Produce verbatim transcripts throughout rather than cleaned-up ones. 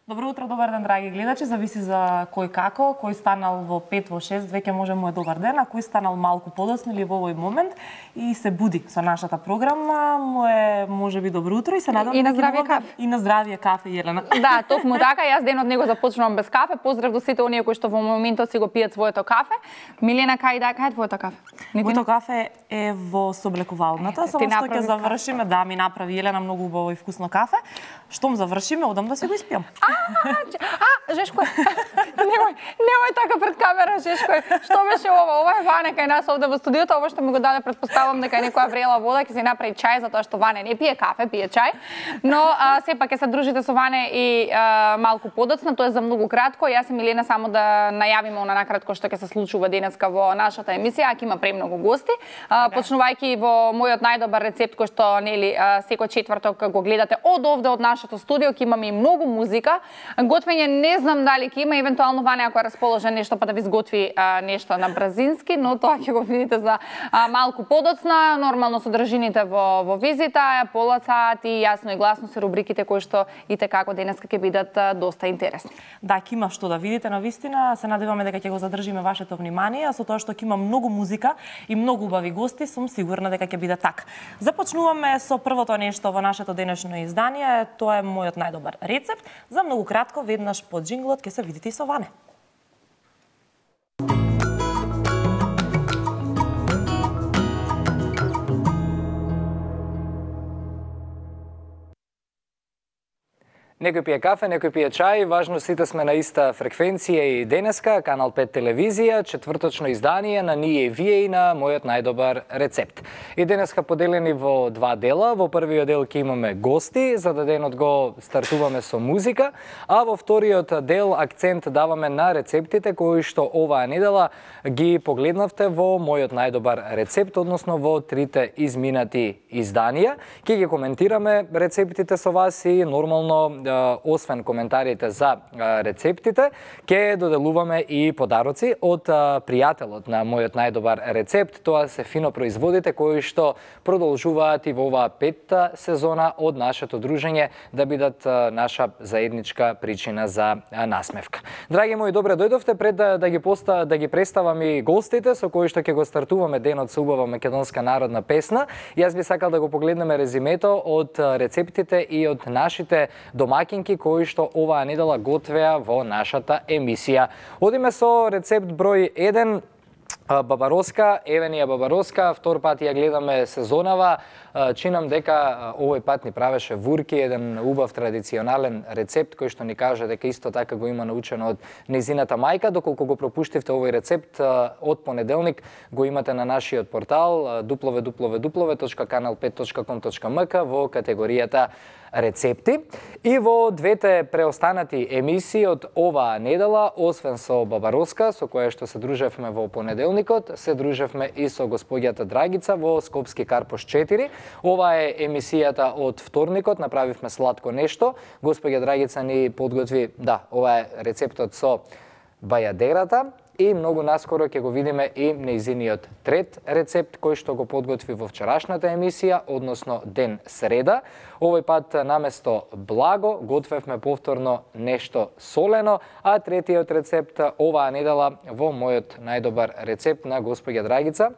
Добро утро, добар ден, драги гледачи. Зависи за кој како, кој станал во пет, во шест, веќе може му е добар ден, а кој станал малку подоцна или во овој момент и се буди со нашата програма, му е можеби добро утро и се надам и на здравје кафе. И на здравје кафе, Елена. Да, токму така, јас денот него започнувам без кафе. Поздрав до сите оние кои што во моментот си го пијат своето кафе. Милена, кај да, кај е твоето кафе? Моето кафе е во соблекувалната, само што ќе завршиме, да, ми направи Елена многу убаво и вкусно кафе. Штом завршиме, одам да се го испијам. А, Жешко, немој, немој така пред камера, Жешко. Што беше ова? Ова е Ване кај нас овде во студиото, ова што ми го даде, предпоставам дека е некоја врела вода, ќе си направи чај, затоа што Ване не пие кафе, пие чај. Но а, сепак ќе се дружите со Ване и а, малку подоцна, тоа е за многу кратко. Јас и Милена само да најавиме она накратко што ќе се случува денеска во нашата емисија, ако има премногу гости. А, почнувајќи во мојот најдобар рецепт кој што нели секој четврток го гледате од овде од нашето студио, ќе имаме и многу музика. Готвење не знам дали ќе има, евентуално Ване ако е расположен нешто па да ви сготви а, нешто на бразински, но тоа ќе го видите за а, малку подоцна. Нормално содржините во во визита, пола сат и јасно и гласно се рубриките кои што и како денеска ќе бидат а, доста интересни. Да, ќе има што да видите на вистина. Се надеваме дека ќе го задржиме вашето внимание, со тоа што ќе има многу музика и многу убави гости, сум сигурна дека ќе биде така. Започнуваме со првото нешто во нашето денешно издание, тоа е мојот најдобар рецепт. За многу кратко, веднаш под джинглот ќе се видите и со Ване. Некој пие кафе, некој пие чај, важно сите сме на иста фреквенција и денеска, Канал пет телевизија, четврточно издание на Ние и вие и на мојот најдобар рецепт. И денеска поделени во два дела, во првиот дел ќе имаме гости, за да денот го стартуваме со музика, а во вториот дел акцент даваме на рецептите кои што оваа недела ги погледнавте во мојот најдобар рецепт, односно во трите изминати изданија. Ќе ги коментираме рецептите со вас и нормално освен коментарите за рецептите, ќе доделуваме и подароци од пријателот на мојот најдобар рецепт. Тоа се фино производите кои што продолжуваат и во оваа петта сезона од нашето дружење да бидат наша заедничка причина за насмевка. Драги мои, добре дојдовте. Пред да, да ги поста, да ги представам и гостите со кои што ќе го стартуваме денот со убава македонска народна песна. Јас би сакал да го погледнеме резимето од рецептите и од нашите домакинки кои што оваа недела готвеа во нашата емисија. Одиме со рецепт број еден, бабароска, еве ни е бабароска, втор пат ја гледаме сезонава. Чинам дека овој пат ни правеше вурки, еден убав традиционален рецепт кој што ни каже дека исто така го има научено од нејзината мајка. Доколку го пропуштивте овој рецепт, од понеделник го имате на нашиот портал дабл ю дабл ю дабл ю точка канал пет точка ком точка ем ка во категоријата рецепти. И во двете преостанати емисии од оваа недела, освен со бабароска, со која што се дружевме во понеделникот, се дружевме и со господјата Драгица во Скопски Карпош четири. Ова е емисијата од вторникот, направивме сладко нешто. Господја Драгица ни подготви, да, ова е рецептот со бајадерата. И многу наскоро ќе го видиме и нејзиниот трет рецепт кој што го подготви во вчерашната емисија, односно ден среда. Овој пат наместо благо готвевме повторно нешто солено, а третиот рецепт оваа недела во мојот најдобар рецепт на господја Драгица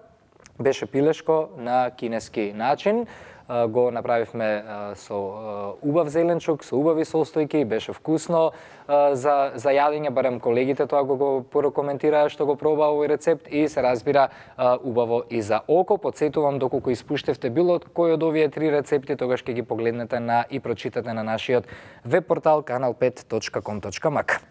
беше пилешко на кинески начин. Го направивме со убав зеленчук, со убави состојки, беше вкусно за, за јадење, барем колегите тоа го, го порекоментираа што го проба овој рецепт и се разбира убаво и за око. Подсетувам, доколку испуштевте било кој од овие три рецепти, тогаш ќе ги погледнете на и прочитате на нашиот веб портал канал пет точка ком точка ем ка.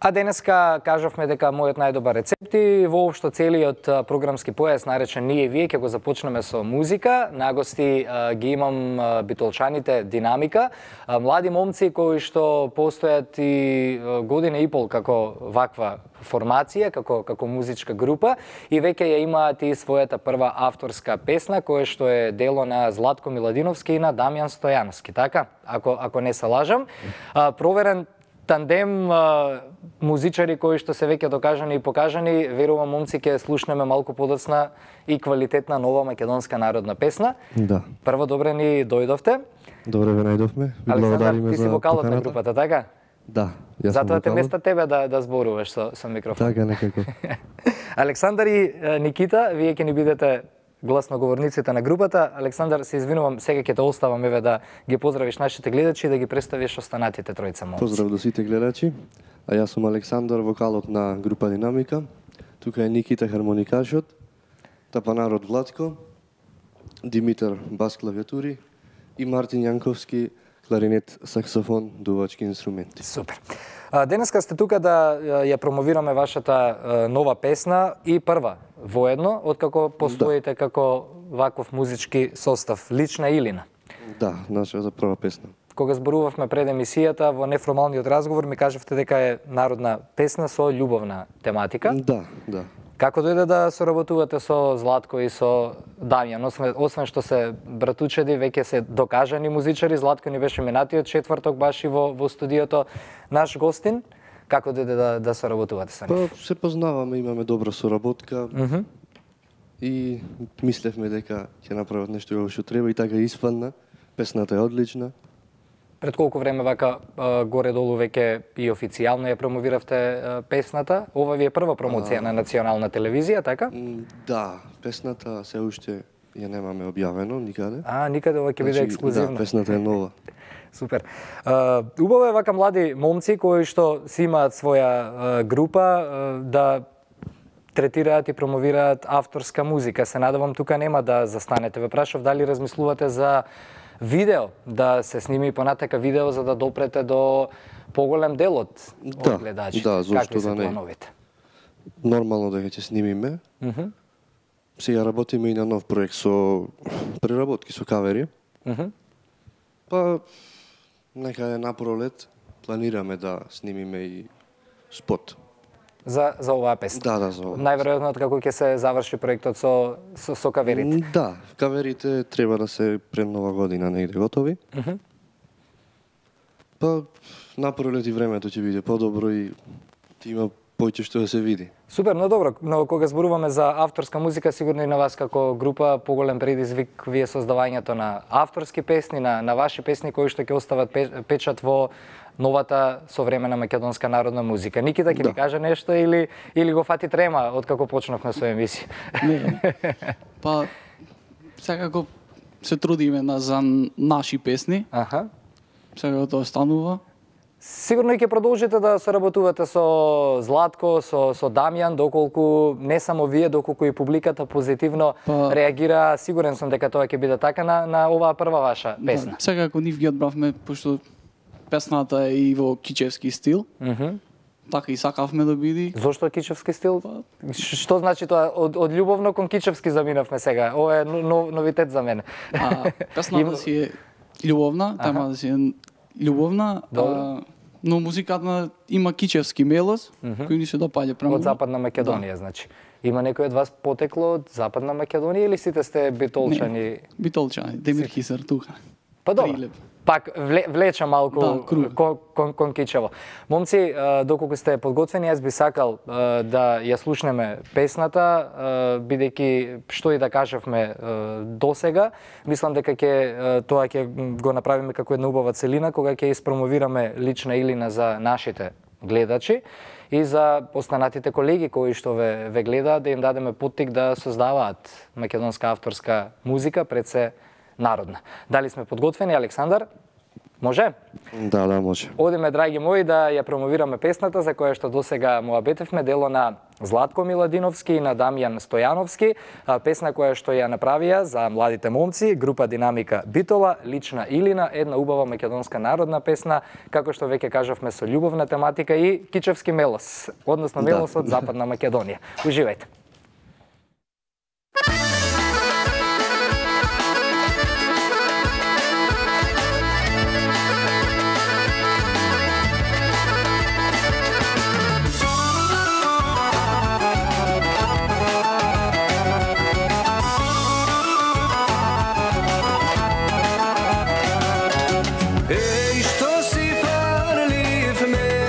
А денеска кажавме дека мојот најдобар рецепт и воопшто целиот програмски појас наречен Ние и вие ќе го започнеме со музика. Нагости ги имам битолчаните Динамика, млади момци кои што постојат и година и пол како ваква формација, како како музичка група и веќе ја имаат и својата прва авторска песна која што е дело на Златко Миладиновски и на Дамјан Стојановски, така? Ако ако не се лажам, проверен тандем а, музичари кои што се веќе докажани и покажани. Верувам, момци, ќе слушнеме малку подоцна и квалитетна нова македонска народна песна. Да. Прво, добре ни дојдовте. Добре ве најдовме. Ви Александар, благодариме ти си за вокалот на поканата. групата, така? Да, јас сум Затоа те вокалот. места тебе да да зборуваш со со микрофон. Така некако. Александар и е, Никита, вие ќе ни бидете гласноговорниците на групата. Александар, се извинувам, сега ќе те оставам еве да ги поздравиш нашите гледачи и да ги представиш останатите тројца момци. Поздрав до сите гледачи. А јас сум Александар, вокалот на група Динамика. Тука е Никита, хармоникашот, тапанарот Владко, Димитар, бас клавиатури и Мартин Јанковски, кларинет, саксофон, дувачки инструменти. Супер. А, денеска сте тука да ја промовираме вашата е, нова песна и прва воедно, откако постоите како ваков музички состав, Лична Илина. Да, нашата прва песна. Кога зборувавме пред емисијата, во неформалниот разговор ми кажавте дека е народна песна со љубовна тематика. Да, да. Како дојде да соработувате со Златко и со Дамјан? Освен, освен што се братучеди, веќе се докажани музичари, Златко ни беше минатиот четврток баш и во, во студиото наш гостин. Како дојде да, да соработувате со нив? Па се познаваме, имаме добра соработка. Mm -hmm. И мислевме дека ќе направат нешто како што треба и така испадна. Песната е одлична. Пред колку време вака горе-долу веќе и официјално ја промовиравте песната? Ова ви е прва промоција а... на национална телевизија, така? Да, песната се уште ја немаме објавено никаде. А, никаде ова ќе биде ексклузивно. Да, песната е нова. Супер. Uh, убаво е вака млади момци кои што си имаат своја uh, група uh, да третираат и промовираат авторска музика. Се надевам тука нема да застанете. Ве прашав дали размислувате за видео, да се сними понатака видео за да допрете до поголем дел од да, гледачите. Да, зошто Какви се да не? плановите? Нормално дека ќе снимиме. Mm -hmm. Сега работиме и на нов проект со преработки, со кавери. Mm -hmm. Па некаде на пролет планираме да снимиме и спот. За за оваа песна. Да, да, за оваа. Најверојатно како ќе се заврши проектот со со, со каверите. Да, каверите треба да се пред нова година негде готови. Mm -hmm. Па на пролет и времето ќе биде подобро и ќе има поќе што да се види. Супер, но добро, но кога зборуваме за авторска музика, сигурно и на вас како група поголем предизвик вие создавањето на авторски песни, на на ваши песни кои што ќе остават печат во новата современа македонска народна музика. Никита ќе да. ни каже нешто или или го фати трема откако почнавме со емисија? Не. Па секако се трудиме на за наши песни. Аха. Секако тоа станува. Сигурно и ќе продолжите да соработувате со Златко, со со Дамјан, доколку не само вие, доколку и публиката позитивно па... реагира. Сигурен сум дека тоа ќе биде така на на оваа прва ваша песна. Да, секако нив ги одбравме пошто песната е и во кичевски стил. Mm -hmm. Така и сакавме да биде. Зошто кичевски стил? Што значи тоа? Од, од љубовно кон кичевски заминавме сега. Ова е нов, новитет за мене. А, песната си е љубовна, темата си е љубовна, а, но музиката има кичевски мелос, mm -hmm. кој ни се допаѓа премногу. Од Западна Македонија, да. Значи. Има некој од вас потекло од Западна Македонија или сите сте битолчани? Не, битолчани, Демир Хисар тука. Па добро. Прилеп. Пак вле, влеча малку да, кон, кон, кон Кичево. Момци, доколку сте подготвени, јас би сакал да ја слушнеме песната, бидејќи што и да кажавме досега, мислам дека ќе тоа ќе го направиме како една убава целина кога ќе испромовираме Лична Илина за нашите гледачи и за останатите колеги кои што ве, ве гледаат, да им дадеме поттик да создаваат македонска авторска музика, пред се народна. Дали сме подготвени, Александар? Може? Да, да, може. Одиме, драги мои, да ја промовираме песната за која што досега му абетевме, дело на Златко Миладиновски и на Дамјан Стојановски, песна која што ја направија за младите момци, група Динамика Битола, Лична Илина, една убава македонска народна песна, како што веќе кажавме со љубовна тематика и кичевски мелос, односно мелос да. Од Западна Македонија. Уживајте. Ej, što si farliv me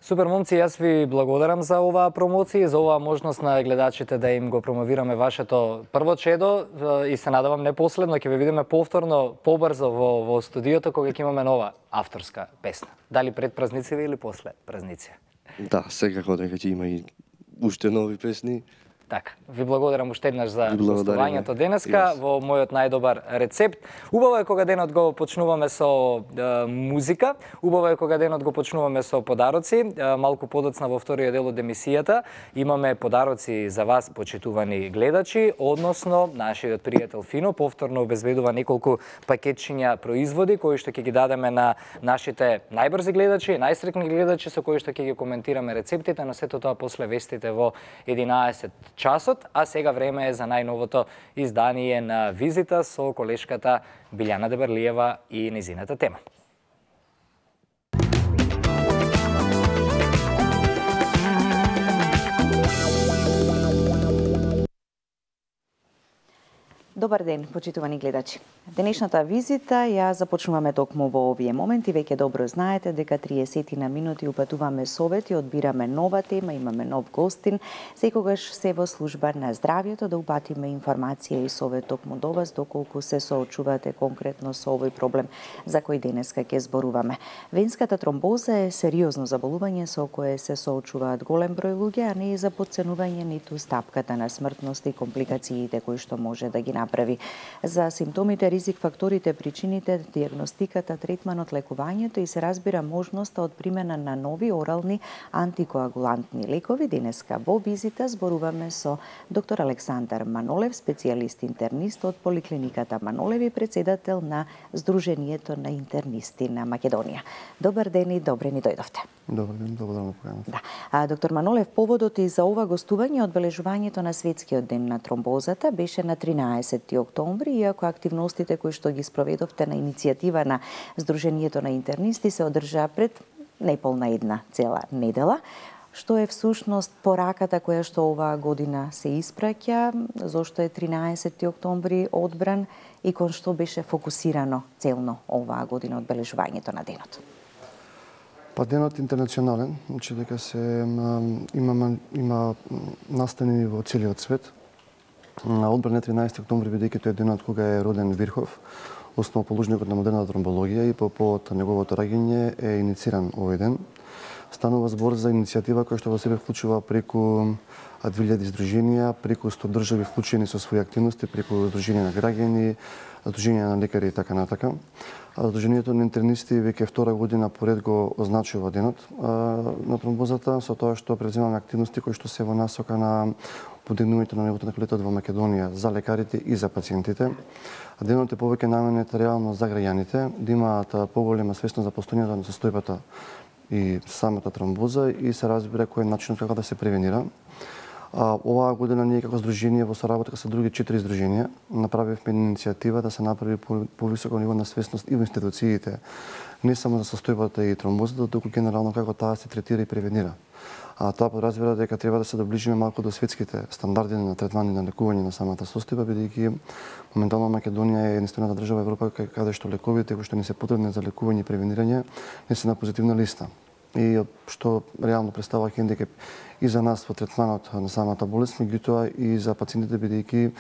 Супер, момци, јас ви благодарам за оваа промоција и за оваа можност на гледачите да им го промовираме вашето прво чедо и се надевам не последно, ќе ве видиме повторно, побрзо во, во студиото кога ќе имаме нова авторска песна. Дали пред празници или после празници? Да, секако дека ќе има и уште нови песни. Така, ви благодарам уште еднаш за гостувањето денеска yes. во мојот најдобар рецепт. Убаво е кога денот го почнуваме со е, музика, убаво е кога денот го почнуваме со подароци. Е, малку подоцна во вториот дел од емисијата имаме подароци за вас, почитувани гледачи, односно нашиот пријател Фино повторно обезбедува неколку пакетчиња производи кои што ќе ги дадеме на нашите најбрзи гледачи, најстрекни гледачи со кои што ќе ги коментираме рецептите, но сето тоа после вестите во единаесет часот, а сега време е за најновото издание на Визита со колешката Билјана Деберлиева и незината тема. Добар ден, почитувани гледачи. Денешната визита ја започнуваме токму во овие моменти. Веќе добро знаете дека триесет на минути упатуваме совети, одбираме нова тема, имаме нов гостин. Секогаш се во служба на здравјето да упатиме информација и совет токму до вас доколку се соочувате конкретно со овој проблем за кој денеска ќе зборуваме. Венската тромбоза е сериозно заболување со кое се соочуваат голем број луѓе, а не и за подценување ниту стапката на смртност и компликациите кои што може да ги направи. За симптомите, ризик факторите, причините, диагностиката, третманот, лекувањето и се разбира можноста од примена на нови орални антикоагулантни лекови. Денеска во Визита зборуваме со доктор Александар Манолев, специјалист интернист од Поликлиниката Манолев и председател на Сдруженијето на интернисти на Македонија. Добар ден и добре ни дојдовте. Добар ден, благодарам на поканата. Да. А, доктор Манолев, поводот и за ова гостување од одбележувањето на Светскиот ден на тромбозата беше на тринаесети октомври, иако активностите кои што ги спроведовте на иницијатива на Сдруженијето на интернисти се одржаа пред неполна една цела недела. Што е всушност пораката која што оваа година се испраќа, зошто е тринаесети октомври одбран и кон што беше фокусирано целно оваа година одбележувањето на денот? Па денот интернационален, значи дека се има има настанени во целиот свет. Одбран е тринаесети октомври бидејќи тој е денот кога е роден Вирхов, основоположникот на модерната тромбологија, и по повод неговото раѓање е инициран овој ден. Станува збор за иницијатива која што во себе вклучува преку две илјади здруженија, преку сто држави вклучени со своји активности, преку здруженија на граѓани, здруженија на лекари и така натака. Сдруженијето на интернисти веќе втора година поред го означува денот на тромбозата, со тоа што преземаме активности кои што се во насока на подигнувањето на нивото на квалитет во Македонија за лекарите и за пациентите. Денот е повеќе наменет реално за граѓаните, да имаат поголема свесност за постојањето на состојбата и самата тромбоза и се разбира кој е начинот како да се превенира. А, оваа година ние како здружение во соработка со други четири здруженија направивме иницијатива да се направи повисоко ниво на свесност и во институциите, не само за состојбата и тромбозата, туку генерално како таа се третира и превенира. А тоа подразбира дека треба да се доближиме малку до светските стандарди на третмани на лекување на самата состојба, бидејќи моментално Македонија е единствената држава во Европа каде што лековите кои што ни се потребни за лекување и превенирање не се на позитивна листа. И што реално представува хендикеп и за нас во третманот на самата болест, меѓутоа и за пациентите бидејќи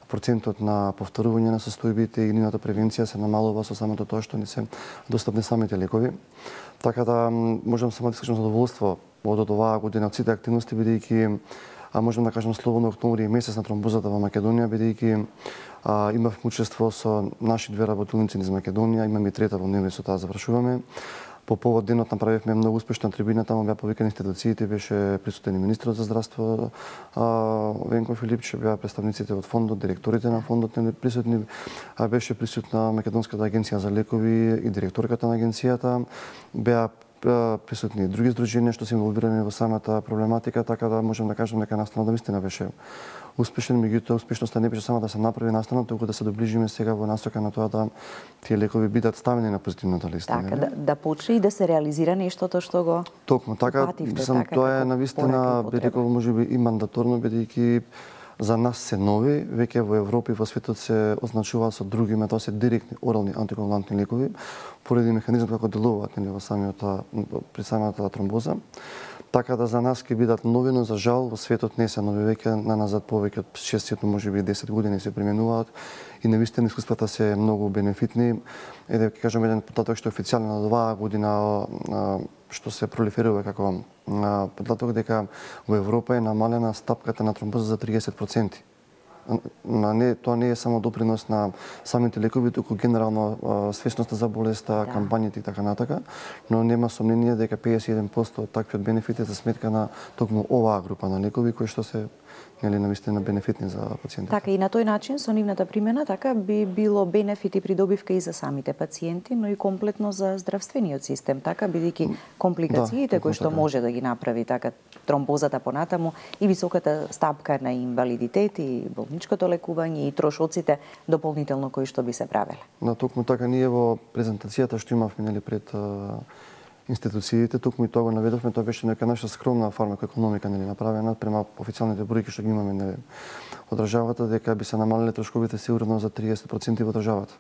процентот на повторување на состојбите и нивната превенција се намалува со самото тоа што не се достапни самите лекови. Така да можам само да искажам задоволство од оваа година од сите активности, бидејќи а можам да кажам слободно октомври е месец на тромбозата во Македонија, бидејќи имавме учество со наши две работилници низ Македонија, имаме и трета во Неве, со таа завршуваме. По повод денот направивме многу успешна трибина, таму беа повикани институциите, беше присутен и министерот за здравство Венко Филипче, беа представниците од фондот, директорите на фондот не присутни, беше присутна Македонската агенција за лекови и директорката на агенцијата, беа присутни и други здруженија што се инволвирани во самата проблематика, така да можам да кажам дека настанот навистина беше успешен, меѓутоа успешноста не беше само да се направи настанот, туку да се доближиме сега во насока на тоа да тие лекови бидат ставени на позитивната листа. Така, да, да почне и да се реализира нештото што го Токму така, пативте, сам така, тоа е навистина, би рекол, можеби и мандаторно, бидејќи за нас се нови, веќе во Европа и во светот се означуваат со други име, тоа се директни орални антикоагулантни лекови, поради механизмот како делуваат нели во самиот при самата тромбоза. Така да за нас ќе бидат нови, но за жал во светот не се нови, веќе на назад повеќе од шест, можеби десет години се применуваат и навистина искуствата се многу бенефитни. Е да ќе кажам еден податок што е официјално на оваа година што се пролиферува како податок дека во Европа е намалена стапката на тромбоза за триесет проценти. На не, тоа не е само допринос на самите лекови, туку генерално свесноста за болеста, да. кампањите и така натака, но нема сомнение дека педесет и еден проценти од таквиот бенефит е за сметка на токму оваа група на лекови кои што се нели навистина бенефитни за пациентите. Така и на тој начин со нивната примена така би било бенефит и придобивка и за самите пациенти, но и комплетно за здравствениот систем, така бидејќи компликациите да, кои што така. може да ги направи така тромбозата понатаму и високата стапка на инвалидитет и болничкото лекување и трошоците дополнително кои што би се правеле. Да, токму така ние во презентацијата што имавме нели пред институциите, токму и тоа го наведовме, тоа беше нека наша скромна фармакоекономика нели направена према официјалните бројки што ги имаме нели во државата, дека би се намалиле трошковите сигурно за триесет проценти во државата.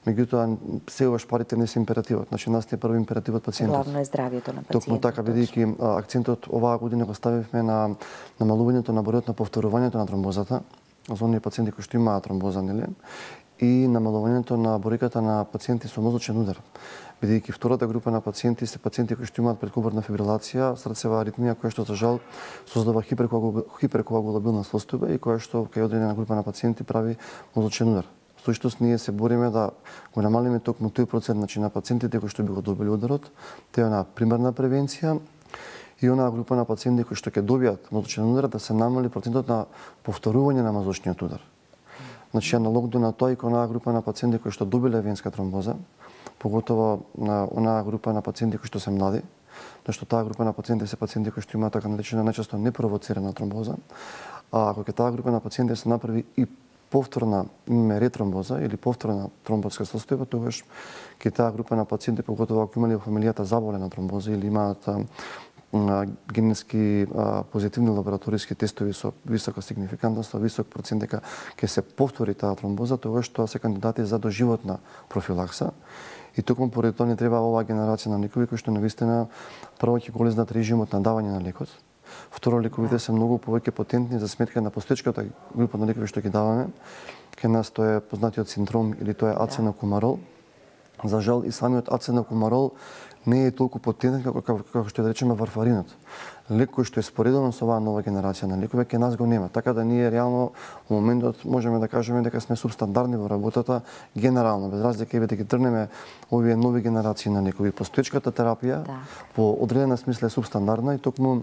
Меѓутоа сегаш парите не се императивот, значи нас е први императивот пациентот. Главно е здравјето на пациентот. Токму така бидејќи акцентот оваа година го ставивме на намалувањето на бројот на повторувањето на тромбозата за оние пациенти кои што имаат тромбоза нели и намалувањето на бројката на пациенти со мозочен удар. Бидејќи втората група на пациенти се пациенти кои што имаат предкобарна фибрилација, срцева аритмија која што за жал создава хиперкоагулабилна состојба и која што кај одредена група на пациенти прави мозочен удар. Со што ние се бориме да го намалиме токму тој процент, значи на пациентите кои што би го добили ударот, тоа на примерна превенција и онаа група на пациенти кои што ќе добијат мозочен удар да се намали процентот на повторување на мозочниот удар. Значи аналогно на тоа и кон онаа група на пациенти кои што добиле венска тромбоза, поготово на онаа група на пациенти кои што се млади, зашто таа група на пациенти се пациенти кои што имаат така наречена најчесто непровоцирана тромбоза, а ако ќе таа група на пациенти се направи и повторна имаме ретромбоза или повторна тромбозска состојба, тогаш ќе таа група на пациенти, поготово ако имале во фамилијата заболена тромбоза или имаат генетски позитивни лабораториски тестови со висока сигнификантност, со висок процент дека ќе се повтори таа тромбоза, тогаш тоа се кандидати за доживотна профилакса. И токму поради тоа не треба оваа генерација на лекови кои што навистина прво ќе голезнат режимот на давање на лекот. Второ, лековите се многу повеќе потентни за сметка на постоечката група на лекови што ги даваме. Кај нас тоа е познатиот синдром или тоа е аценокумарол. За жал и самиот аценокумарол не е толку потентен како, како, како што да речеме варфаринот. Лек кој што е споредуван со оваа нова генерација на лекови, кај нас го нема. Така да ние реално во моментот можеме да кажеме дека сме субстандарни во работата генерално, без разлика и да ги тргнеме овие нови генерации на лекови. Постоечката терапија да. во одредена смисла е субстандардна и токму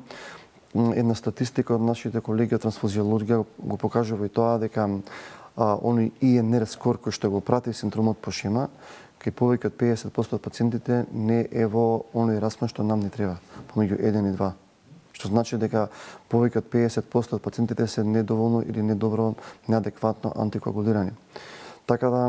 една статистика од нашите колеги од трансфузиологија го покажува и тоа дека а, оној И Н Р скор кој што го прати синдромот по шема, кај повеќе од педесет проценти од пациентите не е во оној распон што нам не треба, помеѓу еден и два. Што значи дека повеќе од педесет проценти од пациентите се недоволно или недобро, неадекватно антикоагулирани. Така да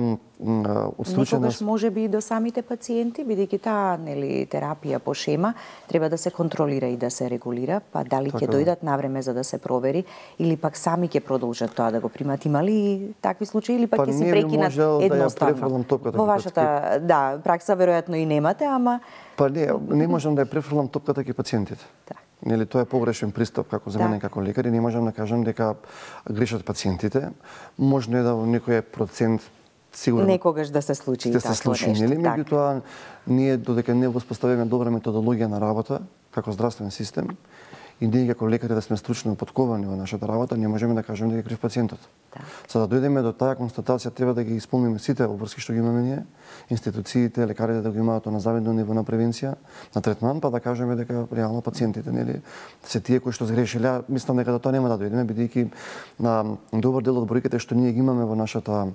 од случај некогаш може би и до самите пациенти, бидејќи таа нели терапија по шема треба да се контролира и да се регулира, па дали ќе дојдат навреме за да се провери или пак сами ќе продолжат тоа да го примат, има ли такви случаи или пак ќе се прекинат едноставно? Во вашата да пракса веројатно и немате, ама па не, не можам да ја префрлам топката кај пациентите. Да. Нели тоа е погрешен пристап како за мене како лекар и не можам да кажам дека грешат пациентите. Можно е да во некој процент сигурно некогаш да се случи да се случи, нели? Меѓутоа ние додека не воспоставиме добра методологија на работа како здравствен систем и ние како лекари да сме стручно подковани во нашата работа, не можеме да кажеме дека крив пациентот. Да. За да дојдеме до таа констатација треба да ги исполниме сите обврски што ги имаме ние, институциите, лекарите да го имаат на завидно ниво на превенција, на третман, па да кажеме дека реално пациентите, нели, се тие кои што сгрешиле, мислам дека до тоа нема да дојдеме бидејќи на добар дел од бројките што ние ги имаме во нашата а,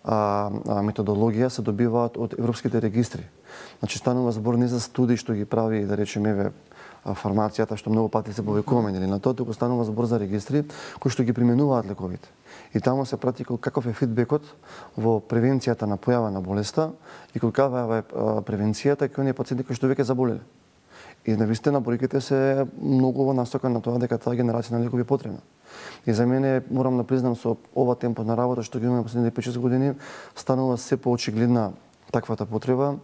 а, методологија се добиваат од европските регистри. Значи станува збор не за студии што ги прави, да речеме, еве фармацијата што многу пати се повикуваме, нели, на тоа туку станува збор за регистри кои што ги применуваат лековите. И таму се прати каков е фидбекот во превенцијата на појава на болеста и каква е превенцијата кај оние пациенти кои што веќе заболеле. И навистина бројките се многу во насока на тоа дека таа генерација на лекови е потребна. И за мене, морам да признам, со ова темпо на работа што ги имаме последните пет-шест години, станува се поочигледна таквата потреба.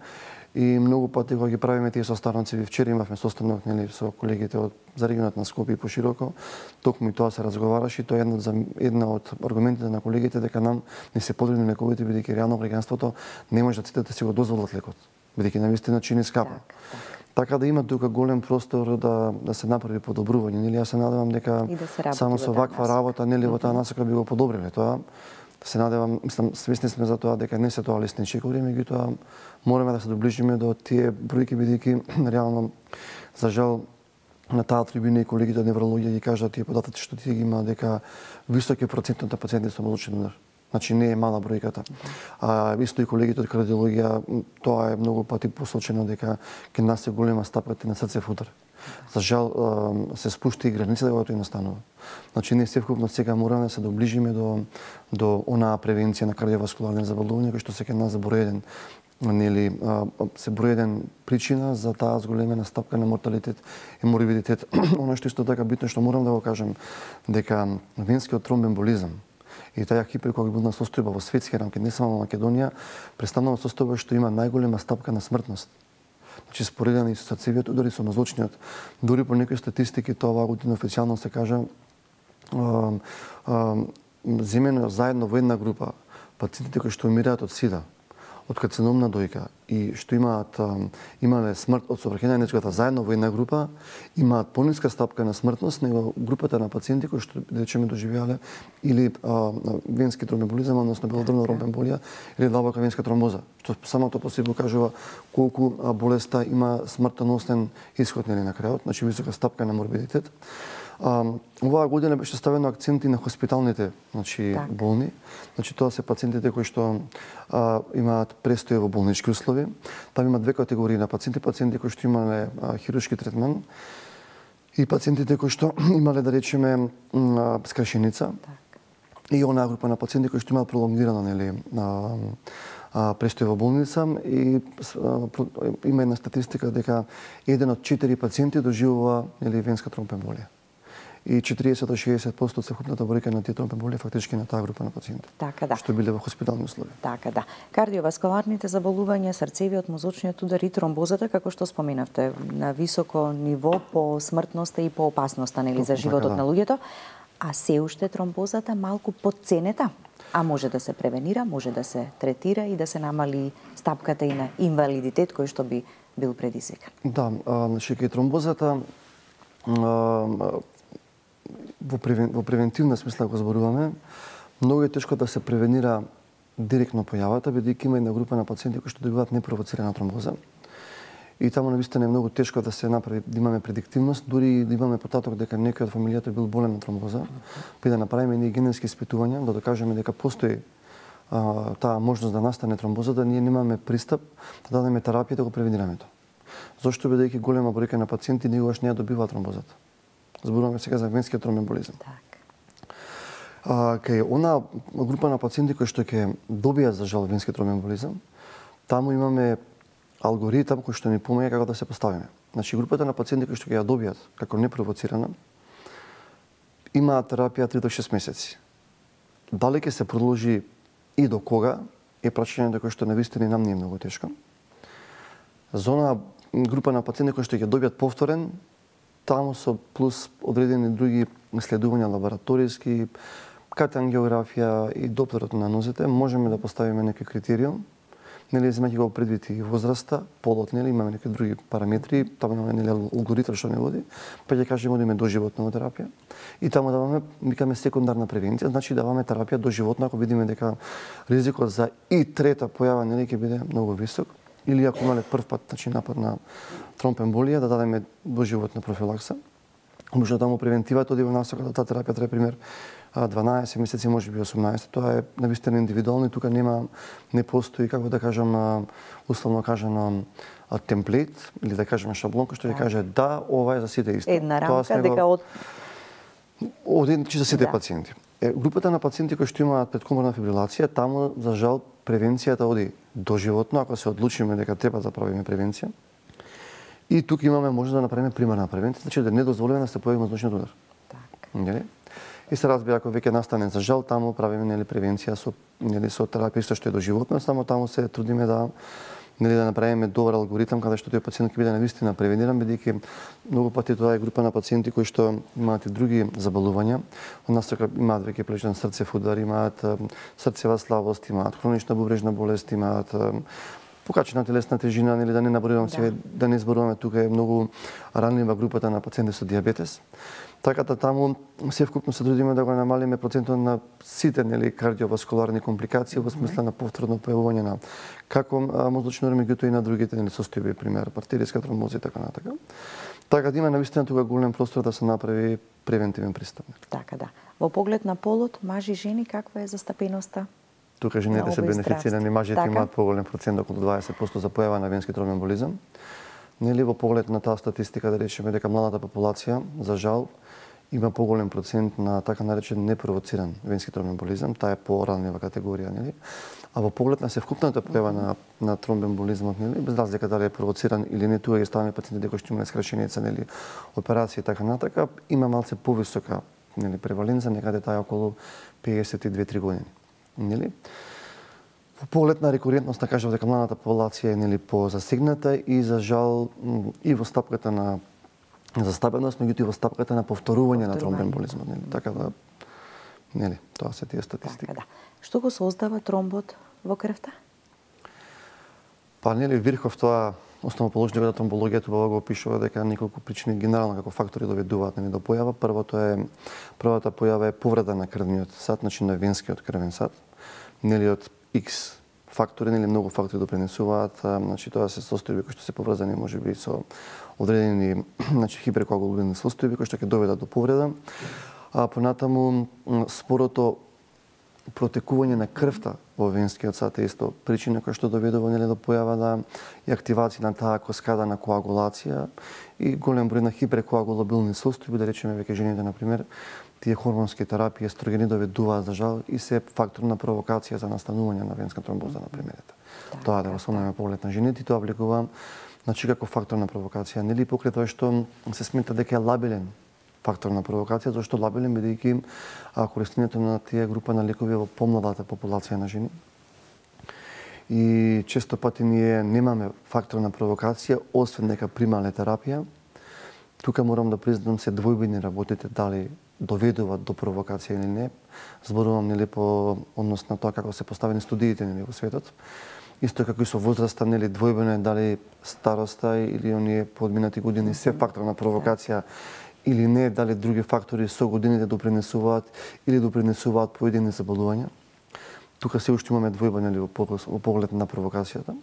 И многу пати кога ги правиме тие состаноци, вчера имавме состанок, нели, со колегите од за регионот на Скопје и пошироко, токму и тоа се разговараше, и тоа е една, една од аргументите на колегите дека нам не се потребни лековите, бидејќи реално граѓанството не може да сите да си го дозволат лекот, бидејќи навистина чини скапа. Так, так. Така да има тука голем простор да да се направи подобрување, нели, јас се надевам дека да само со ваква работа, нели, во таа насока би го подобриле тоа. Се надевам, мислам, свесни сме за тоа дека не се тоа лесни чекори, меѓутоа мораме да се доближиме до тие бројки, бидејќи реално, за жал, на таа трибуна и колегите од неврологија ги кажат тие податоци што тие ги има, дека висок е процентот на пациенти со молочен удар. Значи не е мала бројката. А исто и колегите од кардиологија, тоа е многу пати посочено дека кај нас е голема стапката на срцев удар. За жал се спушти и границата кога тоа настанува. Значи ние севкупно сега мораме да се доближиме до до онаа превенција на кардиоваскуларни заболувања кои што се кај нас за број еден, нели, се број еден причина за таа зголемена стапка на морталитет и морбидитет. Оно што исто така битно што морам да го кажам дека венскиот тромбоемболизам и таа хиперкоагулна состојба во светски рамки, не само во Македонија, представува состојба што има најголема стапка на смртност. Значи споредени со срцевиот удар и со мозочниот. Дури по некои статистики тоа оваа година официјално се кажа земено заедно во една група пациентите кои што умираат од сида, од карциномна дојка и што имаат имале смрт од соврхење на нечката заедно во една група, имаат пониска стапка на смртност него групата на пациенти кои што речеме доживеале или а, венски тромбоемболизам, односно белодробна тромбоемболија или длабока венска тромбоза, што самото по себе кажува колку болеста има смртоносен исход нели на крајот, значи висока стапка на морбидитет. А, оваа година беше ставено акценти на хоспиталните, значи так. болни. Значи тоа се пациентите кои што а, имаат престој во болнички услови. Там има две категории на пациенти, пациенти кои што имале а, хируршки третман и пациентите кои што имале, да речеме, а, скршеница. Так. И онаа група на пациенти кои што имаат пролонгирано, нели, а, а, престој во болница и а, има една статистика дека еден од четири пациенти доживува, нели, венска тромбоемболија. И четириесет до шеесет проценти од севкупната бројка на тие тромбоемболија фактички на таа група на пациенти. Така да. Што биле во хоспитални услови. Така да. Кардиоваскуларните заболувања, срцевиот, мозочниот удар и тромбозата, како што споменавте, на високо ниво по смртноста и по опасноста, нели, за животот така, да. на луѓето, а се уште тромбозата малку подценета, а може да се превенира, може да се третира и да се намали стапката и на инвалидитет кој што би бил предизвикан. Да, а, значи кај тромбозата а, во, превен, во превентивна смисла го зборуваме, многу е тешко да се превенира директно појавата, бидејќи има една група на пациенти кои што добиваат непровоцирана тромбоза. И таму навистина е многу тешко да се направи, да имаме предиктивност, дури да имаме потаток дека некој од фамилијата бил болен на тромбоза, би да направиме ние генетски испитувања, да докажеме дека постои а, таа можност да настане тромбоза, да ние немаме пристап да дадеме терапија да го превенираме тоа. Зошто бидејќи голема бројка на пациенти никогаш не ја добиваат тромбозата. Зборуваме сега за венскиот тромбоемболизам. Так. А, кај она група на пациенти кои што ќе добијат за жал венски тромбоемболизам, таму имаме алгоритам кој што ни помага како да се поставиме. Значи групата на пациенти кои што ќе ја добијат како непровоцирана имаат терапија три до шест месеци. Дали ќе се продолжи и до кога е прашање кој што навистина нам не е многу тешко. За она група на пациенти кои што ќе добијат повторен, таму со плюс одредени други исследувања лабораториски, катангеографија и доплерот на нозете, можеме да поставиме некој критериум, нели земајќи го предвид и возраста, полот, нели имаме некои други параметри, таму имаме нели алгоритам што не води, па ќе кажеме одиме до животна терапија. И таму даваме, викаме секундарна превенција, значи даваме терапија до животна ако видиме дека ризикот за и трета појава нели ќе биде многу висок. Или ако имале прв пат, значи напад на тромбоемболија, да дадеме доживотна профилакса. Може да таму превентивата оди во насока да таа терапија трае пример дванаесет месеци, може би осумнаесет. Тоа е навистина индивидуално и тука нема, не постои, како да кажам, условно кажано, темплейт или да кажеме шаблон кој што ќе каже да, ова е за сите исто. Една рамка дека од од за сите да. пациенти. Е, групата на пациенти кои што имаат предкоморна фибрилација, таму за жал превенцијата оди доживотно, ако се одлучиме дека треба да правиме превенција. И тука имаме може да направиме примерна превенција, значи да не дозволиме да се појави мозочниот удар. Так. Нели? И се разбира, ако веќе настане за жал, таму правиме нели превенција со нели со терапија исто што е доживотно, само таму се трудиме да нели да направиме добар алгоритам каде што тој пациент ќе биде навистина превениран, бидејќи многу пати тоа е група на пациенти кои што имаат и други заболувања. Од нас така имаат веќе плечен срцев удар, имаат срцева слабост, имаат хронична бубрежна болест, имаат покачена телесна тежина, нели да не набројувам да. Се, да не зборуваме, тука е многу ранлива групата на пациенти со дијабетес. Така да таму се вкупно се трудиме да го намалиме процентот на сите нели кардиоваскуларни компликации во смисла на повторно појавување на како мозочни урари, меѓутоа и на другите нели состојби, пример артериска тромбоза и така натака. Така да има навистина тука голем простор да се направи превентивен пристап. Така да. Во поглед на полот, мажи и жени, каква е застапеноста? Тука жените се бенефицирани, мажите така? Имаат поголем процент, околу дваесет проценти за појава на венски тромбоемболизам. Нели во поглед на таа статистика да речеме дека младата популација, за жал, има поголем процент на така наречен непровоциран венски тромбоемболизам, таа е поранлива категорија, нели? А во поглед на севкупната појава на на тромбоемболизмот, нели, без разлика дали е провоциран или не, тука ги ставаме пациенти дека што имаат скрашеница, нели, операција и така натака, има малце повисока, нели, преваленца, некаде таа е околу педесет и две-три години, нели? Во поглед на рекурентност, кажав дека младата популација е нели позасегната и за жал и во стапката на застапеност, меѓутоа и во стапката на повторување на тромбоемболизмот, нели? Така да нели, тоа се тие статистики. Така да. Што го создава тромбот во крвта? Па нели Вирхов тоа основоположникот на тромбологијата убаво го опишува дека неколку причини генерално како фактори доведуваат нели до појава. Првото е првата појава е повреда на крвниот сад, значи на венскиот крвен сад. Нели од X фактори, нели многу фактори допринесуваат, значи тоа се состојби кои што се поврзани можеби со одредени значи хиперкоагулобилни состојби кои што ќе доведат до повреда. А понатаму спорото протекување на крвта во венскиот сад е исто причина која што доведува нели до појава на и активација на таа каскада на коагулација и голем број на хиперкоагулобилни состојби, да речеме веќе жените на пример, тие хормонски терапии, естрогени доведуваат за жал и се фактор на провокација за настанување на венска тромбоза на пример. Тоа да го спомнеме поглед на жените и тоа влегува значи како фактор на провокација, нели покрај тоа што се смета дека е лабилен фактор на провокација, зашто лабилен бидејќи користењето на тие група на лекови во помладата популација на жени. И често пати ние немаме фактор на провокација, освен дека примале терапија. Тука морам да признам се двојбени работите дали доведуваат до провокација или не. Зборувам нели по однос на тоа како се поставени студиите нели во светот. Исто како и со возраста, нели двојбено е дали староста или оние подминати години се фактор на провокација или не, дали други фактори со годините допринесуваат или допринесуваат поедини заболувања. Тука се уште имаме двојба нели во поглед на провокацијата.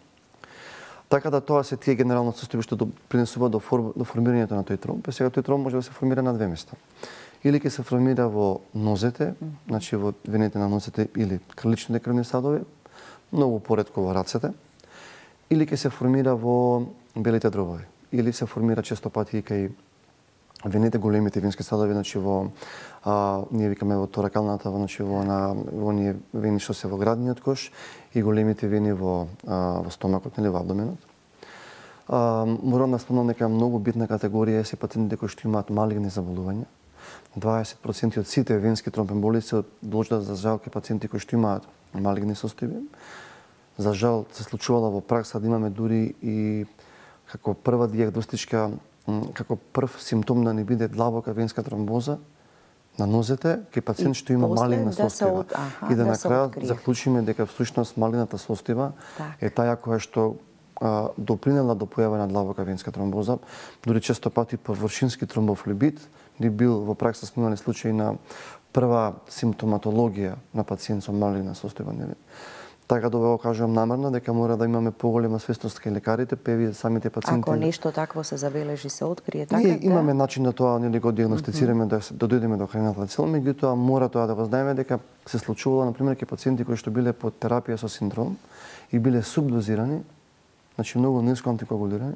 Така да тоа се тие генерално состојби што допринесуваат до, фор, до формирањето на тој тромб. Сега тој тромб може да се формира на две места. Или ќе се формира во нозете, значи во вените на нозете или криличните крвни садови, многу поретко во рацете, или ќе се формира во белите дробови, или се формира често пати и кај вените, големите венски садови, значи во а, ние викаме во торакалната, значи во на во оние вени што се во градниот кош и големите вени во а, во стомакот, нели во абдоменот. А, морам да спомнам дека многу битна категорија се пациентите кои што имаат малигни заболувања. дваесет проценти од сите венски тромбоемболии се должат за жал кај пациенти кои што имаат малигни состојби. За жал се случувало во пракса да имаме дури и како прва дијагностичка, како прв симптом да не биде длабока венска тромбоза на нозете кај пациент што има малигна да состојба. от... Аха, и да, да на крај заклучиме дека всушност малигната состојба так. е таа која што а, допринела до појава на длабока венска тромбоза. Дури често пати површински тромбофлебит ни бил во пракса сме имале случаи на прва симптоматологија на пациент со малигна состојба, нели? Така да го кажувам намерно дека мора да имаме поголема свесност кај лекарите, певи самите пациенти. Ако нешто такво се забележи, се открие така. Ние имаме начин да тоа нели го дијагностицираме, mm -hmm. да, да дојдеме до храната цел, меѓутоа мора тоа да го знаеме дека се случувало на пример кај пациенти кои што биле под терапија со синдром и биле субдозирани, значи многу ниско антикоагулирани,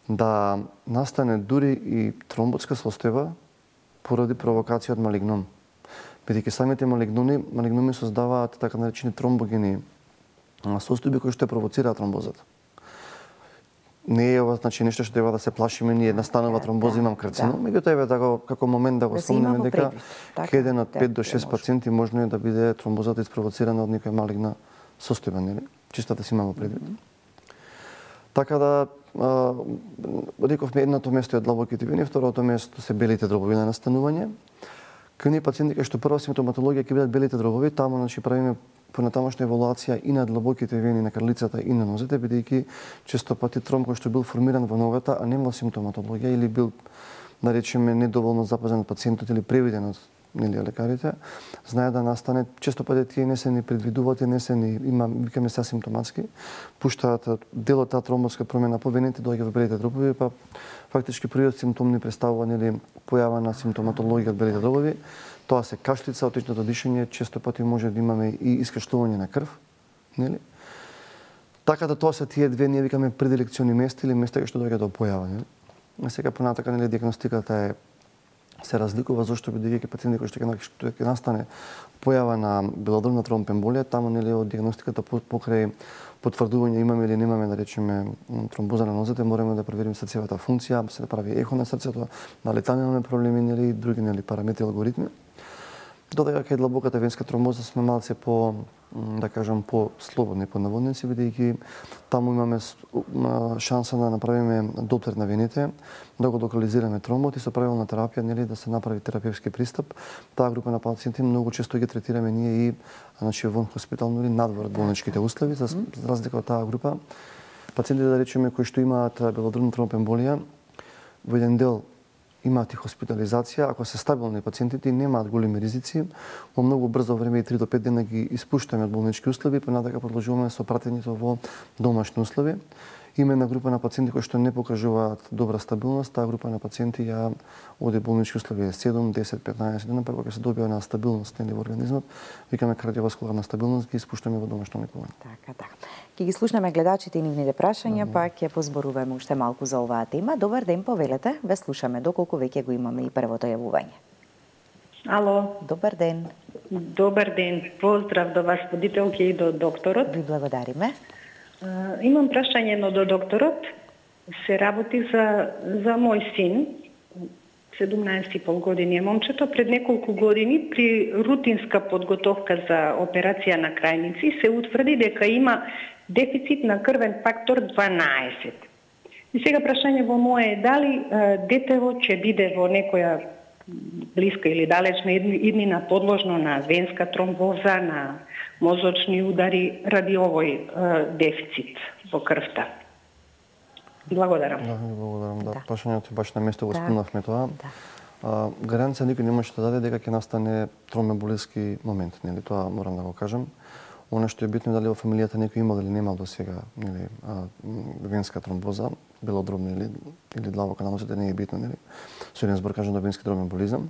да настане дури и тромботска состојба поради провокација од малигном. Бидејќи самите малигноми, малигноми создаваат така наречени тромбогени состојби кои што провоцираат тромбозата. не е ова значи нешто што треба да се плашиме, ние настанува тромбоза, имам карцином, меѓутоа еве така како момент да го спомнеме дека кај еден од пет до шест пациенти можно е да биде тромбозата испровоцирана од некоја малигна состојба, нели? Чисто да си имаме предвид. Така да рековме едното место е длабоките вени, второто место се белите дробови на настанување. Кај оние пациенти кај што прва симптоматологија ќе бидат белите дробови, таму значи правиме понатамошна евалуација и на длабоките вени на крлицата и на нозете, бидејќи често пати тромб кој што бил формиран во ногата, а немал симптоматологија или бил, да речеме, недоволно запазен од пациентот или превиден од нели лекарите, знае да настане, често пати тие не се ни предвидуваат, не се ни има, викаме се асимптоматски, пуштаат дел од таа тромбоска промена по вените, доаѓа во белите дробови, па фактички првиот симптом ни представува нели појава на симптоматологија од белите дробови. Тоа се кашлица, отечното дишење, често пати може да имаме и искашлување на крв, нели? Така да тоа се тие две ние викаме предилекциони места или места кај што доаѓа до појава, нели? А сега понатака нели диагностиката е се разликува зашто бидејќи пациенти кои што ќе настане појава на белодробна тромбемболија, таму нели од диагностиката покрај потврдување имаме или немаме, да речеме, тромбоза на нозете, мораме да провериме срцевата функција, се прави ехо на срцето, дали таму имаме проблеми или други нели параметри, алгоритми. Додека кај длабоката венска тромбоза сме малце по, да кажам, по-слободни, по наводници, бидејќи таму имаме шанса да направиме доплер на вените, да го локализираме тромбот и со правилна терапија нели да се направи терапевски пристап. Таа група на пациенти многу често ги третираме ние и значи вон хоспитално или надвор болничките услови, за разлика од таа група пациенти, да речеме, кои што имаат белодробна тромбемболија, во еден дел имаат и хоспитализација, ако се стабилни пациентите и немаат големи ризици, во многу брзо време и три до пет дена ги испуштаме од болнички услови, понатака продолжуваме со пратењето во домашни услови. Има една група на пациенти кои што не покажуваат добра стабилност, таа група на пациенти ја оди болнички услови седум, десет, петнаесет дена, па кога се добива на стабилност нели во организмот, викаме кардиоваскуларна стабилност, ги испуштаме во домашно лекување. Така, така. Ќе ги слушнеме гледачите и нивните прашања, mm -hmm. па ќе позборуваме уште малку за оваа тема. Добар ден, повелете, ве слушаме, доколку веќе го имаме и првото јавување. Ало. Добар ден. Добар ден. Поздрав до вас, водителки и до докторот. Ви благодариме. Uh, имам прашање но до докторот. Се работи за, за мој син, седумнаесет и пол години е момчето. Пред неколку години при рутинска подготовка за операција на крајници се утврди дека има дефицит на крвен фактор дванаесет. И сега прашање во мое е дали uh, детево ќе биде во некоја блиска или далечна иднина подложно на венска тромбоза, на мозочни удари ради овој е, дефицит во крвта. Благодарам. Да, благодарам. Да, да. Прашањето баш на место го да. спомнавме тоа. Да. А, гаранција никој не може да даде дека ќе настане тромбемболиски момент, нели? Тоа морам да го кажам. Она што е битно е дали во фамилијата некој имал или немал до сега, нели, а, венска тромбоза, белодробна или или длабока на нозете, не е битно, нели? Со еден збор кажам да венски тромбемболизам.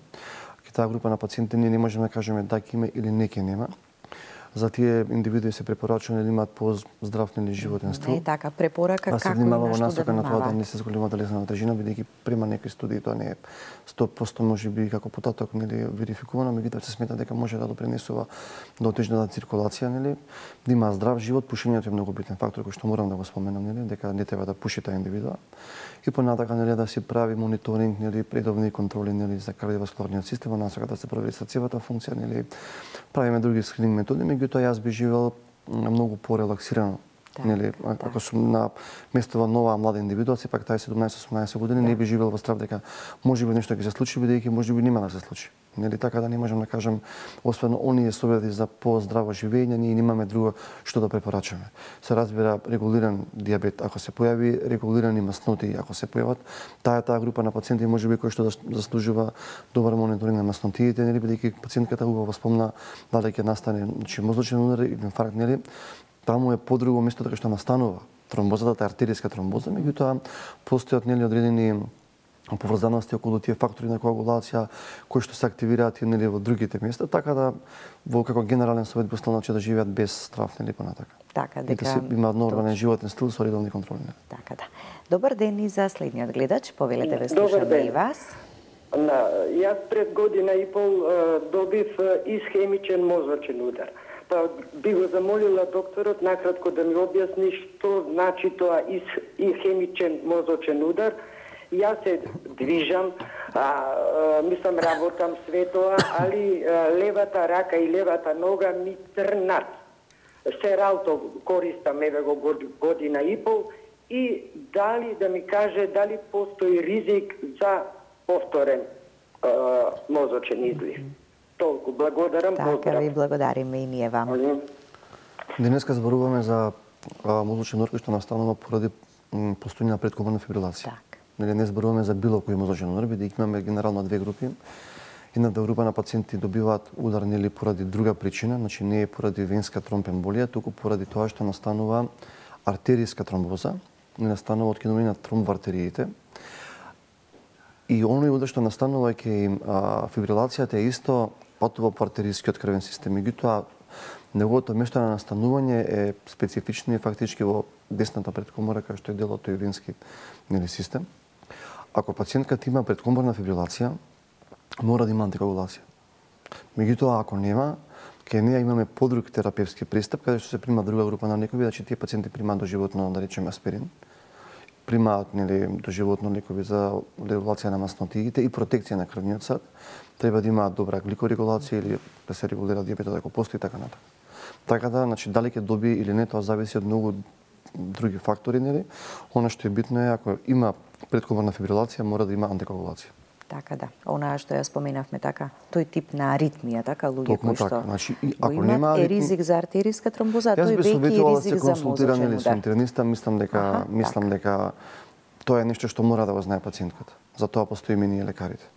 Ке таа група на пациенти ние не можеме да кажеме да ќе има или не ќе нема. За тие индивидуи се препорачува да имаат поздрав нели животен стил. Не така препорака да како и на што насока да на тоа да не се зголема телесна тежина, бидејќи према некои студии тоа не е сто проценти можеби како потаток нели верификувано, меѓутоа се смета дека може да допринесува до отежната циркулација, нели, да има здрав живот. Пушењето е многу битен фактор кој што морам да го споменам, нели, дека не треба да пуши таа индивидуа. И понатака нели да се прави мониторинг, нели, редовни контроли нели за кардиоваскуларниот систем, насока да се провери срцевата функција, нели, правиме други скрининг методи, меѓутоа јас би живел многу порелаксирано. Да, нели, да. Ако сум на местова нова млада индивидуа, сепак тај седумнаесет-осумнаесет години, да. Не би живел во страв дека можеби нешто ќе се случи, бидејќи можеби нема да се случи. Нели, така да не можам да кажам, освен оние совети за поздраво живење, ние немаме друго што да препорачаме. Се разбира регулиран дијабет ако се појави, регулирани масноти ако се појават, таа е таа група на пациенти можеби кој што заслужува добар мониторинг на маснотиите, нели, бидејќи пациентката убаво спомна дали ќе настане значи мозочен удар или инфаркт, нели. Таму е подруго место така што настанува тромбозата, артеријска тромбоза, меѓутоа постојат нели одредени поврзаности околу тие фактори на коагулација кои што се активираат нели во другите места, така да во како генерален совет би останал да живеат без страв нели понатака. Така дека да се имаат нормален животен стил со редовни контроли. Така да. Добар ден и за следниот гледач, повелете ве слушаме и вас. На, јас пред година и пол добив исхемичен мозочен удар. Па би го замолила докторот накратко да ми објасни што значи тоа исхемичен мозочен удар. Јас се движам, а, а, мислам работам све тоа, али а, левата рака и левата нога ми трнат. Сералто користам еве го година и пол и дали да ми каже дали постои ризик за повторен а, мозочен излив. Толку благодарам. Така ви благодариме и ние вам. Денеска зборуваме за а, мозочен удар кој што настанува поради постојање на предкоморна фибрилација. Так. Нели не зборуваме за било кој мозочен удар, бидејќи имаме генерално две групи. Едната група на пациенти добиваат удар нели поради друга причина, значи не е поради венска тромбемболија, туку поради тоа што настанува артеријска тромбоза, не настанува откинување на тромб во артериите. И оној удар што настанува ќе фибрилацијата е исто патува по артеријскиот крвен систем. Меѓутоа, неговото место на настанување е специфично и фактички во десната предкомора, кај што е дел од тој венски нели систем. Ако пациентката има предкоморна фибрилација, мора да има антикоагулација. Меѓутоа, ако нема, кај неја имаме подруг терапевски пристап, каде што се прима друга група на лекови, значи тие пациенти примаат доживотно, да речеме, аспирин, примаат нели доживотно лекови за регулација на маснотиите и протекција на крвниот сад, треба да имаат добра гликорегулација или да се регулира диабетот ако постои така натаму. Така да, значи дали ќе добие или не, тоа зависи од многу други фактори, нели? Она што е битно е ако има предкоморна фибрилација, мора да има антикоагулација. Така да, онаа што ја споменавме така, тој тип на аритмија, така луѓе кои што значи, ако нема е ризик за артериска тромбоза, тој веќе е ризик за мозочен удар. Со интерниста, мислам дека Аха, мислам така. дека тоа е нешто што мора да го знае пациентката. Затоа постоиме ние лекарите.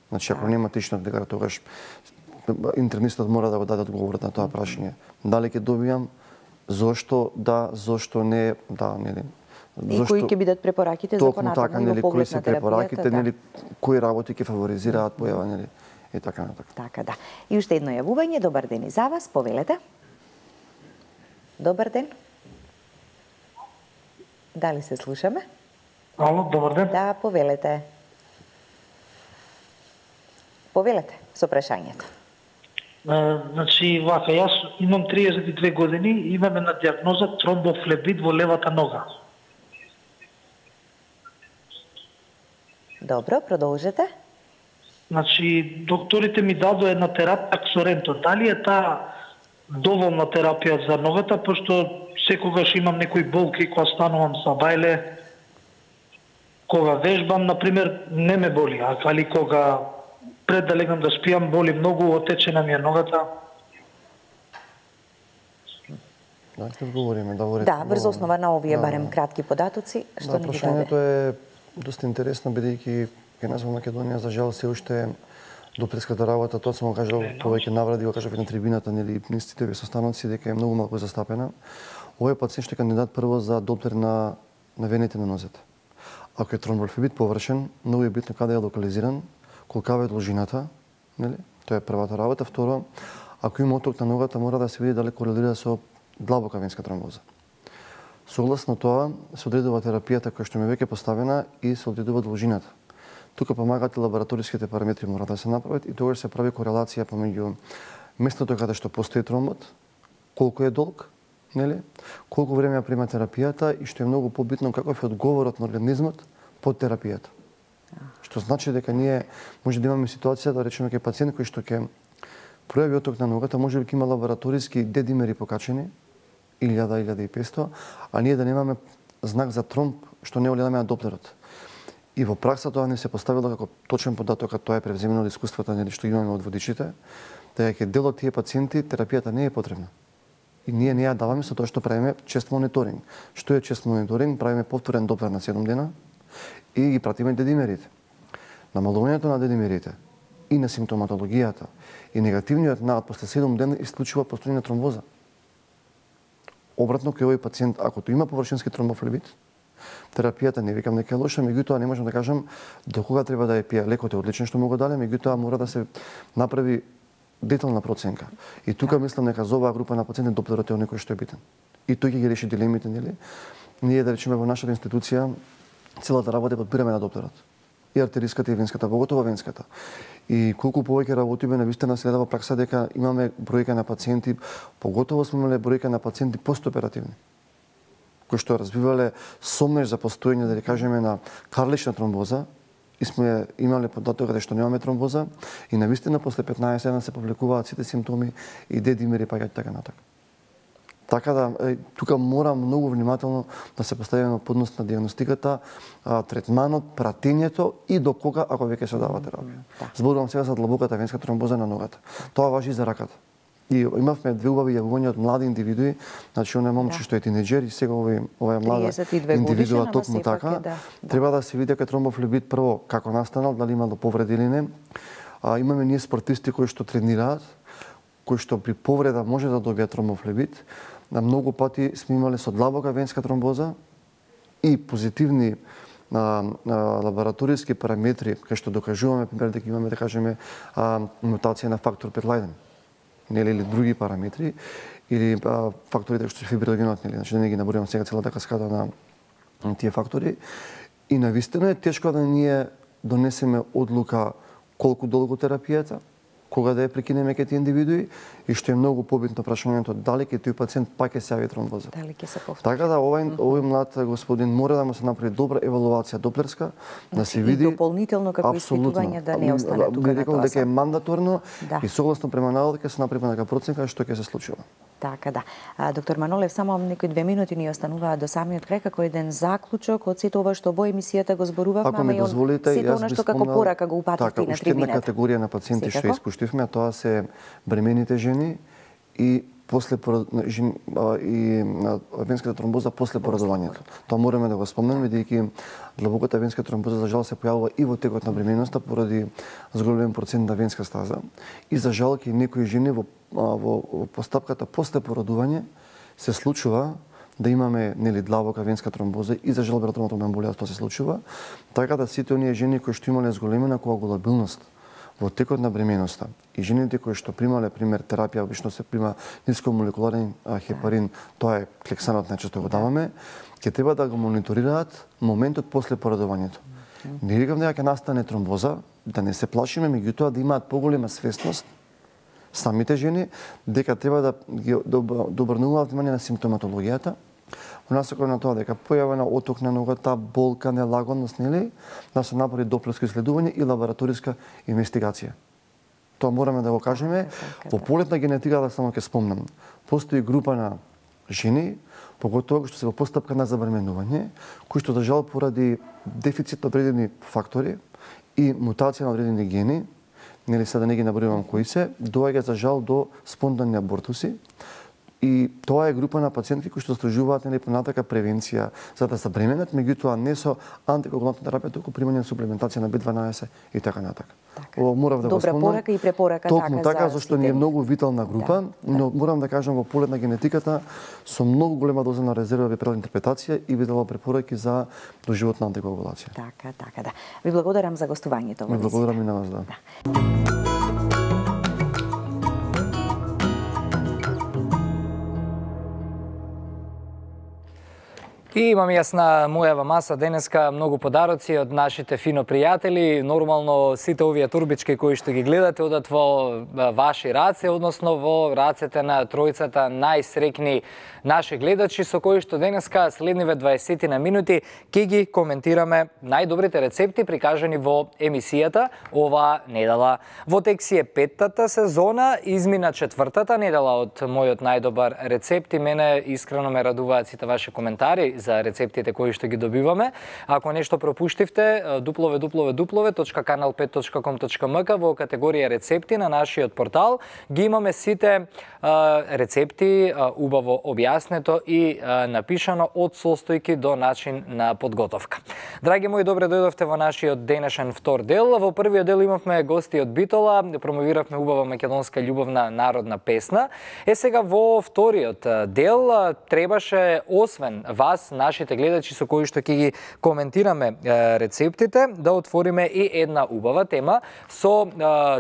Значи ако нема тичнат дека тогаш интернистот мора да го даде одговор на тоа прашање. Дали ќе добијам, зошто да, зошто не, да, нели. И кои ќе бидат препораките за понатаму така, нели, кои се препораките, нели, кои работи ќе фаворизираат појава, нели, и така натака. Така да. И уште едно јавување, добар ден и за вас, повелете. Добар ден. Дали се слушаме? Ало, добар ден. Да, повелете. Повелете со прашањето. Значи, вака, јас имам триесет и две години и имам една диагноза тромбофлебит во левата нога. Добро, продолжете. Значи, докторите ми дадоа една терапија ксоренто. Дали е таа доволна терапија за ногата, пошто секогаш имам некои болки кога станувам са бајле, кога вежбам, например, не ме боли, али кога пред да легнам да спијам, боли многу, отечена ми е ногата. Да, ќе одговориме, да говорите. Да, врз основа на овие барем кратки податоци, што ни ги даде. Прашањето е доста интересно, бидејќи кај нас во Македонија, за жал, се уште доплеската работа, тоа сум го кажал повеќе навради, го кажав и на трибината, нели, нистите ви состаноци, дека е многу малку застапена. Овој пациент што е кандидат прво за доплер на, на вените на нозете. Ако е тромбофлебит површен, многу е битно каде е локализиран, колкава е должината, нели? Тоа е првата работа. Второ, ако има оток на ногата, мора да се види дали корелира со длабока венска тромбоза. Согласно тоа, се одредува терапијата која што ми веќе поставена и се одредува должината. Тука помагаат и лабораториските параметри мора да се направат и тогаш се прави корелација помеѓу местото каде што постои тромбот, колку е долг, нели? Колку време ја прима терапијата и што е многу побитно каков е одговорот на организмот по терапијата. Што значи дека ние може да имаме ситуација да речеме кај пациент кој што ќе пројави оток на ногата, може би ќе има лабораториски дедимери покачени илјада илјада и петстотини, а ние да немаме знак за тромб што не оледаме на доплерот. И во пракса тоа не се поставило како точен податок, а тоа е превземено од искуствата нели што имаме од водичите, дека дел од тие пациенти терапијата не е потребна. И ние не ја даваме со тоа што правиме чест мониторинг. Што е чест мониторинг? Правиме повторен доплер на седум дена и ги пратиме дедимерите. Намалувањето на дедимерите и на симптоматологијата и негативниот наод после седум дена исклучува постојање на тромбоза. Обратно, кај овој пациент, ако тој има површински тромбофлебит, терапијата не викам дека е лоша, меѓутоа не можам да кажам до кога треба да ја пие. Лекот е одличен што му го даде, меѓутоа мора да се направи детална проценка. И тука мислам дека за оваа група на пациенти доплерот е некој што е битен. И тој ќе ги реши дилемите, нели? Ние да речеме во нашата институција целата работа подбираме на доплерот. и артериската и венската, поготово венската. И колку повеќе работиме, навистина се гледава пракса дека имаме бројка на пациенти, поготово сме имале бројка на пациенти постоперативни, кои што развивале сомнеж за постоење, да кажеме, на карлична тромбоза, и сме имале податок каде што немаме тромбоза, и навистина после петнаесет дена се повлекуваат сите симптоми и дедимери паѓаат така натака. Така да, е, тука мора многу внимателно да се постави на поднос на диагностиката, а, третманот, пратењето и до кога, ако веќе се дава терапија. Да. Зборувам сега за длабоката венска тромбоза на ногата. Тоа важи и за раката. И имавме две убави јавувања од млади индивидуи, значи оној момче да. што е тинеџер и сега овој ова млада индивидуа токму така. Да. Треба да се види дека тромбофлебит прво како настанал, дали има да повреди или не. А, имаме ние спортисти кои што тренираат, кои што при повреда може да добијат тромбофлебит. На многу пати сме имале со длабока венска тромбоза и позитивни а, а, лабораториски параметри, кај што докажуваме, пример, дека имаме, да кажеме, а, мутација на фактор пет лајден, нели, или други параметри, или а, факторите што се фибриногенот, нели, значи да не ги наборувам сега целата каскада на, на тие фактори. И навистина е тешко да ние донесеме одлука колку долго терапијата, кога да ја прекинеме кај тие индивидуи, и што е многу побитно прашањето дали ќе тој пациент пак ќе се јави тромбоза. Дали ќе се повтори. Така да овој mm -hmm. овој млад господин мора да му се направи добра евалуација доплерска, да се види и дополнително како испитување да не остане тука на тоа. Дека е мандаторно да. И согласно према наводот ќе се направи нека проценка што ќе се случува. Така да. А, доктор Манолев, само некои две минути ни остануваат до самиот крај како еден заклучок од сето ова што во емисијата го зборувавме, ако ми дозволите, сето она што како порака го упативте на трибината. Така, уште една категорија на пациенти што испуштивме, тоа се бремените жени и после жени, и венската тромбоза после породувањето. Тоа мораме да го спомнеме, бидејќи длабоката венска тромбоза за жал се појавува и во текот на бременоста поради зголемен процент на венска стаза. И за жал ке некои жени во, во, во постапката после породување се случува да имаме, нели, длабока венска тромбоза и за жал браторна тромбоемболија тоа се случува. Така да сите оние жени кои што имале зголемена коагулабилност во текот на бременоста и жените кои што примале, пример, терапија, обично се прима нискомолекуларен хепарин, тоа е клексанот, најчесто го даваме, ќе треба да го мониторираат моментот после породувањето. Не рекам дека ќе настане тромбоза, да не се плашиме, меѓутоа да имаат поголема свесност самите жени дека треба да ги да обрнуваат внимание на симптоматологијата, во насока на тоа дека појава на оток на ногата, болка, нелагодност, нели, да се направи доплерско исследување и лабораториска инвестигација. Тоа мораме да го кажеме. Во полетна генетика, да само ќе спомнам, постои група на жени, поготово кои што се во постапка на забременување, кои што за жал поради дефицит на одредени фактори и мутација на одредени гени, нели сега да не ги набројувам кои се, доаѓа за жал до спонтанни абортуси. И тоа е група на пациенти кои што стражуваат, нели, понатака превенција за да забременат, меѓутоа не со антикоагулантна терапија, туку примање на суплементација на би дванаесет и така натака. Така. Ова морав да го спомнам. Добра порака и препорака Токму така, така за зашто ни е многу витална група, да, но да. Морам да кажам во полет на генетиката со многу голема доза на резерва би правил интерпретација и би дала препораки за доживотна антикоагулација. Така, така, да. Ви благодарам за гостувањето. Ви благодарам и на вас, да. да. И имам јас на мојава маса денеска многу подароци од нашите фино пријатели. Нормално сите овие турбички кои што ги гледате одат во ваши раце, односно во рацете на тројцата најсрекни наши гледачи со кои што денеска следниве дваесет на минути ќе ги коментираме најдобрите рецепти прикажани во емисијата ова недела. Во тек си е петтата сезона, измина четвртата недела од мојот најдобар рецепт и мене искрено ме радуваат сите ваши коментари за рецептите кои што ги добиваме. Ако нешто пропуштивте, дабл ю дабл ю дабл ю точка канал пет точка ком точка ем ка во категорија рецепти на нашиот портал ги имаме сите а, рецепти а, убаво објаснето и а, напишано од состојки до начин на подготовка. Драги мои, добре дојдовте во нашиот денешен втор дел. Во првиот дел имавме гости од Битола, промовиравме убава македонска љубовна народна песна. Е сега во вториот дел требаше освен вас нашите гледачи со кои што ќе ги коментираме рецептите, да отвориме и една убава тема со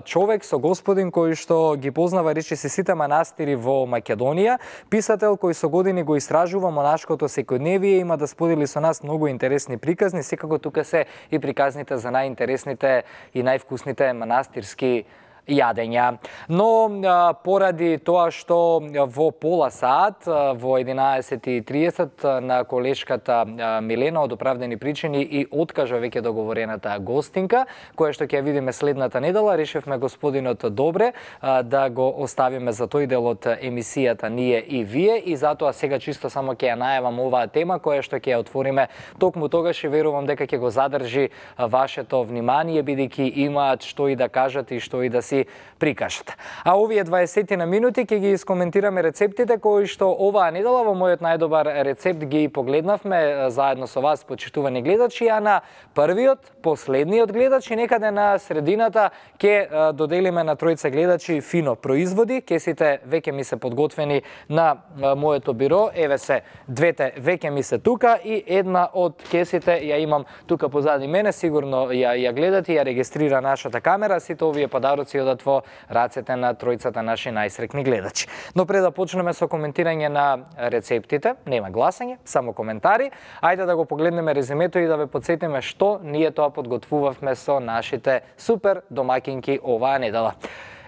човек, со господин кој што ги познава речиси сите манастири во Македонија, писател кој со години го истражува монашкото секојдневие, има да сподели со нас многу интересни приказни, секако тука се и приказните за најинтересните и највкусните манастирски јадења. Но а, поради тоа што во пола саат, во единаесет и тридесет на колешката а, Милена од оправдани причини и откажа веќе договорената гостинка, која што ќе ја видиме следната недела, решивме господинот Добре а, да го оставиме за тој дел од емисијата Ние и Вие, и затоа сега чисто само ќе ја најавам оваа тема која што ќе ја отвориме токму тогаш, и верувам дека ќе го задржи вашето внимание, бидејќи имаат што и да кажат и што и да си прикажат. А овие дваесет на минути ќе ги искоментираме рецептите кои што оваа недела во мојот најдобар рецепт ги погледнавме заедно со вас, почитувани гледачи, а на првиот, последниот гледач и некаде на средината ќе доделиме на тројца гледачи фино производи. Кесите веќе ми се подготвени на моето биро, еве се двете веќе ми се тука и една од кесите ја имам тука позади мене, сигурно ја, ја гледате, ја регистрира нашата камера, сите овие подароци одат во рацете на тројцата наши најсрекни гледачи. Но пред да почнеме со коментирање на рецептите, нема гласање, само коментари, ајде да го погледнеме резимето и да ве подсетиме што ние тоа подготвувавме со нашите супер домакинки оваа недела.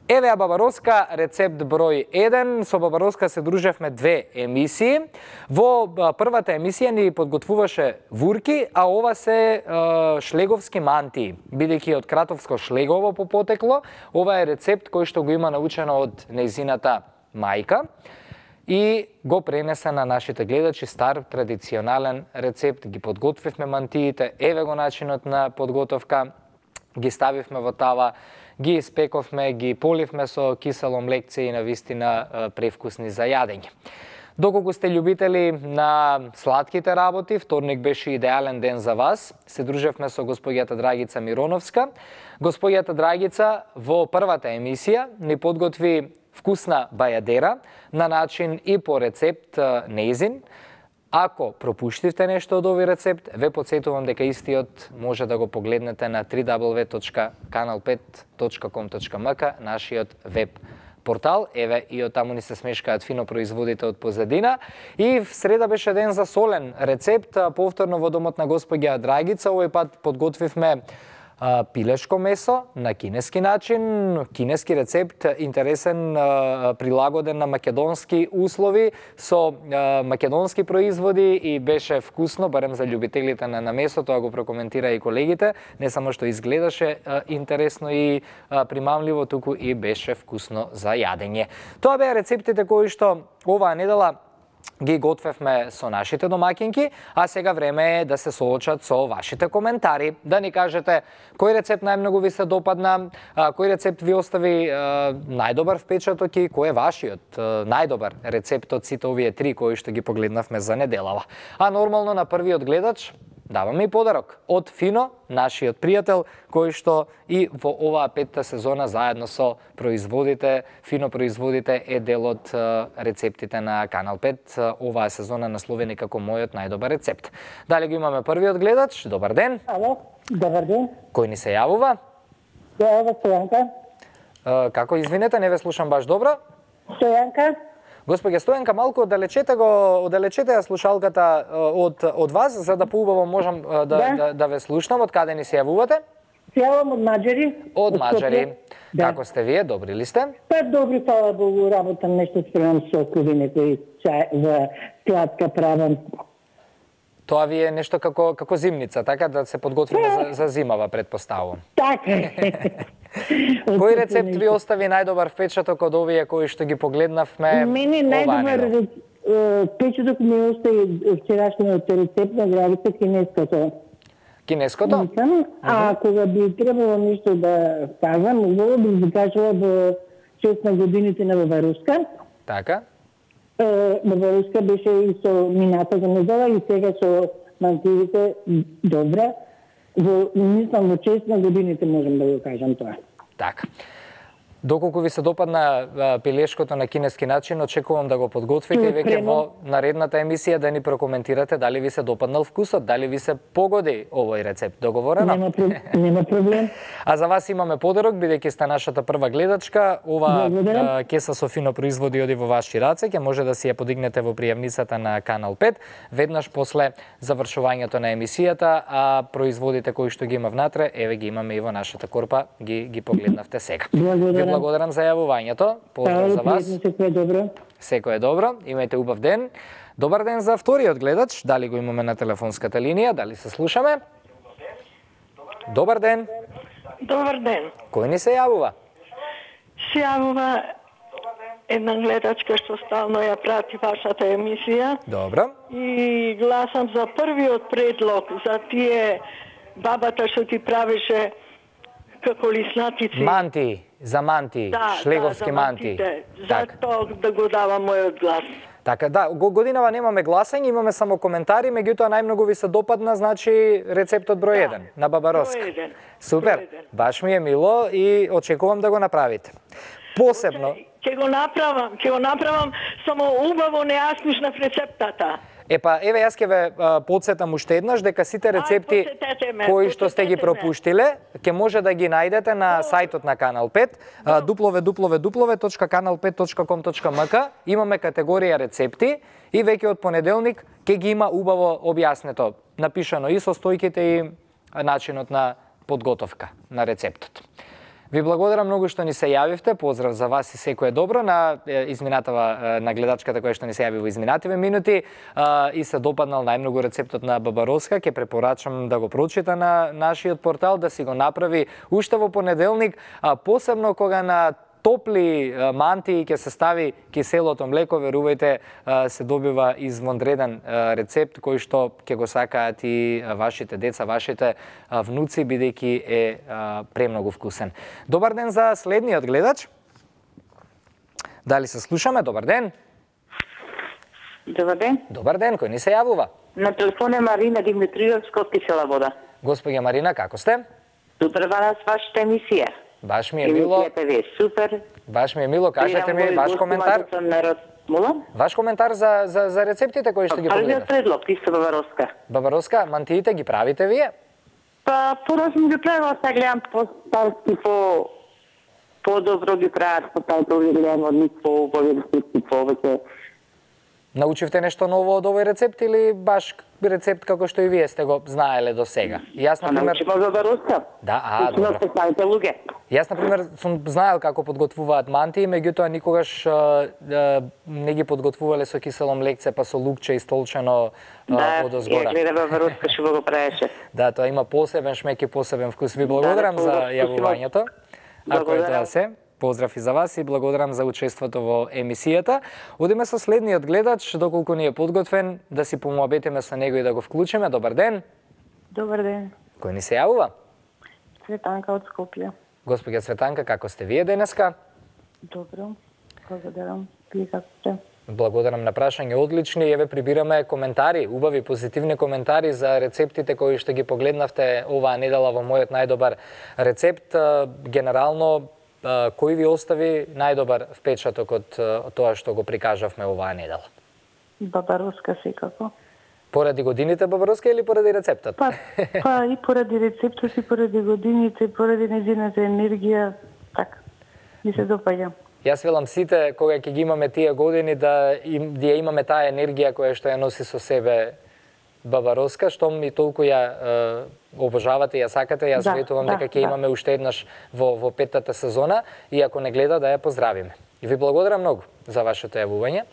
Еве ја Бабароска, рецепт број еден. Со Бабароска се дружевме две емисии. Во првата емисија ни подготвуваше вурки, а ова се е, шлеговски мантии. Бидејќи од кратовско шлегово по потекло, ова е рецепт кој што го има научено од нејзината мајка и го пренесе на нашите гледачи, стар традиционален рецепт. Ги подготвивме мантиите, еве го начинот на подготовка, ги ставивме во тава, ги испековме, ги поливме со кисело млекце и навистина превкусни за јадење. Доколку сте љубители на сладките работи, вторник беше идеален ден за вас. Се дружевме со госпоѓата Драгица Мироновска. Госпоѓата Драгица во првата емисија ни подготви вкусна бајадера на начин и по рецепт нејзин. Ако пропуштивте нешто од овој рецепт, ве подсетувам дека истиот може да го погледнете на дабл ю дабл ю дабл ю точка канал пет точка ком точка ем ка, нашиот веб портал. Еве и од таму ни се смешкаат фино производите од позадина. И в среда беше ден за солен рецепт, повторно во домот на господја Драгица. Овој пат подготвивме пилешко месо на кинески начин, кинески рецепт, интересен, прилагоден на македонски услови, со македонски производи и беше вкусно, барем за љубителите на, на месо, тоа го прокоментира и колегите, не само што изгледаше интересно и примамливо, туку и беше вкусно за јадење. Тоа беа рецептите кои што оваа недела ги готвевме со нашите домакинки, а сега време е да се соочат со вашите коментари, да ни кажете кој рецепт најмногу ви се допадна, кој рецепт ви остави најдобар впечаток и кој е вашиот најдобар рецепт од сите овие три кои што ги погледнавме за неделава. А нормално на првиот гледач даваме и подарок од Фино, нашиот пријател, кој што и во оваа петта сезона заедно со производите, Фино производите е дел од рецептите на Канал пет, оваа сезона насловени како мојот најдобар рецепт. Дали го имаме првиот гледач? Добар ден. Ало, добар ден. Кој ни се јавува? Ја, Стојанка. Како, извинете, не ве слушам баш добро? Стојанка. Господја Стојанка, малку оддалечете го, оддалечете ја слушалката од од вас, за да поубаво можам да, да. да да ве слушнам. Од каде ни се јавувате? Се јавувам од Маџари. Од Маџари. Да. Како сте вие? Добри ли сте? Па добри, фала Богу, работам нешто спремам сокови, некои чај за сладка правам. Тоа ви е нешто како како зимница, така да се подготвиме за, за зимава, предпоставувам. Така. Кој рецепт ви остави најдобар впечаток од овие кои што ги погледнавме? Мене најдобар впечаток ми остави вчерашниот рецепт на Драгица, кинеското. Кинеското? А кога би требало нешто да кажам, убаво би ви кажала во шест на годините на Бабароска. Така. Бабароска беше и со мината за недела и сега со мантиите добра. Во, мислам, во шест на годините можам да го кажам тоа. Така. Доколку ви се допадна а, пилешкото на кинески начин, очекувам да го подготвите и веќе во наредната емисија да ни прокоментирате дали ви се допаднал вкусот, дали ви се погоди овој рецепт. Договорено? Нема, нема проблем. А за вас имаме подарок, бидејќи сте нашата прва гледачка. Ова а, кеса со фино производи оди во ваши раце, ќе може да си ја подигнете во пријавницата на Канал пет, веднаш после завршувањето на емисијата, а производите кои што ги има внатре, еве ги имаме и во нашата корпа, ги ги погледнавте сега. Ви благодарам за јавувањето. Поздрав за вас. Секој е добро. Секој е добро. Имајте убав ден. Добар ден за вториот гледач. Дали го имаме на телефонската линија? Дали се слушаме? Добар ден. Добар ден. Кој ни се јавува? Се јавува една гледачка што стално ја прати вашата емисија. Добро. И гласам за првиот предлог за тие бабата што ти правеше како лиснатици. Манти, за манти, да, шлеговски да, за манти. За тоа да го давам мојот глас. Така, да, годинава немаме гласање, имаме само коментари, меѓутоа најмногу ви се допадна, значи, рецептот број еден да, на Баба Роска. Број еден. Супер, број еден. Баш ми е мило и очекувам да го направите. Посебно... Ќе го направам, ќе го направам, само убаво не ја слушнав рецептата. Епа, еве јас ќе ве подсетам уште еднаш дека сите рецепти ме, кои што сте ги пропуштиле, ќе може да ги најдете на сајтот на Канал пет, дабл ю дабл ю дабл ю точка канал пет точка ком точка ем ка. Имаме категорија рецепти и веќе од понеделник ќе ги има убаво објаснето, напишано и состојките и начинот на подготовка на рецептот. Ви благодарам многу што ни се јавивте. Поздрав за вас и секое добро на изминатава на гледачката која што ни се јави во изминативе минути и се допаднал најмногу рецептот на Баба Роска. Ќе препорачам да го прочита на нашиот портал, да си го направи уште во понеделник, а посебно кога на топли манти ќе се стави киселото млеко, верувајте, се добива извонреден рецепт кој што ќе го сакаат и вашите деца, вашите внуци, бидејќи е премногу вкусен. Добар ден за следниот гледач. Дали се слушаме? Добар ден. Добар ден. Добар ден, кој ни се јавува? На телефон е Марина Димитриевска од Кисела вода. Господја Марина, како сте? Супер, вас вашата емисија. Баш ми е мило. Емисијата ви е супер. Баш ми е мило, кажете ми ваш коментар. Ваш коментар за за за рецептите кои што ги погледнав. Првиот предлог, исто Баба Роска. Баба Роска, мантиите ги правите вие? Па, пораз ми ги правила, сега гледам по-старски, по по-добро ги прават, по тајто ги гледам од нив по-убави рецепти, повеќе. Научивте нешто ново од овој рецепт или баш рецепт како што и вие сте го знаеле до сега? Јас на пример научима за Бароска. Да, а, добро. Јас на пример сум знаел како подготвуваат манти, меѓутоа никогаш а, а, не ги подготвувале со кисело млекце, па со лукче истолчено да, одозгора. Да, ја гледам Бароска што го правеше. Да, тоа има посебен шмек и посебен вкус. Ви благодарам да, за јавувањето. Ако е тоа се. Поздрав и за вас и благодарам за учеството во емисијата. Одиме со следниот гледач, доколку ни е подготвен, да си помуабетиме со него и да го вклучиме. Добар ден. Добар ден. Кој ни се јавува? Цветанка од Скопје. Господја Цветанка, како сте вие денеска? Добро, благодарам. Вие како сте? Благодарам на прашање, одлични. Еве прибираме коментари, убави, позитивни коментари за рецептите кои што ги погледнавте оваа недела во мојот најдобар рецепт. Генерално, кој ви остави најдобар впечаток од тоа што го прикажавме оваа недела? Баба Роска секако. Поради годините Баба Роска или поради рецептот? Па, па и поради рецептот, и поради годините, и поради нејзината енергија, така, ми се допаѓа. Јас велам сите, кога ќе ги имаме тие години, да, им, да имаме таа енергија која што ја носи со себе Баба Роска, што ми толку ја е, обожавате, ја сакате, јас да, ветувам да, дека ќе да. имаме уште еднаш во, во петтата сезона и ако не гледа да ја поздравиме. И ви благодарам многу за вашето јавување,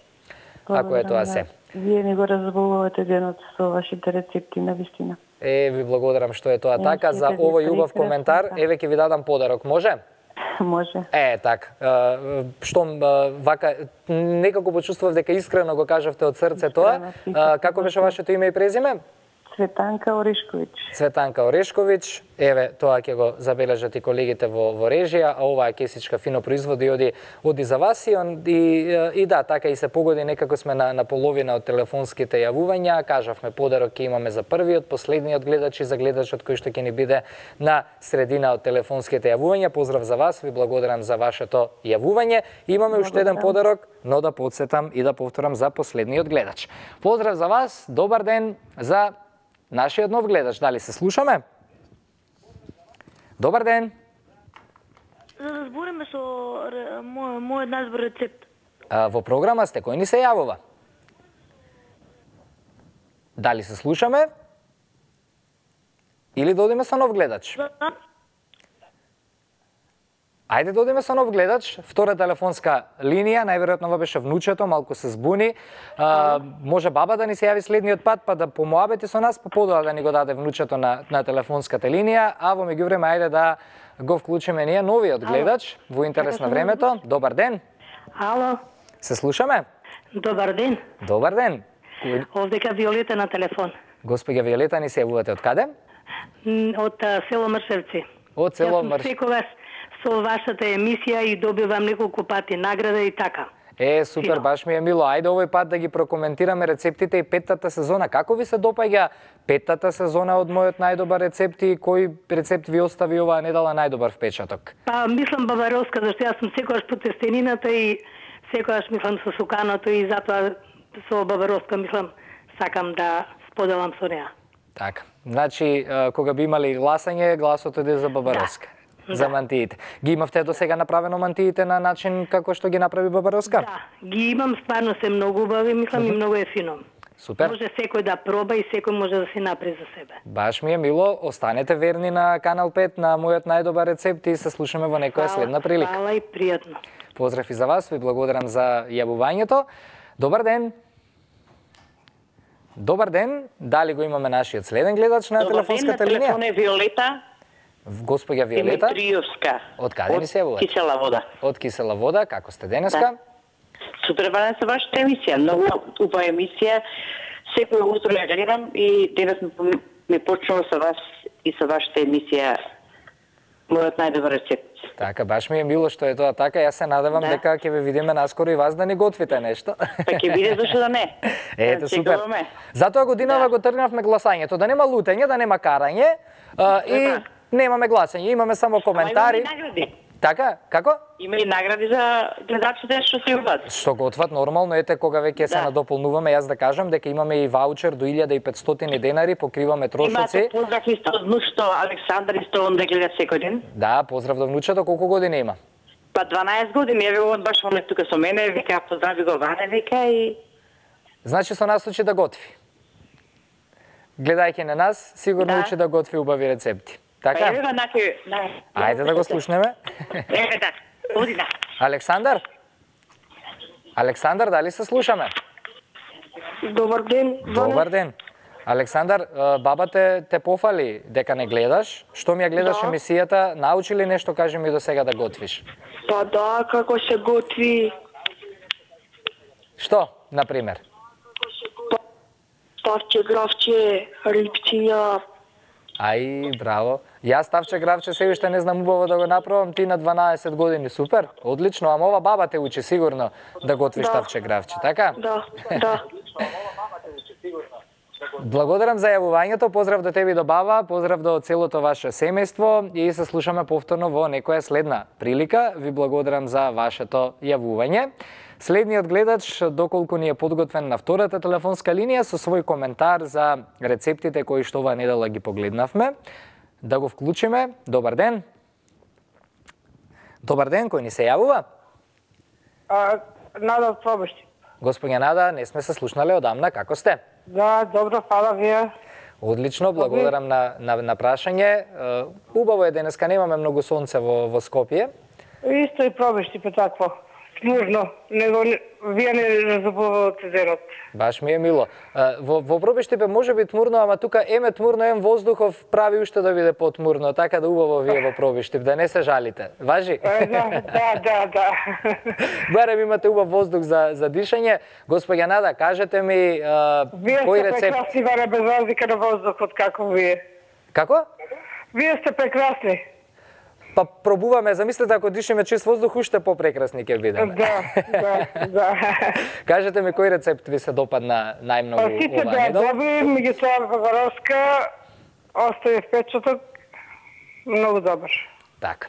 ако е тоа се. Вие не го разбавувате денот со вашите рецепти, на вистина. Е, ви благодарам што е тоа така. За овој убав коментар, еве ќе ви дадам подарок, може? Може. Е, така. Што вака некако почувствував дека искрено го кажавте од срце тоа. Како беше вашето име и презиме? Цветанка Орешковиќ. Цветанка Орешковиќ, еве, тоа ќе го забележат и колегите во, во режија, а оваа кесичка фино производи оди, оди за вас и, он, и, и да, така и се погоди, некако сме на, на половина од телефонските јавувања, кажавме подарок ќе имаме за првиот, последниот гледач и за гледачот кој што ќе ни биде на средина од телефонските јавувања. Поздрав за вас, ви благодарам за вашето јавување. Имаме уште еден подарок, но да подсетам и да повторам за последниот гледач. Поздрав за вас, добар ден за нашиот нов гледач. Дали се слушаме? Добар ден. За да збориме со мој, мојот најдобар рецепт. А, во програма сте, кој ни се јавува? Дали се слушаме? Или додиме со нов гледач? Ајде да одиме со нов гледач, втора телефонска линија, најверојатно ова беше внучето, малку се збуни. А, може баба да ни се јави следниот пат, па да помоабети со нас, па подоа да ни го даде внучето на, на телефонската линија, а во меѓувреме ајде да го вклучиме ние новиот гледач во интерес на времето. Добар ден. Ало. Се слушаме? Добар ден. Добар ден. Овдека Виолета на телефон. Господја Виолета, ни се јавувате од каде? Од село Мршевци. Од село Мршевци. Мрш... Секогаш со вашата емисија и добивам неколку пати награда и така. Е, супер, баш ми е мило. Ајде овој пат да ги прокоментираме рецептите и петтата сезона. Како ви се допаѓа петтата сезона од мојот најдобар рецепт и кој рецепт ви остави оваа недела најдобар впечаток? Па, мислам баваровска, зашто јас сум секогаш по тестенината и секогаш мислам со суканото и затоа со баваровска мислам сакам да споделам со неа. Така. Значи, кога би имали гласање, гласот иде за баваровска. Да. За мантиите. Ги имавте до сега направено мантиите на начин како што ги направи Бабаровска? Да, ги имам, стварно се многу убави, мислам uh -huh. и многу е фино. Супер. Може секој да проба и секој може да си направи за себе. Баш ми е мило, останете верни на Канал пет на мојот најдобар рецепт и се слушаме во некоја следна прилика. Фала и пријатно. Поздрав и за вас, ви благодарам за јавувањето. Добар ден. Добар ден, дали го имаме нашиот следен гледач на телефонската линија? Добар ден, на телефон е Виолета. Госпоѓа Виолета. Димитриевска. Од каде ни се јавувате? Од Кисела вода. Од Кисела вода, како сте денеска? Да. Супер, бана се вашата емисија, многу убава емисија. Секој утро ја гледам и денес ми почнува со вас и со вашата емисија мојот најдобар рецепт. Така, баш ми е мило што е тоа така. Јас се надевам да. дека ќе ве видиме наскоро и вас да ни готвите нешто. Па ќе биде, зашто да не. Ете, супер. Затоа годинава да. го тргнавме гласањето, да нема лутење, да нема карање а, и немаме гласање, имаме само коментари. Ама имаме награди. Така, како? Има и награди за гледачите што се јават. Што го отват нормално, ете кога веќе да. се надополнуваме, јас да кажам дека имаме и ваучер до илјада и петстотини денари, покриваме трошоци. Имате поздрав исто од внучето Александар исто он да гледа секој ден. Да, поздрав до внучето, колку години има? Па дванаесет години, еве он баш он е тука со мене, вика поздрави го Ване, вика и значи со нас учи да готви. Гледајќи на нас, сигурно да. учи да готви убави рецепти. Така? Па еве го наки, на. Ајде да го слушнеме. Еве така. Оди на. Александар? Александар, дали се слушаме? Добар ден. Добар ден. Александар, баба те, те пофали дека не гледаш. Што ми ја гледаш да. емисијата, научи ли нешто, кажи ми до сега да готвиш? Па да, како се готви. Што, например? Ставче, гравче, рибчиња. Ај, браво. Јас ставче гравче се уште не знам убаво да го направам, ти на дванаесет години, супер, одлично, ама ова баба те учи сигурно да готвиш да. ставче гравче, така? Да, да. Благодарам за јавувањето, поздрав до тебе и до баба, поздрав до целото ваше семејство и се слушаме повторно во некоја следна прилика. Ви благодарам за вашето јавување. Следниот гледач, доколку ни е подготвен на втората телефонска линија со свој коментар за рецептите кои што оваа недела ги погледнавме. Да го вклучиме. Добар ден. Добар ден, кој ни се јавува? А, Нада Пробашти. Господја Нада, не сме се слушнале одамна, како сте? Да, добро, фала вие. Одлично, благодарам на, на, на прашање. Убаво е денеска, немаме многу сонце во, во Скопје. Исто и Пробашти, па такво. тмурно, него вие не разубавате денот. Баш ми е мило. Во, во Пробиштипе може би тмурно, ама тука еме тмурно, ем воздухов прави уште да биде потмурно, така да убаво вие во Пробиштип, да не се жалите. Важи? Да, да, да, да. Барем имате убав воздух за, за дишање. Господја Нада, кажете ми а, вие кој сте рецепт... прекрасни, Варе, без разлика на воздухот, како вие. Како? Вие сте прекрасни. Па пробуваме, замислете ако дишеме чист воздух, уште попрекрасни ќе бидеме. Да, да, да. Кажете ми кој рецепт ви се допадна најмногу Па сите оваа беа недела? добри, меѓутоа Бабаровска остави впечаток многу добар. Така.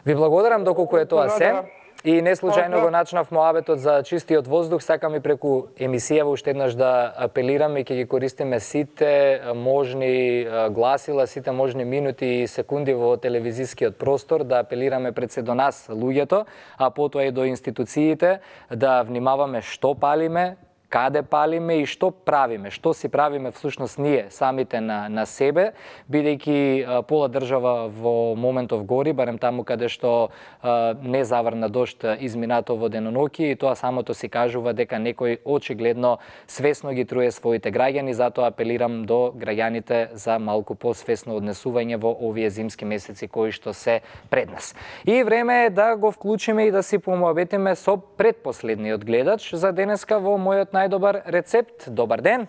Ви благодарам доколку е тоа се. И не случајно го начнав моабетот за чистиот воздух, сакам и преку емисијава уште еднаш да апелирам и ќе ги користиме сите можни гласила, сите можни минути и секунди во телевизискиот простор, да апелираме пред се до нас, луѓето, а потоа и до институциите, да внимаваме што палиме, каде палиме и што правиме, што си правиме всушност ние самите на, на себе, бидејќи пола држава во моментов гори, барем таму каде што а, не заврна дожд изминато во деноноќи, и тоа самото си кажува дека некој очигледно свесно ги труе своите граѓани, затоа апелирам до граѓаните за малку посвесно однесување во овие зимски месеци кои што се пред нас. И време е да го вклучиме и да си помоабетиме со предпоследниот гледач за денеска во мојот најдобар рецепт. Добар ден.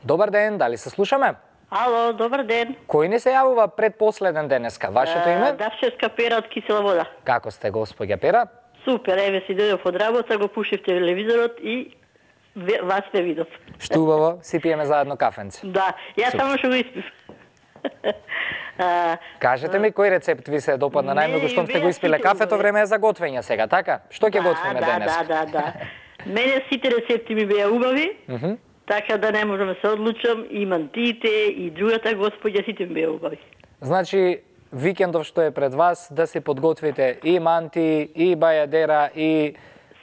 Добар ден, дали се слушаме? Ало, добар ден. Кој ни се јавува предпоследен денеска? Вашето име? Давчевска Пера од Кисела вода. Како сте, господја Пера? Супер, еве си дојдов од работа, го пушив телевизорот и вас ве видов. Што убаво, си пиеме заедно кафенце. Да, јас само што го испив. Кажете ми кој рецепт ви се допадна најмногу, штом сте го испиле кафето, време е за готвење сега, така? Што ќе готвиме денес? Да, да, да. Мене сите рецепти ми беа убави, така да не можам да се одлучам, и мантиите, и другата господја, сите ми беа убави. Значи, викендов што е пред вас, да се подготвите и манти, и бајадера, и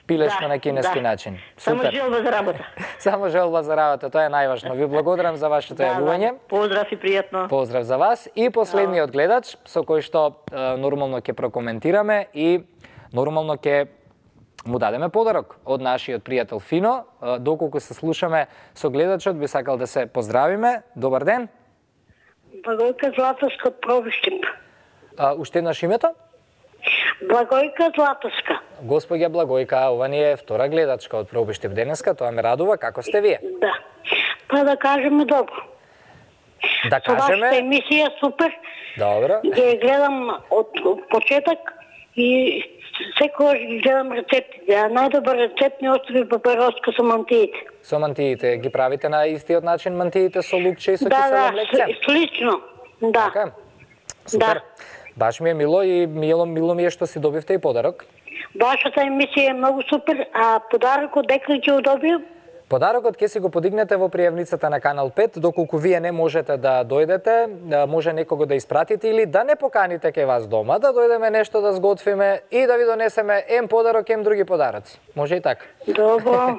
пилешко да, на кинески да. начин. Супер. Само желба за работа. Само желба за работа, тоа е најважно. Ви благодарам за вашето да, јавување. Да. Поздрав и пријатно. Поздрав за вас. И последниот гледач, со кој што е, нормално ќе прокоментираме и нормално ќе му дадеме подарок од нашиот пријател Фино. Е, доколку се слушаме со гледачот, би сакал да се поздравиме. Добар ден. Благојка Златовска од Пробиштип. А, уште еднаш името? Благојка Златовска. Господја Благојка, ова ни е втора гледачка од Пробиштип денеска, тоа ме радува. Како сте вие? Да. Па да кажеме добро. Да кажеме... Вашата емисија супер. Добро. Ја гледам од почеток и секогаш ги гледам рецептите. А најдобар рецепт ми остави папероска со мантиите. Со мантиите ги правите на истиот начин мантиите со лукче и со да, кисело да, млекце? Да, слично. Да. Така? Супер. Да. Баш ми е мило и мило, мило ми е што си добивте и подарок. Вашата емисија е многу супер, а подарокот дека ќе го добијам? Подарокот ќе си го подигнете во пријавницата на Канал пет, доколку вие не можете да дојдете, може некого да испратите или да не поканите кај вас дома, да дојдеме нешто да сготвиме и да ви донесеме ем подарок, ем други подароци. Може и така. Добро.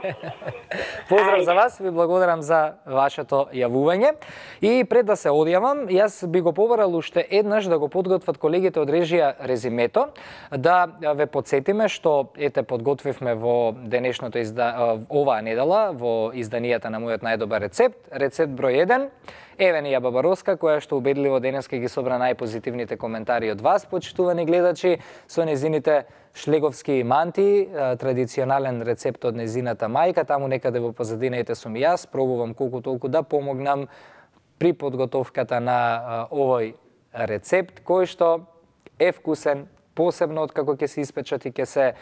Поздрав за вас, ви благодарам за вашето јавување. И пред да се одјавам, јас би го побарал уште еднаш да го подготват колегите од режија резимето, да ве подсетиме што ете подготвивме во денешното изда... оваа недела во изданијата на мојот најдобар рецепт, рецепт број еден. Еве ни ја Бабаровска, која што убедливо денеска ги собра најпозитивните коментари од вас, почитувани гледачи, со незините шлеговски манти, традиционален рецепт од незината мајка. Таму некаде во позадината сум и јас, пробувам колку толку да помогнам при подготовката на овој рецепт, кој што е вкусен, посебно од како ќе се испечат и ќе се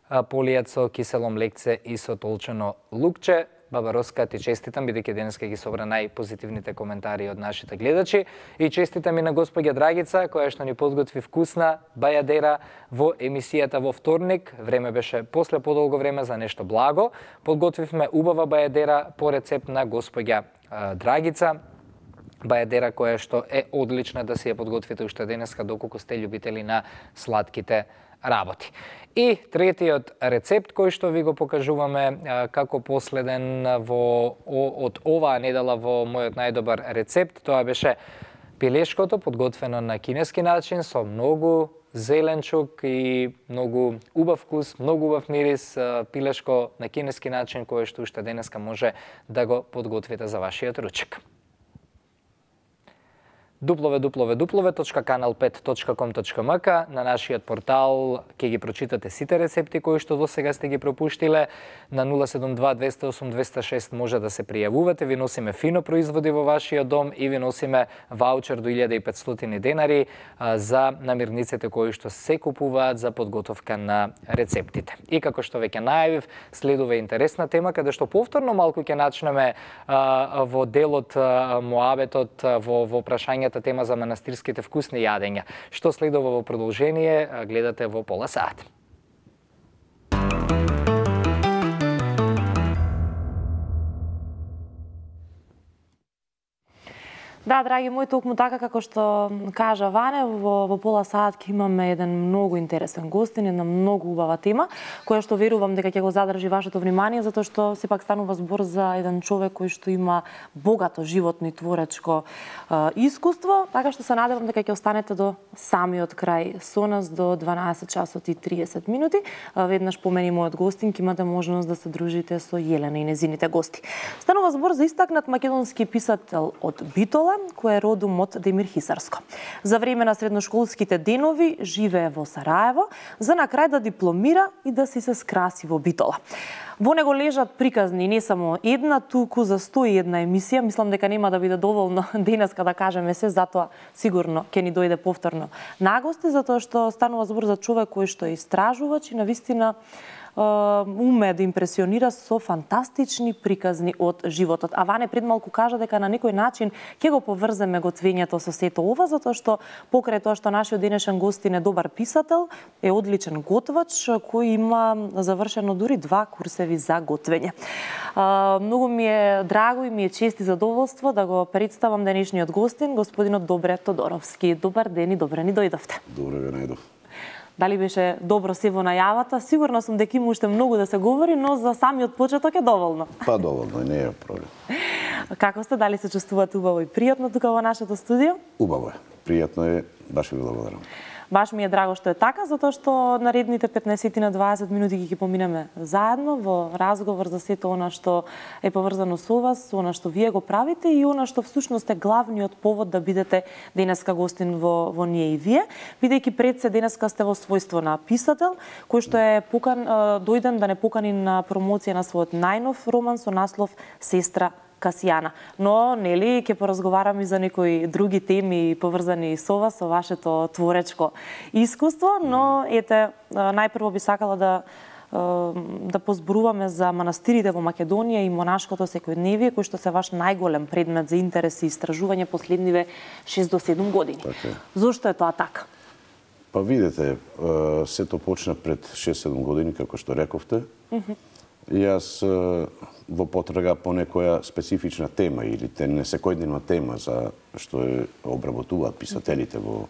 полијат со кисело млекце и со толчено лукче. Бабаровска, ти честитам, бидејќи денеска ги собра најпозитивните коментари од нашите гледачи. И честитам и на господја Драгица, која што ни подготви вкусна бајадера во емисијата во вторник. Време беше после подолго време за нешто благо. Подготвивме убава бајадера по рецепт на господја Драгица. Бајадера која што е одлична да си ја подготвите уште денеска, доколку сте љубители на сладките работи. И третиот рецепт кој што ви го покажуваме како последен во, од оваа недела во мојот најдобар рецепт, тоа беше пилешкото, подготвено на кинески начин, со многу зеленчук и многу убав вкус, многу убав мирис, пилешко на кинески начин, кое што уште денеска може да го подготвите за вашиот ручек. дабл ю дабл ю дабл ю точка канал пет точка ком точка ем ка. На нашиот портал ќе ги прочитате сите рецепти кои што до сега сте ги пропуштиле. На нула седум два двеста и осум двеста и шест може да се пријавувате. Ви носиме фино производи во вашиот дом и ви носиме ваучер до илјада и петстотини денари за намирниците кои што се купуваат за подготовка на рецептите. И како што веќе најавив, следува интересна тема каде што повторно малку ќе начнеме а, во делот а, моабетот во во прашањето тема за манастирските вкусни јадења. Што следува во продолжение, гледате во пола сат. Да, драги мои, токму така како што кажа Ване, во, во пола сат ќе имаме еден многу интересен гостин, една многу убава тема, која што верувам дека ќе го задржи вашето внимание, затоа што сепак станува збор за еден човек кој што има богато животно и творечко е, искуство, така што се надевам дека ќе останете до самиот крај со нас до дванаесет часот и триесет минути. Веднаш по мене мојот гостин ќе имате можност да се дружите со Јелена и незините гости. Станува збор за истакнат македонски писател од Битола, кој е родом од Демир Хисарско. За време на средношколските денови живее во Сараево, за на крај да дипломира и да си се скраси во Битола. Во него лежат приказни не само една, туку за сто и една емисија. Мислам дека нема да биде доволно денеска да кажеме се, затоа сигурно ќе ни дојде повторно на гости, затоа што станува збор за човек кој што е истражувач и навистина уме да импресионира со фантастични приказни од животот. А Ване пред малку кажа дека на некој начин ќе го поврземе готвењето со сето ова, затоа што покрај тоа што нашиот денешен гостин е добар писател, е одличен готвач кој има завршено дури два курсеви за готвење. Многу ми е драго и ми е чест и задоволство да го представам денешниот гостин, господинот Добре Тодоровски. Добар ден и добре ни дојдовте. Добре ве најдов. Дали беше добро се во најавата? Сигурно сум дека има уште многу да се говори, но за самиот почеток е доволно. Па доволно, не е проблем. Како сте? Дали се чувствувате убаво и пријатно тука во нашето студио? Убаво е. Пријатно е. Баш ви благодарам. Баш ми е драго што е така, затоа што наредните петнаесет на дваесет минути ги поминеме заедно во разговор за сето она што е поврзано со вас, со она што вие го правите и она што всушност е главниот повод да бидете денеска гостин во, во ние и вие, бидејќи пред се денеска сте во својство на писател, кој што е покан, дојден да не покани на промоција на својот најнов роман со наслов Сестра Касијана. Но, нели, ќе поразговарам и за некои други теми поврзани со вас, со вашето творечко искуство, но ете, најпрво би сакала да да позборуваме за манастирите во Македонија и монашкото секојдневие, кој што се ваш најголем предмет за интерес и истражување последниве шест до седум години. Така. Зошто е тоа така? Па видете, сето почна пред шест-седум години, како што рековте. Mm-hmm. Јас во потрага по некоја специфична тема или те несекојдневна тема за што е обработуваат писателите во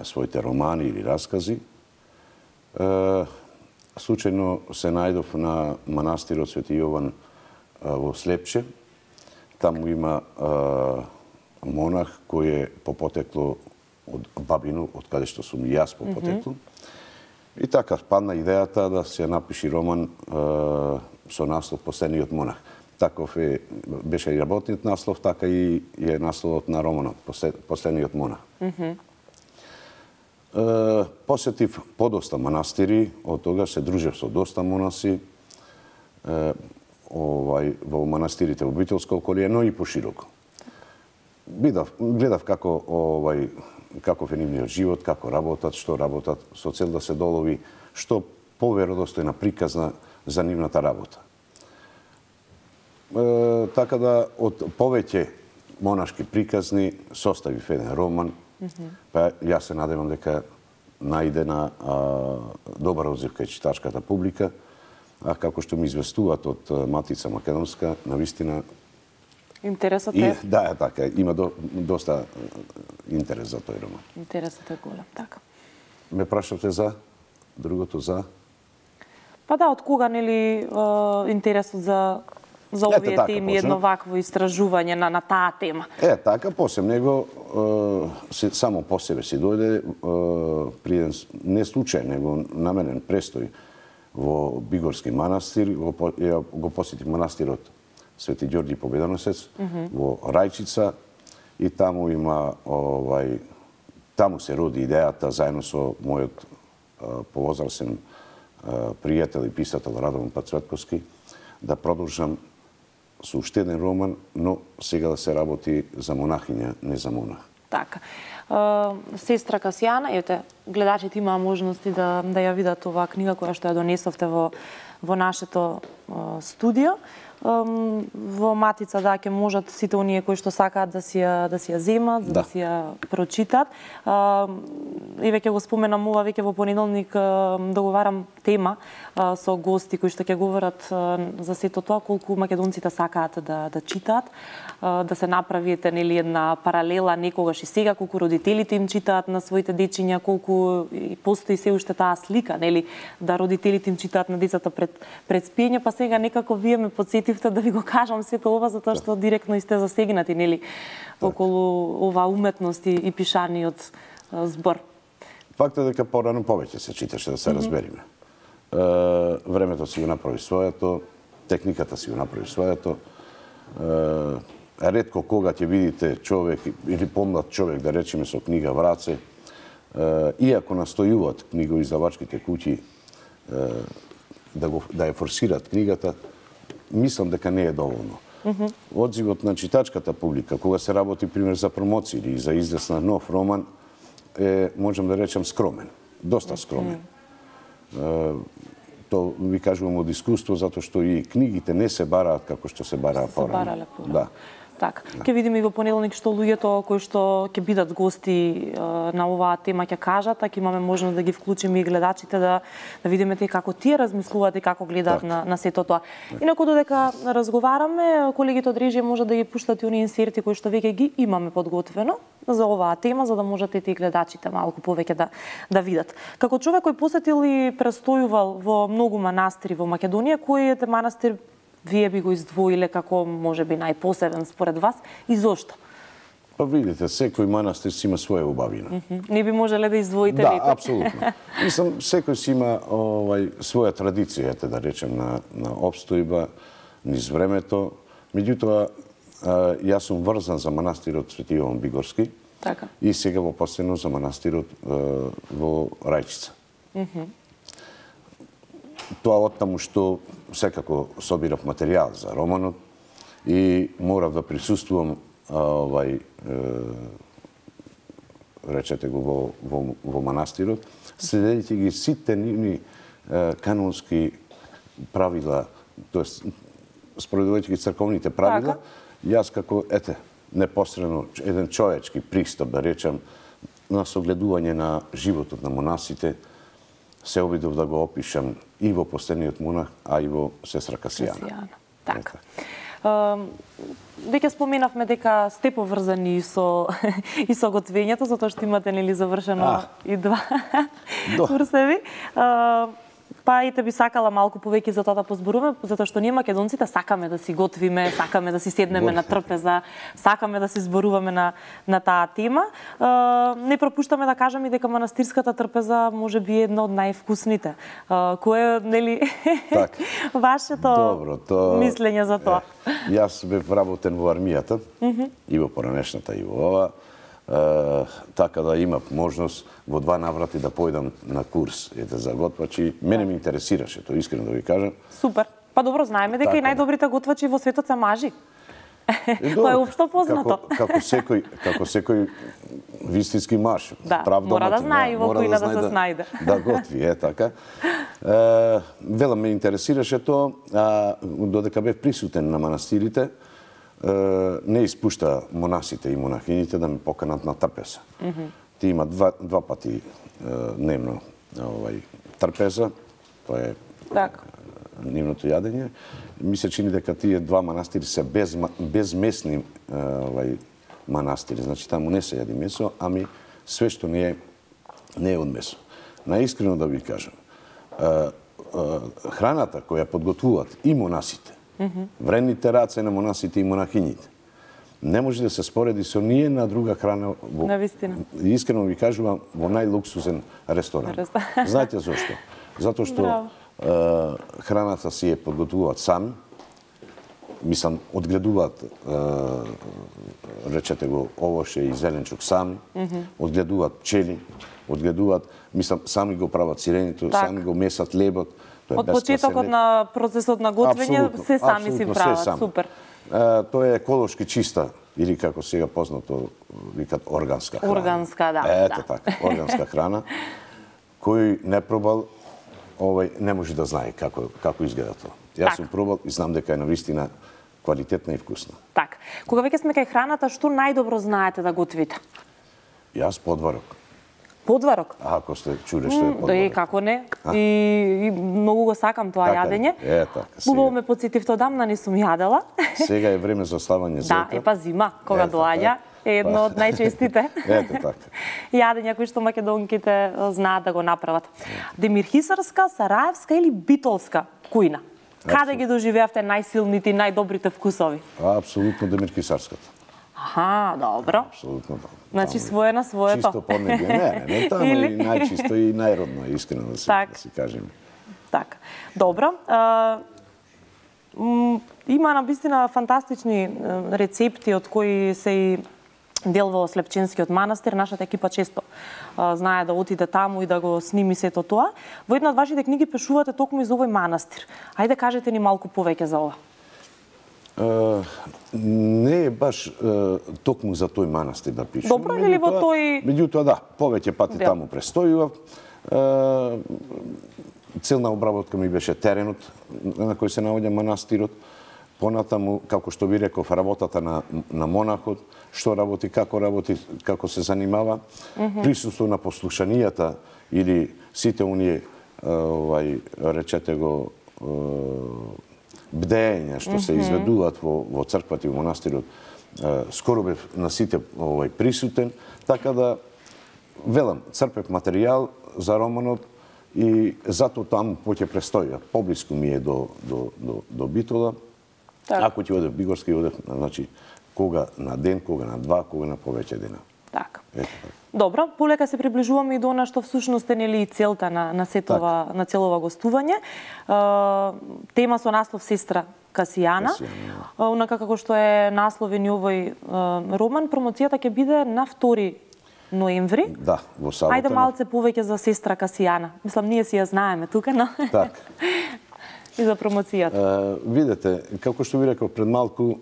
своите романи или раскази. Случајно се најдов на манастирот Свети Јован во Слепче. Таму има монах кој е по потекло од Бабино, од каде што сум и јас по потекло. Mm-hmm. И така падна идејата да се напиши роман е, со наслов Последниот монах. Таков е, беше и работниот наслов, така и е насловот на романот Последниот монах. Mm-hmm. е, посетив подоста манастири, од тога се дружев со доста монаси, е, овај, во манастирите во Битолско околие, но и пошироко. Видав, гледав како овај каков е нивниот живот, како работат, што работат, со цел да се долови што поверодостојна приказна за нивната работа. Е, така да, од повеќе монашки приказни составив еден роман, mm-hmm. па јас се надевам дека најде на а, добар одзив кај читачката публика, а како што ми известуваат од Матица Македонска, навистина интересот е... е... Да, е така, има до, доста интерес за тој роман. Интересот е голем, така. Ме прашавте за другото, за... Па да, од кога, нели, интересот за за овие теми, едно вакво истражување на, на таа тема? Е, така, после него се, само по себе си дојде при еден не случај, него наменен престој во Бигорски манастир, го, го посети манастирот Свети Ѓорѓи Победоносец mm -hmm. во Рајчица и таму има овај таму се роди идејата заедно со мојот повозрасен пријател и писател Радован Пацветковски да продолжам со уште еден роман, но сега да се работи за монахиња, не за монах. Така. Сестра Касијана, ете, гледачите имаа можности да, да ја видат оваа книга која што ја донесовте во, во нашето студио. Во Матица, да, ќе можат сите оние кои што сакаат да си ја, да си ја земат, да, да си ја прочитат. И веќе го споменам ова, веќе во понеделник договарам тема со гости кои што ќе говорат за сето тоа, колку македонците сакаат да, да читаат, да се направите нели една паралела некогаш и сега, колку родителите им читаат на своите дечиња, колку и постои се уште таа слика, нели, да родителите им читаат на децата пред, пред спиење, па сега некако вие ме подсетивте да ви го кажам сето ова, затоа што директно и сте засегнати, нели, околу ова уметност и пишаниот збор. Факт е дека порано повеќе се читаше, да се mm -hmm. разбериме. Е, времето си го направи своето, техниката си го направи своето. Е, ретко кога ќе видите човек или помлад човек, да речеме, со книга в раце, е, иако настојуваат книгоиздавачките куќи е, да, го, да ја форсираат книгата, мислам дека не е доволно. Mm -hmm. Одзивот на читачката публика, кога се работи, пример, за промоција или за излез на нов роман, е, можам да речам, скромен. Доста скромен. Mm -hmm. е, то ви кажувам од искуство, затоа што и книгите не се бараат како што се бараа порано. Да. Така. Ќе видиме и во понеделник што луѓето кои што ќе бидат гости е, на оваа тема ќе кажат, а ќе имаме можност да ги вклучиме и гледачите да да видиме те како тие размислуваат и како гледаат на на сето тоа. Инаку додека разговараме, колегите од режија може да ги пуштат и оние инсерти кои што веќе ги имаме подготвено за оваа тема, за да можете и гледачите малку повеќе да да видат. Како човек кој посетил и престојувал во многу манастири во Македонија, кој е манастир вие би го издвоиле како можеби најпосебен според вас и зошто? Па видите, секој манастир си има своја убавина. Mm -hmm. Не би можеле да издвоите да, некој? Да, апсолутно. Мислам, секој си има овај своја традиција, ете да речем, на на опстојба низ времето. Меѓутоа, јас сум врзан за манастирот Свети Јован Бигорски. Така. И сега во последно за манастирот во Рајчица. Mm -hmm. Тоа оттаму што секако собирав материјал за романот и морав да присуствувам овај речете го во во, во манастирот, следејќи ги сите нивни канонски правила, тоест спроведувајќи ги црковните правила, така. Јас како ете непосредно еден човечки пристап, да речам, на согледување на животот на монасите, се обидов да го опишам и во последниот монах, а и во сестра Касијана. Касијана. Така. Веќе споменавме дека сте поврзани и со и со готвењето, затоа што имате нели завршено а, и два курсеви. Па и те би сакала малку повеќе за тоа да позборуваме, затоа што ние македонците сакаме да си готвиме, сакаме да си седнеме на трпеза, сакаме да си зборуваме на на таа тема. Не пропуштаме да кажеме и дека манастирската трпеза може би е една од највкусните. Кое нели так. вашето Добро, то... мислење за тоа? Е, јас бев работен во армијата, mm -hmm. и во поранешната и во ова. Uh, така да имав можност во два наврати да појдам на курс ете за готвачи. Мене ме интересираше, тоа искрено да ви кажам. Супер. Па добро знаеме дека така. И најдобрите готвачи во светот се мажи. Тоа е општо познато. Како, како секој, како секој вистински маж, да, прав мора доматин, да знае и во кој да, да се да, снајде. Да готви, е така. Uh, вело ме интересираше тоа, а додека бев присутен на манастирите, не испушта монасите и монахините да ме поканат на трпеза. Mm -hmm. Ти има два, два пати дневно овај трпеза, тоа е так. дневното јадење. Ми се чини дека тие два манастири се без, безмесни овај манастири, значи таму не се јади месо, ами све што не е, не е од месо. Наискрено да ви кажам, храната која подготвуваат и монасите, Вредните раце на монасите и монахињите. Не може да се спореди со ние на друга храна. Во... Навистина. Искрено ви кажувам, во најлуксузен ресторан. Знаете зошто? Затоа што е, храната си ја подготвуваат сами, мислам, одгледуваат, е, речете го, овоше и зеленчук сами, mm -hmm. одгледуваат пчели, одгледуваат, мислам, сами го прават сиренито, так. Сами го месат лебот. Од почетокот на процесот на готвење се сами си прават, супер. Е, тоа е еколошки чиста, или како сега познато викат органска храна. Органска, да. Ето да. така, органска храна. Кој не пробал, овај не може да знае како како изгледа тоа. Јас так. Сум пробал и знам дека е навистина квалитетна и вкусна. Так. Кога веќе сме кај храната, што најдобро знаете да готвите? Јас подварок. Подварок? Ако сте чуле што е подварок. Да и како не. И, и многу го сакам тоа така јадење. Е, така. Убаво ме потсетивте, одамна не сум јадела. Сега е време за славање зета. Да, е па зима, кога доаѓа. Е едно од најчестите Ето така. јадења кои што македонките знаат да го направат. Демирхисарска, сараевска или битолска кујна? Каде ги доживеавте најсилните и најдобрите вкусови? Апсолутно демирхисарската. Аха, добро. Апсолутно добро. Значи своje на своето. Чисто поднебје. Не, не, не, таму и најчисто и најродно, искрено да си, так. да си кажеме. Така. Добро. А, има навистина фантастични рецепти од кои се и дел во Слепченскиот манастир. Нашата екипа често а, знае да отиде таму и да го сними сето тоа. Во една од вашите книги пишувате токму и за овој манастир. Ајде кажете ни малку повеќе за ова. Uh, не е баш uh, токму за тој манастир да пишам. Добро или во тој... Меѓутоа, да, повеќе пати Дел. таму престојував. Uh, целна обработка ми беше теренот на кој се наоѓа манастирот. Понатаму, како што ви реков, работата на, на монахот, што работи, како работи, како се занимава. Mm -hmm. Присуство на послушанијата или сите оние, овај, речете го, бдења што се изведуваат во, во црквата и во монастирот, скоро бев на сите овај присутен, така да велам, црпев материјал за романот и затоа таму поќе престојав. Поблиску ми е до, до, до, до Битола. Так. Ако ќе одев Бигорска, одев, значи, кога на ден, кога на два, кога на повеќе дена. Така. Ето, Добро, полека се приближуваме и до она што всушност е нели целта на на сетова так. на целова гостување. Uh, тема со наслов Сестра Касијана. Касијана. Uh, онака како што е насловен и овој uh, роман, промоцијата ќе биде на втори ноември. Да, во сабота. Ајде малце повеќе за Сестра Касијана. Мислам, ние си ја знаеме тука, но... Так. И за промоцијата. Uh, видете, како што ви реков пред малку,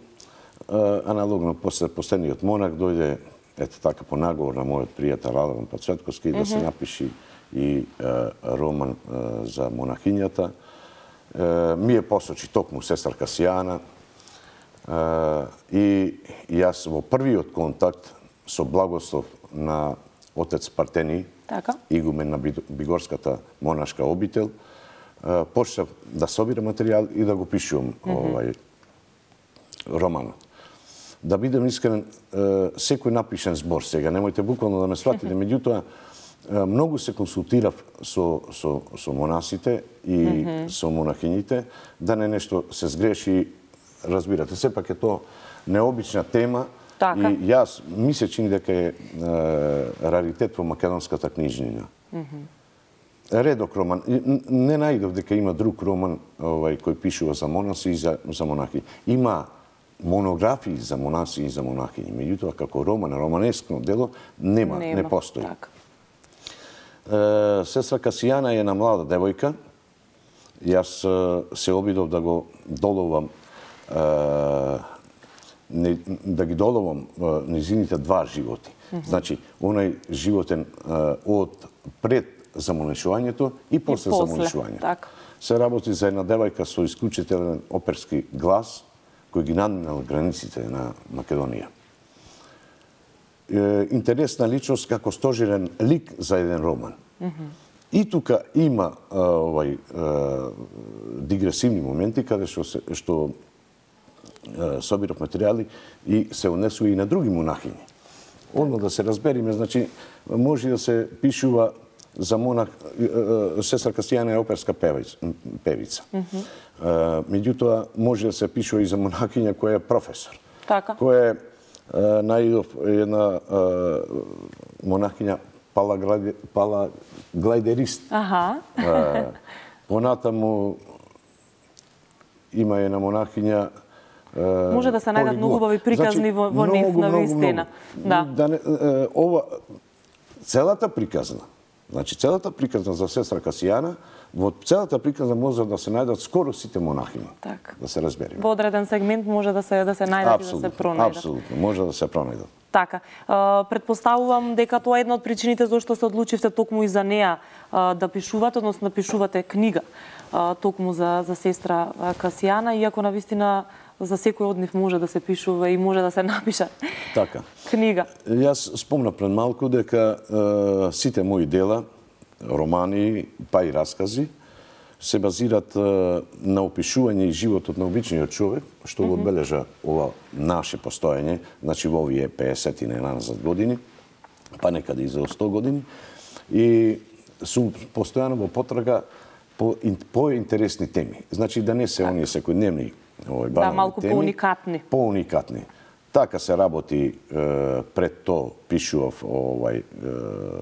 uh, аналогно после последниот монах дојде ето така по наговор на мојот пријател Радован Пацветковски mm -hmm. да се напиши и uh, роман uh, за монахињата. Uh, ми е посочи токму Сестра Касијана uh, и јас во првиот контакт со благослов на отец Партени, така. игумен на Бигорската монашка обител, почнав да собирам материјал и да го пишувам mm -hmm. овај романот. Да бидем искрен, секој напишен збор сега, немојте буквално да ме сватите, меѓутоа многу се консултирав со со со монасите и mm -hmm. со монахињите да не нешто се сгреши, разбирате, сепак е тоа необична тема. Така. И јас ми се чини дека е, е раритет во македонската книжнина. Mm -hmm. Редок роман. Не најдов дека има друг роман овај, кој пишува за монаси и за, за монахи. Има монографии за монаси и за монахини. Меѓутоа, како роман, романеско дело, нема, нема. не постои. Так. Е, Сестра Касијана е една млада девојка. Јас се обидов да го доловам е, не, да ги доловам низините два животи. Mm -hmm. Значи, онај животен од пред замонешувањето и после, и после. замонешувањето. Так. Се работи за една девојка со исклучителен оперски глас, кој ги надминал границите на Македонија. Е, интересна личност како стожерен лик за еден роман. Mm -hmm. И тука има а, овај а, дигресивни моменти каде што се, што собирав материјали и се унесува и на други монахињи. Одно да се разбериме, значи може да се пишува за монах, сестра Касијана е оперска певица. Меѓутоа, може да се пишува и за монахиња која е професор. Така. Која е најдов една монахиња палаглайдерист. Аха. Понатаму има една монахиња може да се најдат многу убави приказни во, во нив на вистина. Да. Да не, ова целата приказна, значи целата приказна за сестра Касијана, во целата приказна може да се најдат скоро сите монахини. Так. Да се разбереме. Во одреден сегмент може да се да се најдат и да се пронајдат. Апсолутно, може да се пронајдат. Така. Предпоставувам дека тоа е една од причините зашто се одлучивте токму и за неа да пишувате, односно да пишувате книга токму за за сестра Касијана, иако навистина за секој од нив може да се пишува и може да се напише така книга. Јас спомнав пред малку дека е, сите мои дела, романи, па и раскази, се базират е, на опишување и животот на обичниот човек, што го одбележа ова наше постоење, значи во овие пеесет и назад години, па некаде и за сто години, и сум постојано во потрага по, по интересни теми. Значи да не се оние секојдневни овој банални да, малку теми, поуникатни. Поуникатни. Така се работи е, пред то пишував овај е,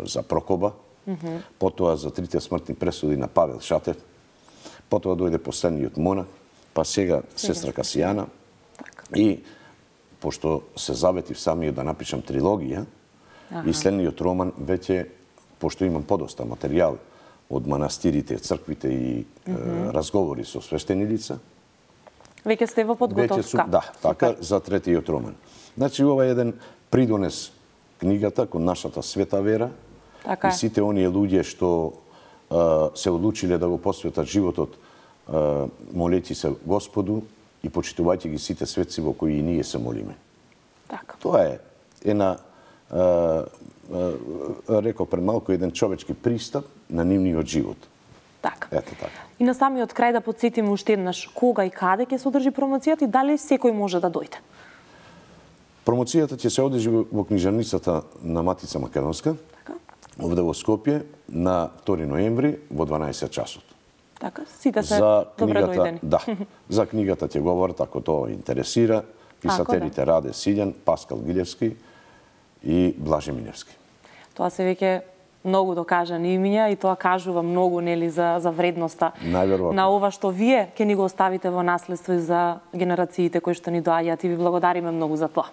за Прокоба, mm -hmm. потоа за трите смртни пресуди на Павел Шатев, потоа дојде последниот монах, па сега сестра Касијана. И пошто се заветив самиот да напишам трилогија, ага. И следниот роман веќе, пошто имам подоста материјал од манастирите, црквите и mm -hmm. е, разговори со свештени лица, веќе сте во подготовка. Да, така, за третиот роман. Значи, ова е еден придонес книгата кон нашата света вера така и сите оние луѓе што а, се одлучиле да го посветат животот а, молејќи се Господу и почитувајќи ги сите светци во кои и ние се молиме. Така. Тоа е една, а, а, реков пред малку, еден човечки пристап на нивниот живот. Така. Ете така. И на самиот крај да потсетиме уште еднаш кога и каде ќе се одржи промоцијата и дали секој може да дојде? Промоцијата ќе се одржи во книжарницата на Матица Македонска, така. Овде во Скопје на втори ноември во дванаесет часот. Така, сите се за добре книгата, дојдени. Да, за книгата ќе говорат, ако тоа интересира, писателите да. Раде Силјан, Паскал Гилевски и Блаже Миневски. Тоа се веќе многу докажани имиња и тоа кажува многу нели за за вредноста на ова што вие ќе ни го оставите во наследство и за генерациите кои што ни доаѓаат и ви благодариме многу за тоа.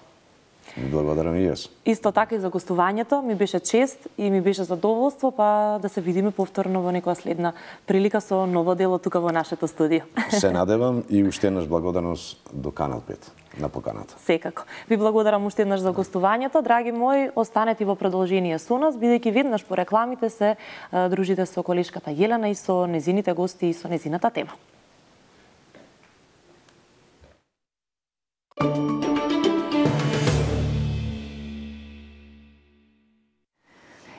Благодарам и јас. Исто така и за гостувањето, ми беше чест и ми беше задоволство па да се видиме повторно во некоја следна прилика со ново дело тука во нашето студио. Се надевам и уште еднаш благодарност до Канал пет на поканата. Секако. Ви благодарам уште еднаш за гостувањето. Драги мои, останете во продолжение со нас, бидејќи веднаш по рекламите се дружите со колешката Јелена и со незините гости и со незината тема.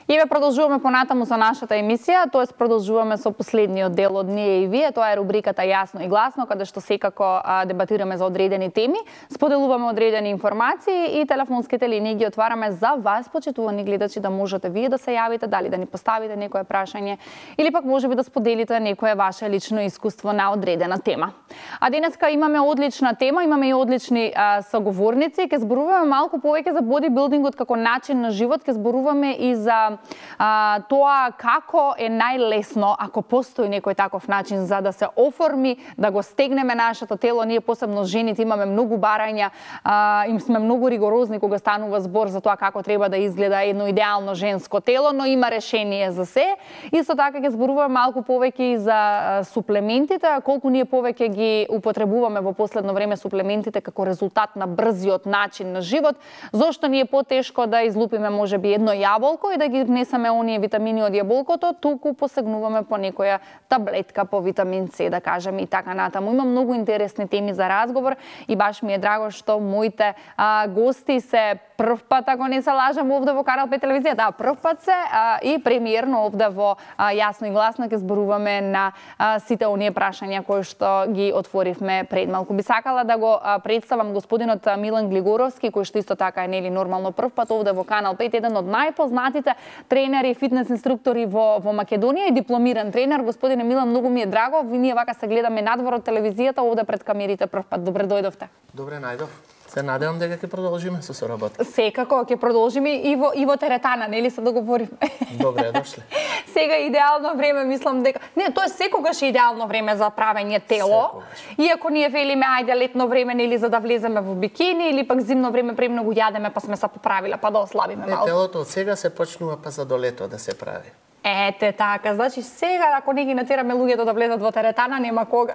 И ве продолжуваме понатаму со нашата емисија, тоест продолжуваме со последниот дел од Ние и вие, тоа е рубриката Јасно и гласно, каде што секако а, дебатираме за одредени теми, споделуваме одредени информации и телефонските линии ги отвараме за вас, почитувани гледачи, да можете вие да се јавите, дали да ни поставите некое прашање или пак можеби да споделите некое ваше лично искуство на одредена тема. А денеска имаме одлична тема, имаме и одлични а, соговорници, ќе зборуваме малку повеќе за бодибилдингот како начин на живот, ќе зборуваме и за А, тоа како е најлесно, ако постои некој таков начин за да се оформи, да го стегнеме нашето тело. Ние посебно жените имаме многу барања, а, им сме многу ригорозни кога станува збор за тоа како треба да изгледа едно идеално женско тело, но има решение за се. Исто така ќе зборуваме малку повеќе и за а, суплементите, колку ние повеќе ги употребуваме во последно време суплементите како резултат на брзиот начин на живот, зошто ни е потешко да излупиме можеби едно јаболко и да ги внесеме оние витамини од јаболкото, туку посегнуваме по некоја таблетка по витамин С, да кажеме, и така натаму. Има многу интересни теми за разговор и баш ми е драго што моите а, гости се прв пат, ако не се лажам, овде во Канал пет телевизија, да, прв пат се а, и премиерно овде во а, Јасно и гласно ќе зборуваме на а, сите оние прашања кои што ги отворивме пред малку. Би сакала да го а, представам господинот Милан Глигоровски, кој што исто така е нели нормално прв пат овде во Канал пет, еден од најпознатите тренери и фитнес инструктори во во Македонија и дипломиран тренер. Господине Милан, многу ми е драго. Ви ние вака се гледаме надвор од телевизијата, овде пред камерите прв пат. Добре дојдовте. Добре најдов. Се надевам дека ќе продолжиме со соработка. Секако ќе продолжиме и во и во теретана, нели се договоривме. Добре дошли. Сега идеално време, мислам дека не, тоа е секогаш идеално време за правење тело. Секогаш. Иако ние велиме ајде летно време нели за да влеземе во бикини или пак зимно време премногу јадеме па сме се поправиле па да ослабиме малку. Телото од сега се почнува па за до лето да се прави. Ете така, значи сега ако не ги натераме луѓето да влезат во теретана, нема кога.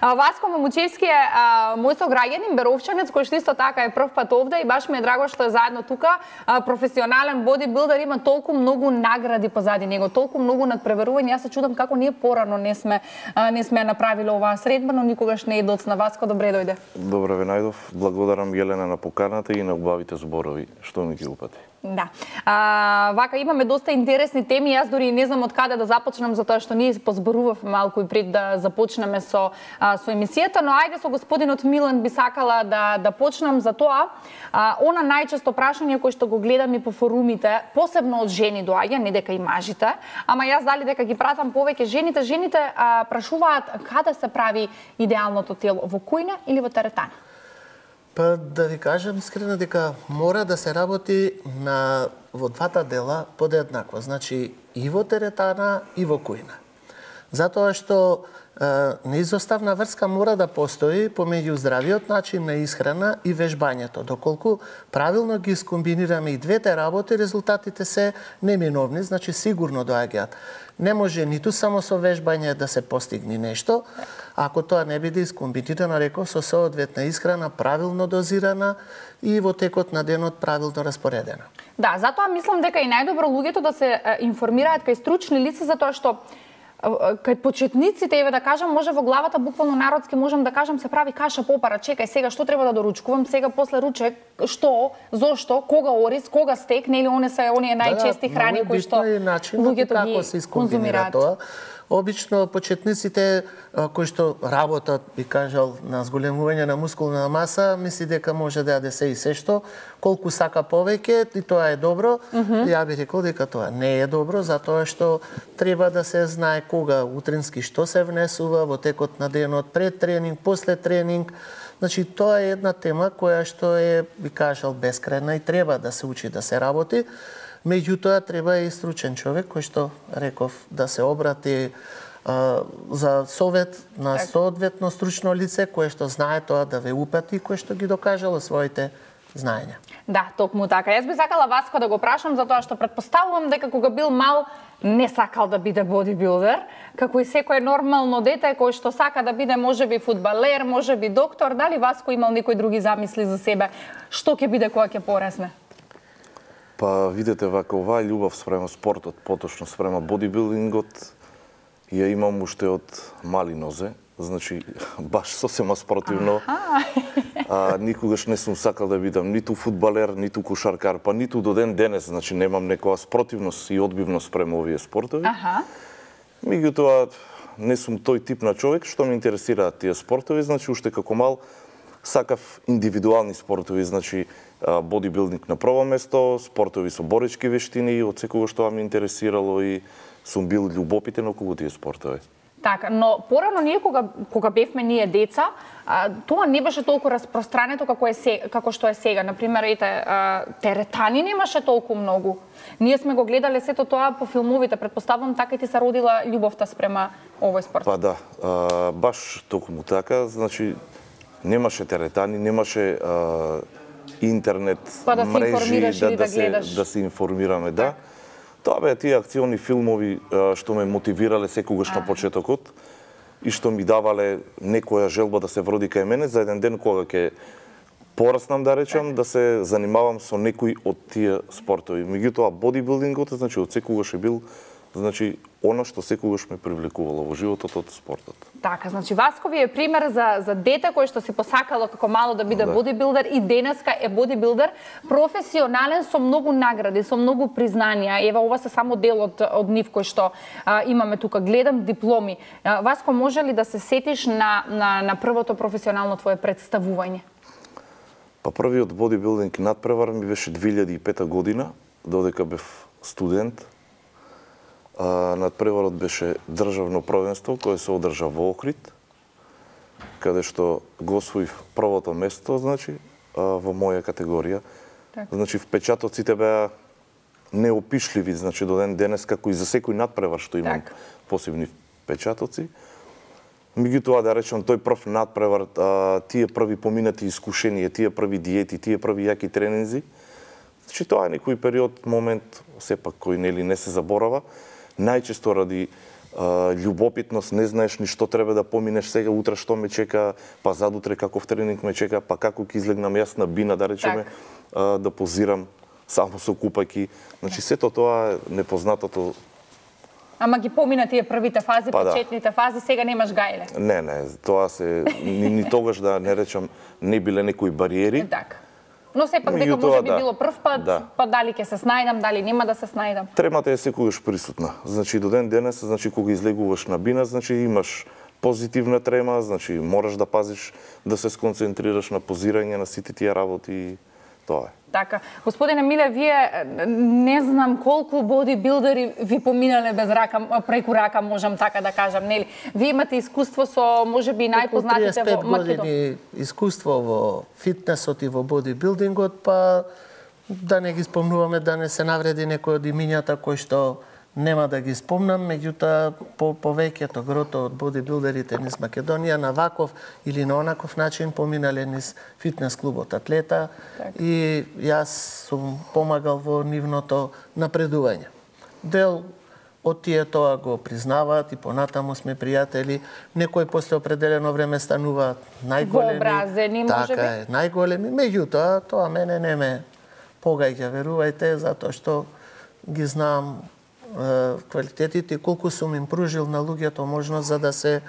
Васко Мамучевски е а, мој сограѓанин, беровчанец, кој што исто така е прв пат овде и баш ми е драго што е заедно тука. А, професионален бодибилдер, има толку многу награди позади него, толку многу надпреварување. Јас се чудам како ние порано не сме а, не сме направиле оваа средба, но никогаш не е доцна. Васко, добре дојде. Добре ве најдов. Благодарам Јелена на поканата и на убавите зборови што ми ги упати. Да. А, вака имаме доста интересни теми. Јас дори не знам од каде да започнам, затоа што ние позборувавме малку и пред да започнеме со а, со емисијата, но ајде со господинот Милан би сакала да да почнам за тоа. А, она најчесто прашање кој што го гледам и по форумите, посебно од жени доаѓа, не дека и мажите, ама јас дали дека ги пратам повеќе жените, жените а, прашуваат каде се прави идеалното тело, во кујна или во теретана? Па да ви кажам искрено дека мора да се работи на во двата дела подеднакво, значи и во теретана и во кујна. Затоа што е, неизоставна врска мора да постои помеѓу здравиот начин на исхрана и вежбањето. Доколку правилно ги скомбинираме и двете работи, резултатите се неминовни, значи сигурно доаѓаат. Не може ниту само со вежбање да се постигне нешто, ако тоа не биде искомбинирано, реков, со соодветна исхрана, правилно дозирана и во текот на денот правилно распоредена. Да, затоа мислам дека и најдобро луѓето да се информираат кај стручни лица, затоа што кај почетниците, еве да кажам, може во главата буквално народски можам да кажам се прави каша попара, чекај сега што треба да доручкувам, сега после ручек, што, зошто, кога ориз, кога стек, нели они се оние најчести да, храни кои што луѓето ги конзумираат. Тоа. Обично почетниците кои што работат, би кажал, на зголемување на мускулна маса, мисли дека може да јаде се и се што, колку сака повеќе, и тоа е добро. Mm -hmm. Ја би рекол дека тоа не е добро, затоа што треба да се знае кога утрински што се внесува во текот на денот, пред тренинг, после тренинг. Значи, тоа е една тема која што е, би кажал, бескрајна и треба да се учи да се работи. Меѓутоа, треба и стручен човек кој што, реков, да се обрати а, за совет на соодветно стручно лице, кое што знае тоа да ве упати, кое што ги докажало своите знаења. Да, токму така. Јас би сакала Васко да го прашам, затоа што предпоставувам дека кога бил мал, не сакал да биде бодибилдер, како и секое нормално дете кој што сака да биде можеби фудбалер, можеби доктор. Дали Васко имал некои други замисли за себе? Што ќе биде кога ќе порасне? Па, видете, вака оваа љубов спрема спортот, поточно спрема бодибилдингот, ја имам уште од мали нозе, значи баш сосема спротивно. А, никогаш не сум сакал да бидам ниту фудбалер, ниту кошаркар, па ниту до ден денес, значи немам некоја спротивност и одбивност спрема овие спортови. Аха. Меѓутоа, не сум тој тип на човек што ме интересираат тие спортови, значи уште како мал сакав индивидуални спортови, значи бодибилдинг на прво место, спортови со боречки вештини, од секогаш тоа ме интересирало и сум бил љубопитен околу тие спортови. Така, но порано ние кога кога бевме ние деца, а, тоа не беше толку распространето како е се, како што е сега. Например, ете, а, теретани немаше толку многу. Ние сме го гледале сето тоа по филмовите, претпоставувам така и ти се родила љубовта спрема овој спорт. Па да, а, баш токму така, значи немаше теретани, немаше а, интернет, па да мрежи, да, да, да, се, да се информираме, да. Тоа беа тие акциони филмови што ме мотивирале секогаш на почетокот и што ми давале некоја желба да се вроди кај мене за еден ден кога ќе пораснам, да речам, да се занимавам со некој од тие спортови. Меѓутоа, бодибилдингот, значи, од секогаш е бил значи она што секогаш ме привлекувало во животот од спортот. Така, значи Васко ви е пример за за дете кој што си посакало како мало да биде Да. бодибилдер и денеска е бодибилдер, професионален со многу награди, со многу признанија. Ева ова се само дел од од нив кој што а, имаме тука. Гледам дипломи. А, Васко, може ли да се сетиш на на на првото професионално твое представување? Па првиот бодибилдинг надпревар ми беше две илјади и пета година, додека бев студент. А, надпреварот беше државно првенство кое се одржа во Охрид, каде што го освоив првото место, значи, а, во моја категорија. Така. Значи, впечатоците беа неопишливи, значи, до ден денес, како и за секој надпревар што имам Так. посебни впечатоци. Меѓутоа, да речем, тој прв надпревар, а, тие први поминати искушенија, тие први диети, тие први јаки тренинзи, значи, тоа е некој период, момент, сепак, кој нели не се заборава. Најчесто ради а, љубопитност, не знаеш ни што треба да поминеш сега, утре што ме чека, па задутре каков тренинг ме чека, па како ќе излегнам јас на бина, да речеме, а, да позирам само со купајки. Значи, сето тоа е непознатото. Ама ги помина тие првите фази, Па да. почетните фази, сега немаш гајле. Не, не, тоа се ни, ни тогаш да не речам не биле некои бариери. Така. Но сепак дека Меѓутоа, може би да. било прв пат, Да. па дали ќе се снајдам, дали нема да се снајдам. Тремата е секогаш присутна. Значи до ден денес, значи кога излегуваш на бина, значи имаш позитивна трема, значи мораш да пазиш да се сконцентрираш на позирање на сите тие работи и тоа е. Така. Господине Миле, вие не знам колку бодибилдери ви поминале без рака, преку рака, можам така да кажам, нели? Вие имате искуство со можеби најпознатите во Македонија. години искуство во фитнесот и во бодибилдингот, па да не ги спомнуваме, да не се навреди некој од имињата кои што нема да ги спомнам, меѓутоа по повеќето грото од бодибилдерите низ Македонија на ваков или на онаков начин поминале низ фитнес клубот Атлета и јас сум помагал во нивното напредување. Дел од тие тоа го признаваат и понатаму сме пријатели. Некои после определено време стануваат најголеми. Вообразени, така можеби? е, најголеми. Меѓутоа, тоа мене не ме погаѓа, верувајте, затоа што ги знам квалитетите и колку сум им пружил на луѓето можност за да се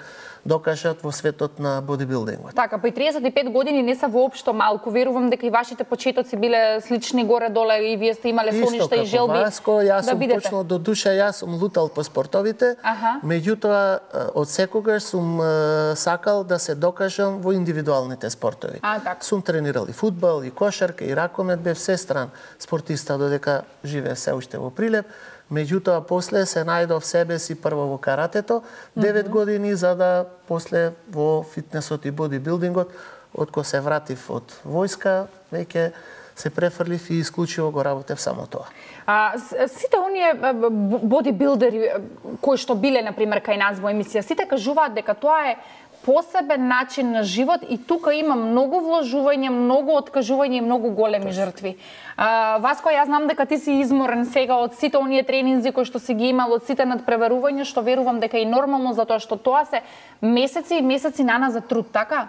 докажат во светот на бодибилдингот. Така, па и триесет и пет години не се воопшто малку. Верувам дека и вашите почетоци биле слични горе-доле и вие сте имале соништа и желби Васко, јас да сум бидете. почнал до душа, јас сум лутал по спортовите, Аха. меѓутоа од секогаш сум е, сакал да се докажам во индивидуалните спортови. А, така. Сум тренирал и фудбал, и кошарка, и ракомет, бев сестран спортиста додека живеев се уште во Прилеп. Меѓутоа, после се најдов себе си прво во каратето, девет години, за да после во фитнесот и бодибилдингот, откако се вратив од војска, веќе се префрлив и исклучиво го работев само тоа. А, с- сите оние а, б- бодибилдери а, кои што биле, например, кај нас во емисија, сите кажуваат дека тоа е посебен начин на живот и тука има многу вложување, многу откажување и многу големи жртви. А, Васко, јас знам дека ти си изморен сега од сите оние тренинзи кои што си ги имал, од сите надпреварувања, што верувам дека е нормално, затоа што тоа се месеци и месеци нана за труд, така?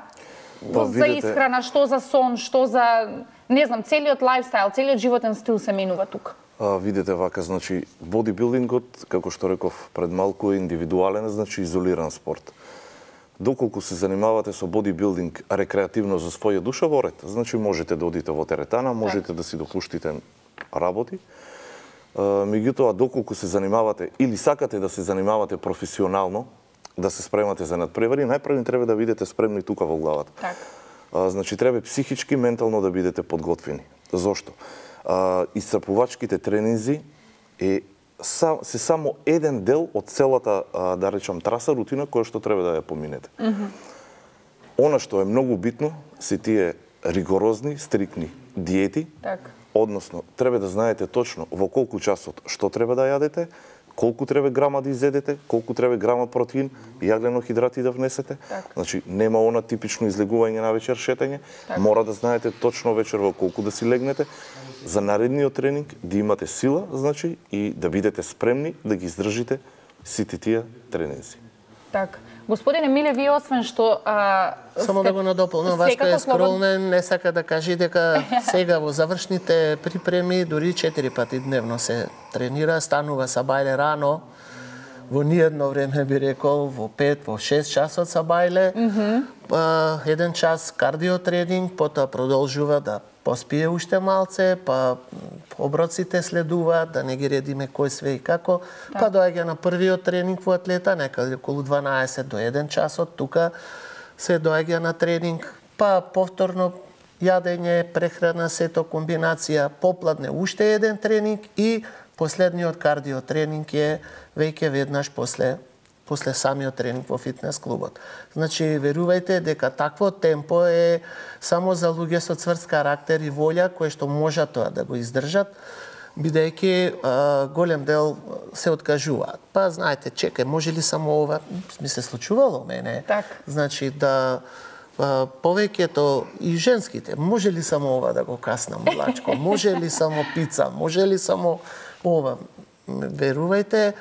Па, За видете- исхрана, што за сон, што за, не знам, целиот лајфстайл, целиот животен стил се менува тука. А, видете вака, значи, бодибилдингот, како што реков пред малку, е индивидуален, значи изолиран спорт. Доколку се занимавате со бодибилдинг рекреативно за своја душа, во ред. Значи, можете да одите во теретана, можете да си допуштите работи. А, меѓутоа, доколку се занимавате или сакате да се занимавате професионално, да се спремате за надпревари, најпрво треба да бидете спремни тука во главата. Така. А, значи, треба психички, ментално да бидете подготвени. Зошто? А, исцрпувачките тренинзи е са, се само еден дел од целата, а, да речам, траса, рутина, која што треба да ја поминете. Она што е многу битно се тие ригорозни, стрикни диети, Така. односно, треба да знаете точно во колку часот што треба да јадете, колку треба грама да изедете, колку треба грама протеин и јаглено-хидрати да внесете. Така. Значи, нема она типично излегување на вечер шетање. Така. Мора да знаете точно вечер во колку да си легнете. За наредниот тренинг да имате сила, значи, и да бидете спремни да ги издржите сите тие тренинзи. Так. Господине Миле, вие освен што а, само сте... да го надополнам, Васко е скромен, не сака да каже дека сега во завршните припреми дури четири пати дневно се тренира, станува са бајле рано. Во ниедно време би рекол во пет, во шест часот са бајле. Mm -hmm. па, еден час кардиотренинг, потоа продолжува да поспие уште малце, па оброците следуваат, да не ги редиме кој све и како. Да. Па доаѓа на првиот тренинг во атлета, некаде околу дванаесет до еден часот, тука се доаѓа на тренинг, па повторно јадење, прехрана, сето комбинација, попладне уште еден тренинг и последниот кардиотренинг е веќе веднаш после после самиот тренинг во фитнес клубот. Значи, верувајте дека такво темпо е само за луѓе со цврст карактер и волја, кои што можат тоа да го издржат, бидејќи голем дел се откажуваат. Па, знаете, чекај, може ли само ова? Ми се случувало мене. Так. Значи, да а, повеќето и женските, може ли само ова да го каснам, млачко? Може ли само пица? Може ли само ова? Верувајте,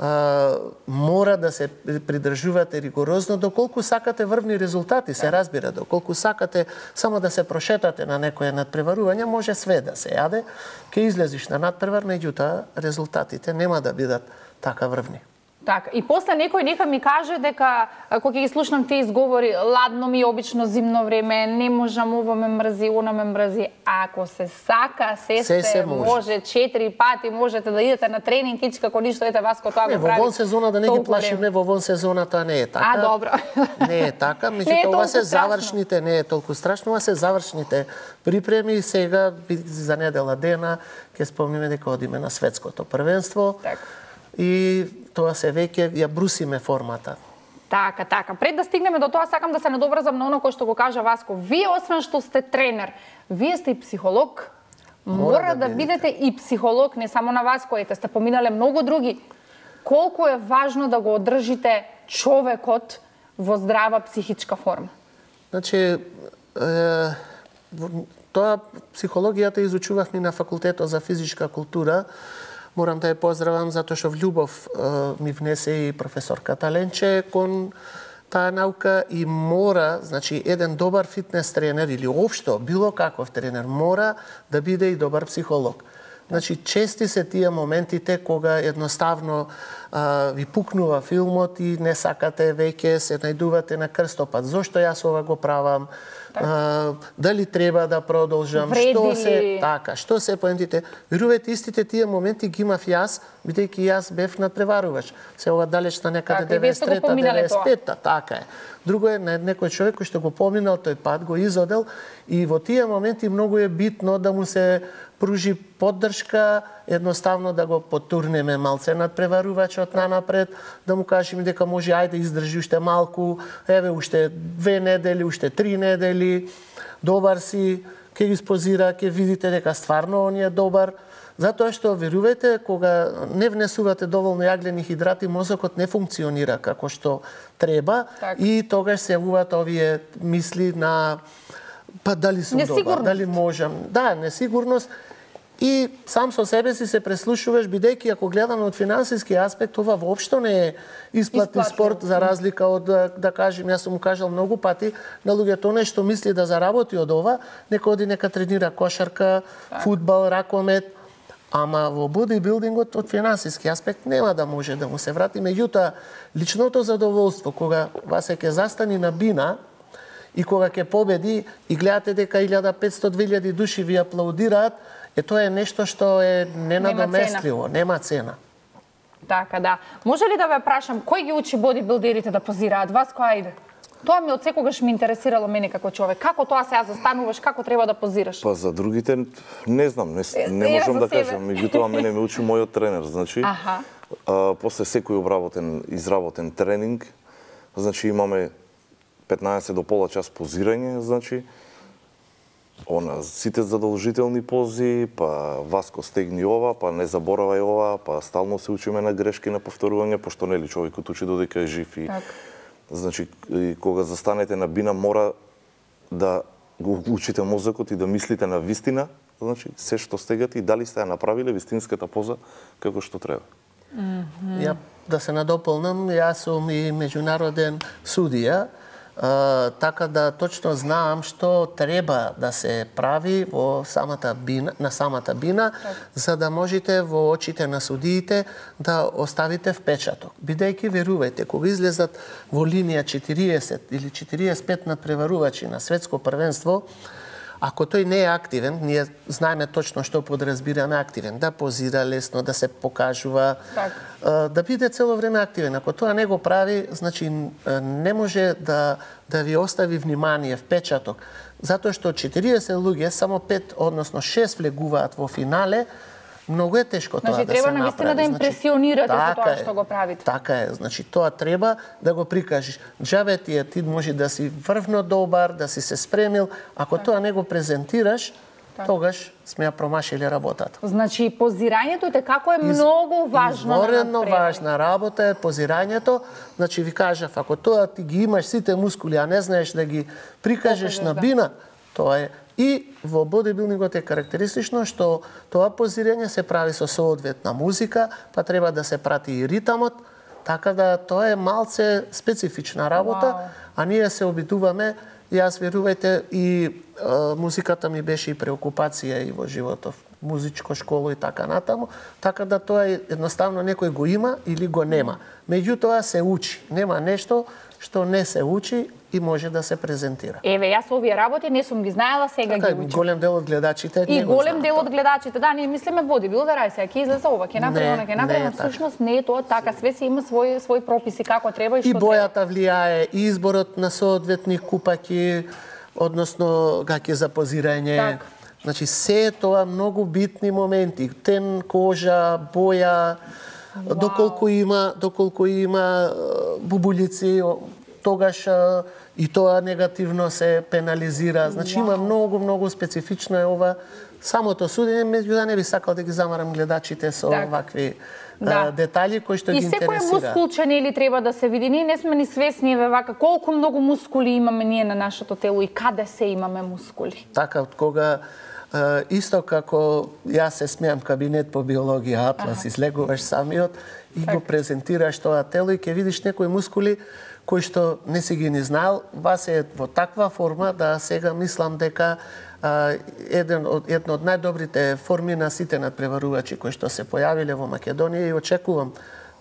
Uh, мора да се придржувате ригорозно доколку сакате врвни резултати, се разбира, доколку сакате само да се прошетате на некое надпреварување, може све да се јаде, ќе излезиш на надпревар, меѓутоа резултатите нема да бидат така врвни. Так, и после некој нека ми каже дека кога ќе ги слушнам тие изговори, ладно ми обично зимно време, не можам, ова ме мрзи, она ме мрзи. Ако се сака, се се, се може. може четири пати можете да идете на тренинг ич како ништо, ете Васко тоа го прави. Во вон сезона да не ги плашиме, во вон сезона тоа не е така. А, добро. Не е така, меѓутоа ова се завршните, не е толку страшно, ова се завршните припреми. Сега за недела дена ќе спомниме дека одиме на светското првенство. Так. И тоа се веќе ја брусиме формата. Така, така. Пред да стигнеме до тоа, сакам да се надоврзам на оно кој што го кажа Васко. Вие, освен што сте тренер, вие сте и психолог. Мора, Мора да, да бидете и психолог, не само на Васко, ете сте поминале многу други. Колку е важно да го одржите човекот во здрава психичка форма? Значи, е, тоа психологијата изучувавме на факултетот за физичка култура. Морам да ја поздравам затоа што влюбов е, ми внесе и професорката Ленче кон таа наука и мора, значи еден добар фитнес тренер или општо било каков тренер мора да биде и добар психолог. Значи чести се тие моментите кога едноставно а, ви пукнува филмот и не сакате веќе, се најдувате на крстопат. Зошто јас ова го правам? А, дали треба да продолжам? Вреди. Што се така? Што се поентите? Верувајте, истите тие моменти ги имав јас, бидејќи јас бев надпреварувач. Се ова далеч на некаде деветдесет и трета деветдесет и пета, така е. Друго е на некој човек кој што го поминал тој пат, го изодел и во тие моменти многу е битно да му се пружи поддршка, едноставно да го потурнеме малце надпреварувачот нанапред, да му кажеме дека може ајде издржи уште малку, еве уште две недели, уште три недели, добар си, ќе ги спозира, ќе видите дека стварно он е добар. Затоа што верувајте, кога не внесувате доволно јаглени хидрати, мозокот не функционира како што треба так. И тогаш се јавуваат овие мисли на па дали сум добар, дали можам. Да, несигурност. И сам со себе си се преслушуваш, бидејќи ако гледаме од финансиски аспект, ова воопшто не е исплатни спорт, за разлика од, да, да кажем, јас сум кажал многу пати на луѓето нешто мисли да заработи од ова, нека оди нека тренира кошарка, так. фудбал, ракомет, ама во бодибилдингот од финансиски аспект нема да може да му се врати. Меѓутоа, личното задоволство, кога вас ќе застани на бина, и кога ќе победи и гледате дека илјада и петстотини до две илјади души ви аплаудираат, е тоа е нешто што е ненадоместливо, нема цена. Така, да. Може ли да ве прашам, кој ги учи бодибилдерите да позираат? Вас кој ајде? Тоа ми од секогаш ми интересирало мене како човек. Како тоа сега застануваш, како треба да позираш? Па за другите не знам, не, не можам да кажам. Меѓутоа мене ме учи мојот тренер, значи. Аха. А, после секој обработен, изработен тренинг, значи имаме петнаесет до пола час позирање, значи, она, сите задолжителни пози, па Васко стегни ова, па не заборавај ова, па стално се учиме на грешки, на повторување, пошто нели човекот учи додека е жив и... Так. Значи, и кога застанете на бина, мора да го учите мозокот и да мислите на вистина, значи, се што стегате и дали сте ја направиле вистинската поза како што треба. Mm-hmm. Ја, да се надополнам, јас сум и меѓународен судија, Uh, така да точно знаам што треба да се прави во самата бина, на самата бина, так. За да можете во очите на судиите да оставите впечаток. Бидејќи, верувајте, кога излезат во линија четириесет или четириесет и пет надпреварувачи на светско првенство, ако тој не е активен, ние знаеме точно што подразбираме активен, да позира лесно, да се покажува, так. Да биде цело време активен. Ако тоа не го прави, значи не може да да ви остави внимание, впечаток, затоа што четириесет луѓе, само пет, односно шест влегуваат во финале. Многу е тешко тоа значи, да се направи. Значи треба навистина да импресионирате значи, за тоа е, што го правите. Така е, значи тоа треба да го прикажеш. Џабе ти е, ти може да си врвно добар, да си се спремил, ако так. Тоа не го презентираш, так. Тогаш сме ја промашили работата. Значи позирањето е како е Из, многу важно. Изворено важна работа е позирањето. Значи ви кажав, ако тоа ти ги имаш сите мускули, а не знаеш да ги прикажеш Покажеш, на бина, да. Тоа е. И во бодибилдингот е карактеристично што тоа позирање се прави со соодветна музика, па треба да се прати и ритамот, така да тоа е малце специфична работа, wow. А ние се обидуваме. Јас, верувајте, и а, музиката ми беше и преокупација и во животов, музичко школо и така натаму, така да тоа е едноставно некој го има или го нема. Меѓутоа се учи. Нема нешто што не се учи и може да се презентира. Еве, јас овие работи не сум ги знаела, сега така, ги учам. Голем дел од гледачите и не го голем знаат. дел од гледачите, да, ние мислиме бодибилдер, ај сега ќе излезе ова, ќе направи она, ќе направи, всушност не е тоа така, све си има свој свој прописи како треба и што и бојата влијае, и изборот на соодветни купаки, односно гаќи за позирање. Так. Значи се тоа многу битни моменти, тен, кожа, боја, wow. доколку има, доколку има бубулици, тогаш и тоа негативно се пенализира. Значи wow. има многу, многу специфично е ова самото судење, меѓутоа не би сакал да ги замарам гледачите со так. Вакви да. детали кои што и ги интересира. И секој мускулче нели треба да се види. Ние не сме ни свесни еве вака колку многу мускули имаме ние на нашето тело и каде се имаме мускули. Така, од кога исто како јас се смеам кабинет по биологија Атлас, ага. Излегуваш самиот и так. Го презентираш тоа тело и ќе видиш некои мускули кои што не си ги ни знаел, вас е во таква форма да сега мислам дека а, еден од едно од најдобрите форми на сите надпреварувачи кои што се појавиле во Македонија и очекувам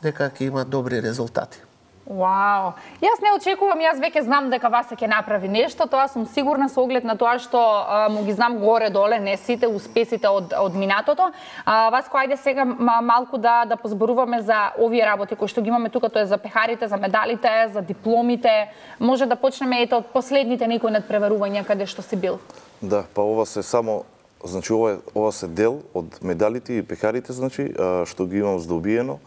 дека ќе имат добри резултати. Вау! Јас не очекувам, јас веќе знам дека Васе ќе направи нешто, тоа сум сигурна со оглед на тоа што а, му ги знам горе-доле, не сите успесите од, од минатото. А, Васко, ајде сега малку да, да позборуваме за овие работи кои што ги имаме тука, тоа е за пехарите, за медалите, за дипломите. Може да почнеме ето од последните некои надпреварувања каде што си бил. Да, па ова се само, значи ова, ова се дел од медалите и пехарите, значи, а, што ги имам здобиено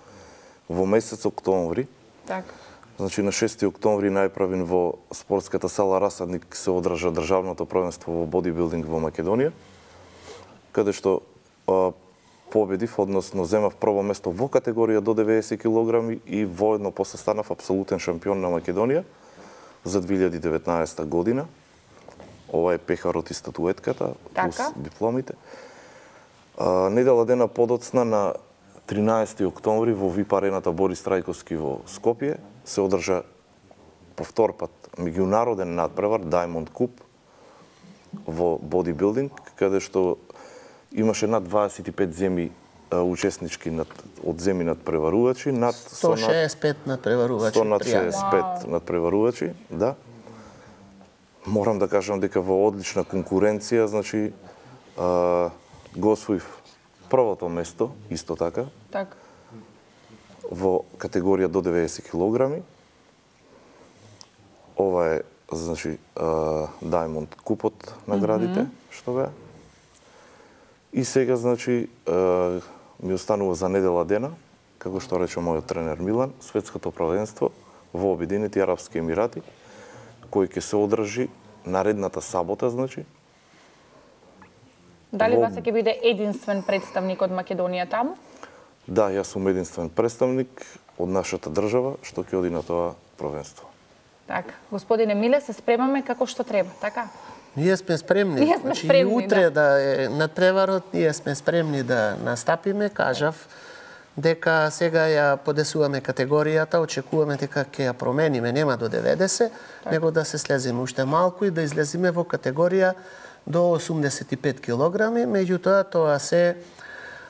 во месец октомври. Така. Значи на шести октомври најправен во спортската сала Расадник се одржа државното првенство во бодибилдинг во Македонија, каде што а, победив, односно земав прво место во категорија до деветдесет килограми и воедно после станав апсолутен шампион на Македонија за две илјади и деветнаесета година. Ова е пехарот и статуетката, плюс така. Дипломите. А, недела дена подоцна на тринаесети октомври во ВИП арената Борис Трајковски во Скопје се одржа повтор пат меѓународен надпревар Diamond Cup во бодибилдинг, каде што имаше над дваесет и пет земи учеснички над, од земи надпреварувачи, над сто шеесет и пет надпреварувачи. сто над шеесет и пет надпреварувачи, да. Морам да кажам дека во одлична конкуренција, значи а, го освоив првото место, исто така, так. Во категорија до деветдесет килограми. Ова е, значи, uh, Diamond Купот наградите, mm -hmm. што беа. И сега, значи, uh, ми останува за недела дена, како што рече мојот тренер Милан, светското првенство во Обединети Арапски Емирати, кој ќе се одржи наредната сабота, значи. Дали Васе ќе биде единствен представник од Македонија таму? Да, јас сум единствен представник од нашата држава што ќе оди на тоа првенство. Така, господине Миле, се спремаме како што треба, така? Ние сме спремни. Ние сме спремни, значи, утре да, да е надпреварот, ние сме спремни да настапиме, кажав. дека сега ја подесуваме категоријата, очекуваме дека ќе ја промениме, нема до деветдесет, так. него да се слезиме уште малку и да излезиме во категорија до осумдесет и пет килограми, меѓутоа тоа се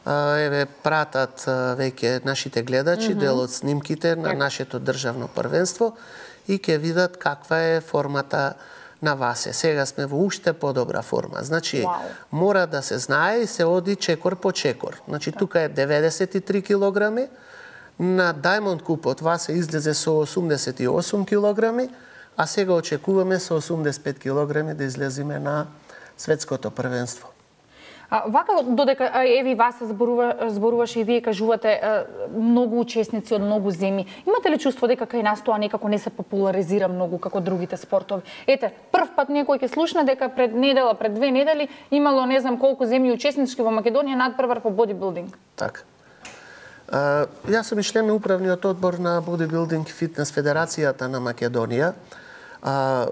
еве пратат веќе нашите гледачи, mm-hmm. дел од снимките на нашето државно првенство и ќе видат каква е формата на Васе. Сега сме во уште подобра форма. Значи, wow. мора да се знае и се оди чекор по чекор. Значи, так. тука е деветдесет и три килограми, на Diamond Купот Васе излезе со осумдесет и осум килограми, а сега очекуваме со осумдесет и пет килограми да излеземе на светското првенство. А, вака, додека еви вас зборува, зборуваше и вие кажувате многу учесници од многу земји, имате ли чувство дека кај нас тоа некако не се популаризира многу како другите спортови? Ете, прв пат некој ќе слушна дека пред недела, пред две недели имало не знам колку земји учеснички во Македонија надпревар по бодибилдинг. Така. А, јас сум и член на управниот одбор на Бодибилдинг Фитнес Федерацијата на Македонија. А,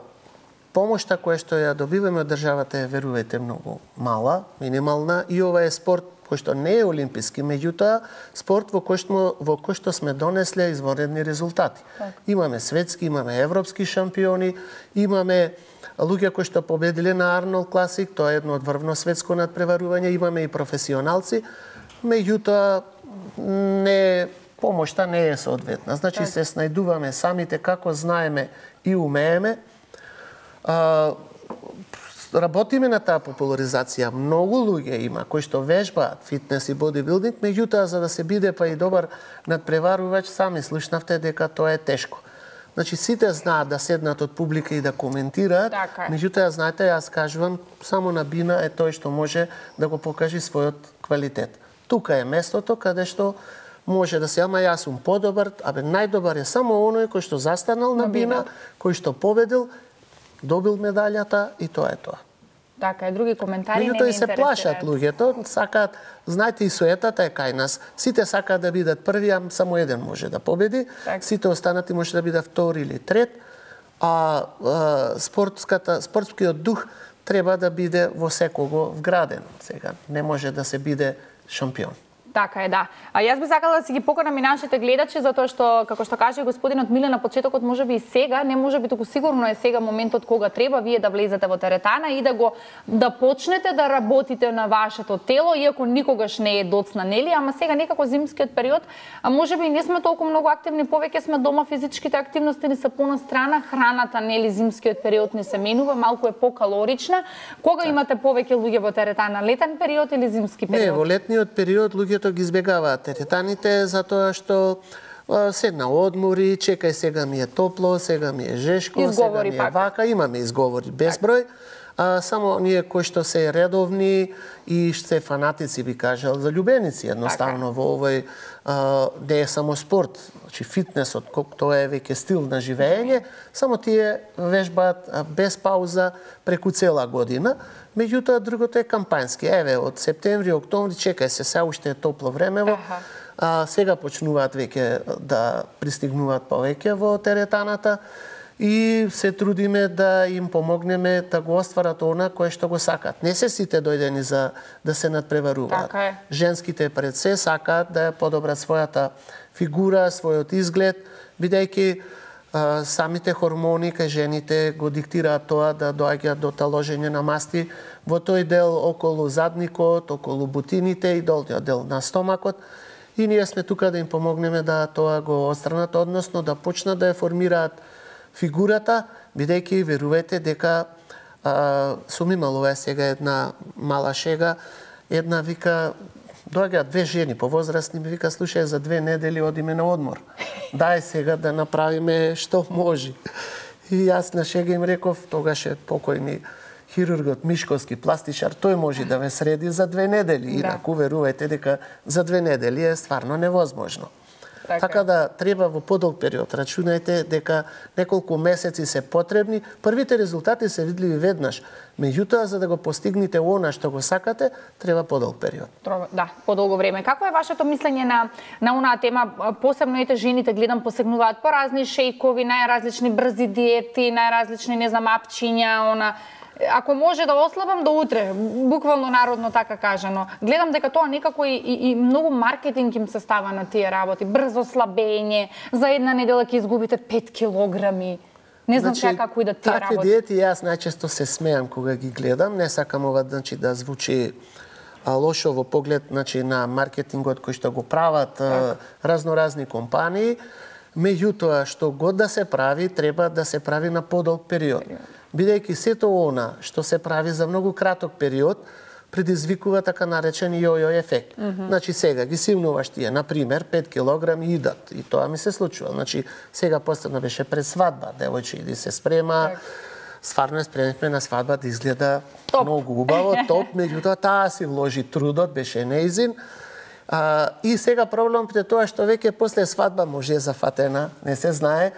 Помошта која што ја добиваме од државата е, верувајте, многу мала, минимална, и ова е спорт кој што не е олимписки, меѓутоа спорт во кој што, во кој што сме донесле извонредни резултати. Так. Имаме светски, имаме европски шампиони, имаме луѓе кои што победиле на Арнолд Класик, тоа е едно од врвно светско надпреварување, имаме и професионалци, меѓутоа не помошта не е соодветна. Значи так. се снајдуваме самите како знаеме и умееме. А, работиме на таа популаризација. Многу луѓе има кои што вежбаат фитнес и бодибилдинг, меѓутоа за да се биде па и добар надпреварувач, сами слушнавте дека тоа е тешко. Значи сите знаат да седнат од публика и да коментираат, меѓутоа знаете, јас кажувам, само на бина е тој што може да го покаже својот квалитет. Тука е местото каде што може да се, ама јас сум подобар, абе најдобар е само оној кој што застанал на бина, кој што победил, добил медалјата и тоа е тоа. Така е, други коментари не ми интересираат. Меѓутоа и се плашат луѓето, сакаат, знаете и суетата е кај нас, сите сакаат да бидат први, а само еден може да победи, так. сите останати може да бидат втори или трет, а, а спортската, спортскиот дух треба да биде во секого вграден. Сега не може да се биде шампион. Така е, да. А јас би сакала да си ги поканам и нашите гледачи, затоа што, како што каже господинот Миле на почетокот, може би и сега, не може би туку сигурно е сега моментот кога треба вие да влезете во теретана и да го да почнете да работите на вашето тело, иако никогаш не е доцна, нели? Ама сега некако зимскиот период, а може би не сме толку многу активни, повеќе сме дома, физичките активности ни се понастрана, храната, нели, зимскиот период не се менува, малку е покалорична. Кога так. имате повеќе луѓе во теретана, летен период или зимски период? Не, во летниот период луѓето ги избегаваат теретаните затоа што се на одмори, чекај сега ми е топло, сега ми е жешко, изговори сега ми е вака, имаме изговори безброј. А, само ние кои што се редовни и се фанатици, би кажал, залюбеници едноставно во овој а, не е само спорт, значи фитнесот, тоа е веќе стил на живење, само тие вежбаат без пауза преку цела година. Меѓутоа, другото е кампањски. Еве, од септември, октомври, чекај се, се уште е топло времево. А, сега почнуваат веќе да пристигнуваат повеќе во теретаната и се трудиме да им помогнеме да го остварат она кое што го сакаат. Не се сите дојдени за да се надпреваруваат. Така е. Женските пред се сакаат да ја подобрат својата фигура, својот изглед, бидејќи Uh, самите хормони кај жените го диктираат тоа да доаѓаат до таложење на масти во тој дел околу задникот, околу бутините и долниот дел на стомакот. И ние сме тука да им помогнеме да тоа го отстранат, односно да почнат да ја формираат фигурата, бидејќи верувајте дека uh, сум имал ова сега една мала шега, една вика доаѓаат две жени повозрастни, ми вика, слушај, за две недели одиме на одмор. Дај сега да направиме што може. И јас на шега им реков, тогаш е покојни хирургот Мишковски, пластичар, тој може да ме среди за две недели. Да. Инаку верувајте дека за две недели е стварно невозможно. Така, така да треба во подолг период. Рачунајте дека неколку месеци се потребни. Првите резултати се видливи веднаш. Меѓутоа, за да го постигнете она што го сакате, треба подолг период. Да, подолго време. Какво е вашето мислење на на онаа тема? Посебно ете жените гледам посегнуваат по разни шејкови, најразлични брзи диети, најразлични не знам апчиња, она ако може да ослабам до утре, буквално народно така кажано. Гледам дека тоа некако и, и, и многу маркетинг им се става на тие работи. Брзо слабење, за една недела ќе изгубите пет килограми. Не знам значи, како и да тие работи. Такви диети јас најчесто се смеам кога ги гледам. Не сакам ова значи, да звучи а, лошо во поглед значи, на маркетингот кој што го прават а, разноразни компании. Меѓутоа, што год да се прави, треба да се прави на подолг период. Бидејќи сето она што се прави за многу краток период, предизвикува така наречен јо-јо ефект. Mm -hmm. Значи сега ги симнуваш тие, на пример, пет килограми идат. И тоа ми се случува. Значи сега последно беше пред свадба, девојче иди се спрема. Так. Стварно е спремивме на свадба да изгледа топ. Многу убаво, топ, меѓутоа таа си вложи трудот, беше неизин. А, и сега проблемот е тоа што веќе после свадба може е зафатена, не се знае,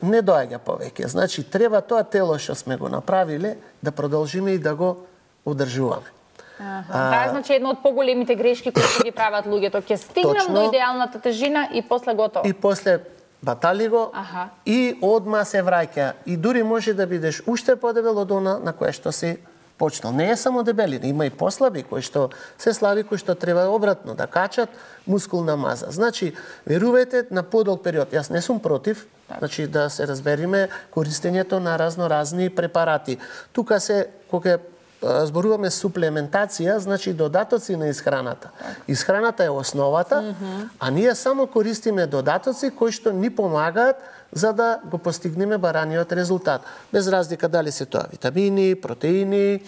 не доаѓа повеќе. Значи треба тоа тело што сме го направиле да продолжиме и да го одржуваме. Таа е значи една од поголемите грешки кои ги прават луѓето. Ќе стигнам точно, до идеалната тежина и после готово. И после батали го аха. И одма се враќа. И дури може да бидеш уште подебел од она на кое што си почнал. Не е само дебелина, има и послаби кои што се слаби, кои што треба обратно да качат мускулна маза. Значи, верувајте на подолг период. Јас не сум против, значи да се разбериме користењето на разноразни препарати. Тука се кога зборуваме суплементација, значи додатоци на исхраната. Исхраната е основата, mm -hmm. а ние само користиме додатоци кои што ни помагаат за да го постигнеме бараниот резултат. Без разлика дали се тоа витамини, протеини,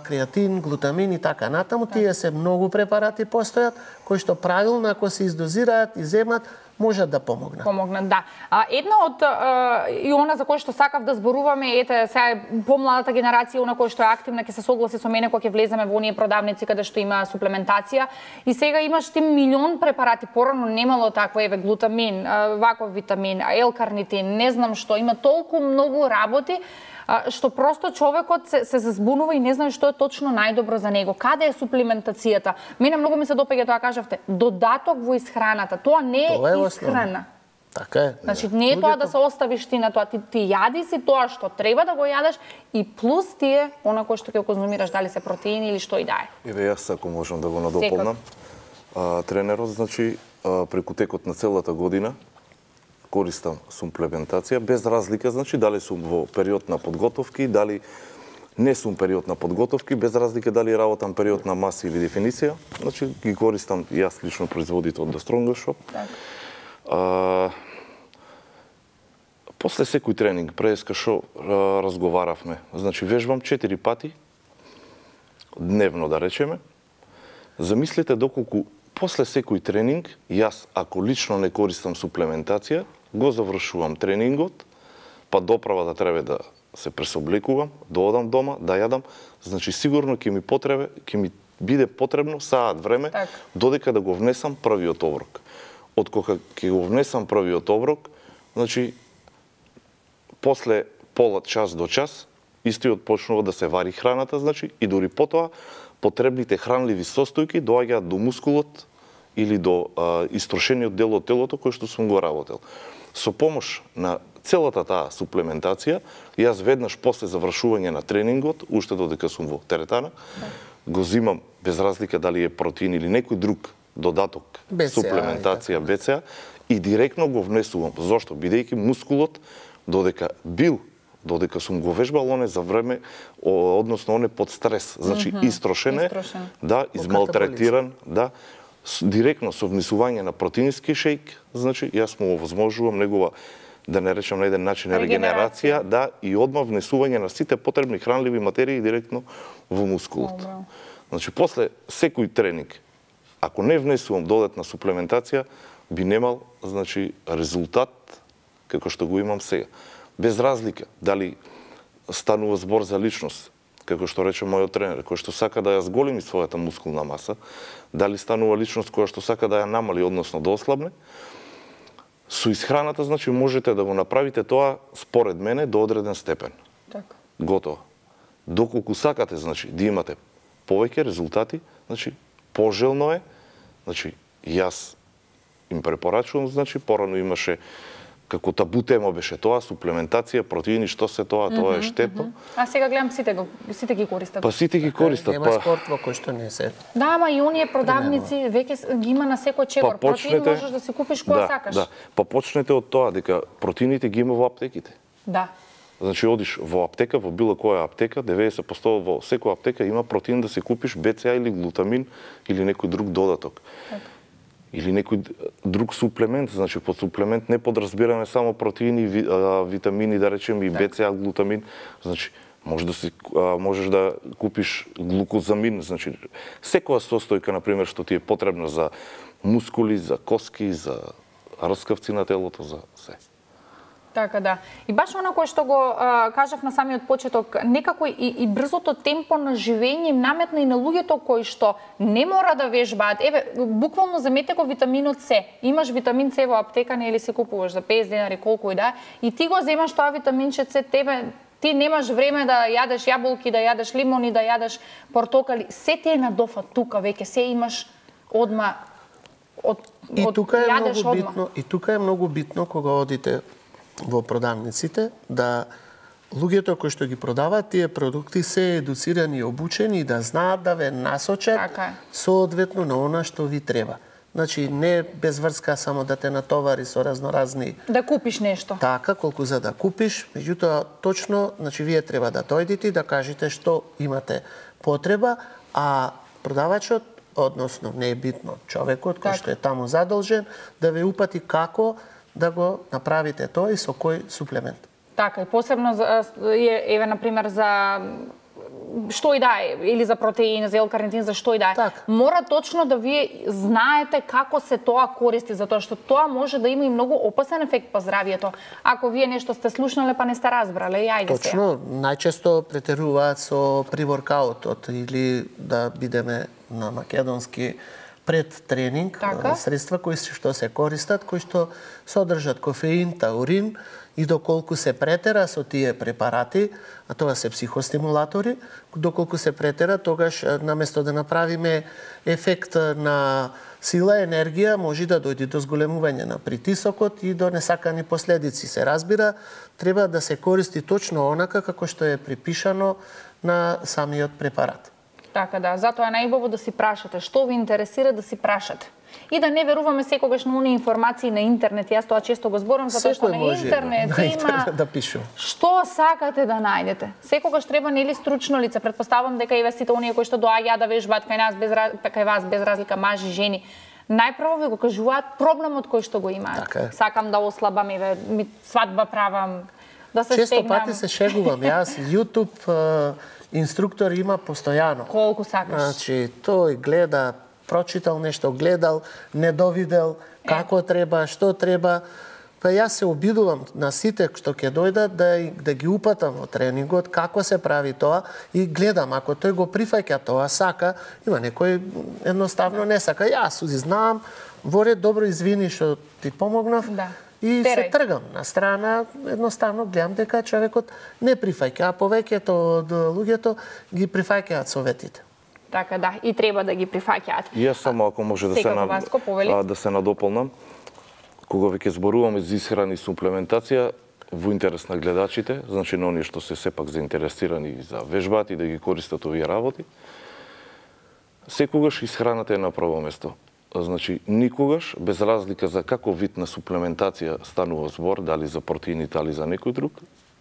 креатин, глутамин и така натаму. Тие се многу препарати постојат кои што правилно ако се издозираат и земат можат да помогнат. Помогнат, да. А, една од а, и она за кој што сакав да зборуваме, ете, сега помладата генерација, она кој што е активна, ќе се согласи со мене кога ќе влеземе во оние продавници каде што има суплементација. И сега имаш ти милион препарати, порано немало такво, еве глутамин, ваков витамин, L-карнитин, не знам што, има толку многу работи што просто човекот се, се збунува и не знае што е точно најдобро за него. Каде е суплементацијата? Мене многу ми се допаѓа тоа кажавте, додаток во исхраната. Тоа не е, тоа е исхрана. Така е. Значи не е тоа да се оставиш ти на тоа, ти, ти јади си тоа што треба да го јадеш и плюс тие она кој што ќе конзумираш, дали се протеини или што и да е. Еве јас ако можам да го надополнам. А, тренерот значи а, преку текот на целата година користам суплементација без разлика, значи дали сум во период на подготовки, дали не сум период на подготовки, без разлика дали работам период на маса или дефиниција, значи ги користам јас лично производител од The Strongest Shop. Так. А, после секој тренинг, преска што разговаравме, значи вежбам четири пати дневно да речеме. Замислете доколку после секој тренинг јас ако лично не користам суплементација, го завршувам тренингот, па доправа да треба да се пресоблекувам, да одам дома, да јадам, значи сигурно ќе ми потребе, ќе ми биде потребно саат време так. Додека да го внесам првиот оброк. Од кога ќе го внесам првиот оброк, значи после пола час до час истиот почнува да се вари храната, значи и дури потоа потребните хранливи состојки доаѓаат до мускулот или до а, истрошениот дел од телото кој што сум го работел. Со помош на целата таа суплементација, јас веднаш после завршување на тренингот, уште додека сум во теретана, го зимам без разлика дали е протеин или некој друг додаток, бе це а, суплементација, бе це а, и директно го внесувам. Зошто? Бидејќи мускулот, додека бил, додека сум го вежбал, он е за време, односно он е под стрес, значи mm -hmm. истрошен е, истрошен. Да, измалтретиран, да, директно со внесување на протеински шејк, значи јас му овозможувам негова, да не речам на еден начин, регенерација, да, и одма внесување на сите потребни хранливи материи директно во мускулот. Добро. Значи, после секој тренинг, ако не внесувам додатна суплементација, би немал, значи, резултат како што го имам сега. Без разлика, дали станува збор за личност, како што рече мојот тренер, кој што сака да ја зголеми својата мускулна маса, дали станува личност која што сака да ја намали, односно да ослабне, со исхраната, значи, можете да го направите тоа, според мене, до одреден степен. Така. Готово. Доколку сакате, значи, да имате повеќе резултати, значи, пожелно е, значи, јас им препорачувам, значи, порано имаше како табу тема беше тоа, суплементација, протеини, што се тоа, тоа е штетно. А сега гледам сите го, сите ги користат. Па сите ги користат, Нема па спорт во кој што не се. Да, ама и оние продавници веќе ги има на секој чегор. Па Протеин почнете- можеш да си купиш кога да, сакаш. да. Па почнете од тоа дека протеините ги има во аптеките. Да. Значи одиш во аптека, во било која аптека, деветдесет проценти во секоја аптека има протеин да си купиш Б Ц А или глутамин или некој друг додаток. Или некој друг суплемент, значи под суплемент не подразбираме само протеини, ви, а, витамини, да речеме и Б Ц А, глутамин, значи може да си а, можеш да купиш глукозамин, значи секоја состојка на пример што ти е потребна за мускули, за коски, за раскавци на телото, за се. Така да. И баш она кое што го а, кажав на самиот почеток, некако и, и брзото темпо на живење им наметна и на луѓето кои што не мора да вежбаат. Еве, буквално замете го витаминот С. Имаш витамин С во аптека, не или си купуваш за песет денари, колку и да, и ти го земаш тоа витаминче С, тебе ти немаш време да јадеш јаболки, да јадеш лимони, да јадеш портокали. Се ти е на дофа тука веќе, се имаш одма од, И од тука е јадеш многу одма. битно, и тука е многу битно кога одите во продавниците да луѓето кои што ги продаваат тие продукти се едуцирани и обучени и да знаат да ве насочат Така е. соодветно на она што ви треба. Значи не без врска само да те натовари со разноразни Да купиш нешто. така колку за да купиш, меѓутоа точно, значи вие треба да дојдете и да кажете што имате потреба, а продавачот, односно не е битно човекот кој Така. што е таму задолжен да ве упати како да го направите тоа и со кој суплемент. Така, и посебно за, е- еве, например, за што и да е, или за протеин, за L-карнитин, за што и да е. Мора точно да вие знаете како се тоа користи, затоа што тоа може да има и многу опасен ефект по здравието. Ако вие нешто сте слушнале па не сте разбрале, и ајде се. Точно, најчесто претеруваат со приворкаутот или да бидеме на македонски пред тренинг, Така. средства кои се- што се користат, кои што содржат кофеин, таурин и доколку се претера со тие препарати, а тоа се психостимулатори, доколку се претера, тогаш е, наместо да направиме ефект на сила, енергија, може да дојде до зголемување на притисокот и до несакани последици. Се разбира, треба да се користи точно онака како што е припишано на самиот препарат. Така да, затоа е најубаво да си прашате што ви интересира, да си прашате. И да не веруваме секогаш на оние информации на интернет. Јас тоа често го зборам затоа што Секој на може интернет на има интернет да пише. што сакате да најдете. Секогаш треба нели стручно лице. Претпоставам дека и сите оние кои што доаѓаат да вежбаат кај нас без раз- кај вас без разлика мажи, жени, најпрво ви го кажуваат проблемот кој што го имаат. Така е. Сакам да ослабам, еве, ми свадба правам, да се Често стегнам. пати се шегувам. Јас YouTube е, инструктор има постојано. Колку сакаш. Значи, тој гледа, прочитал нешто, гледал, не довидел, како треба, што треба. Па јас се обидувам на сите што ќе дојдат да, да ги упатам во тренингот, како се прави тоа и гледам, ако тој го прифаќа тоа, сака, има некој едноставно не сака. Јас узи знам, во ред, добро извини што ти помогнав. Да. И Терај. се тргам на страна, едноставно гледам дека човекот не прифаќа, а повеќето од луѓето ги прифаќаат советите. Така да, и треба да ги прифаќаат. И јас само ако може да се Секако, на, Васко, повели. а, да се надополнам, кога веќе зборуваме за исхрана и суплементација во интерес на гледачите, значи на оние што се сепак заинтересирани за вежбаат и да ги користат овие работи, секогаш исхраната е на прво место. Значи, никогаш, без разлика за каков вид на суплементација станува збор, дали за протеини, дали за некој друг,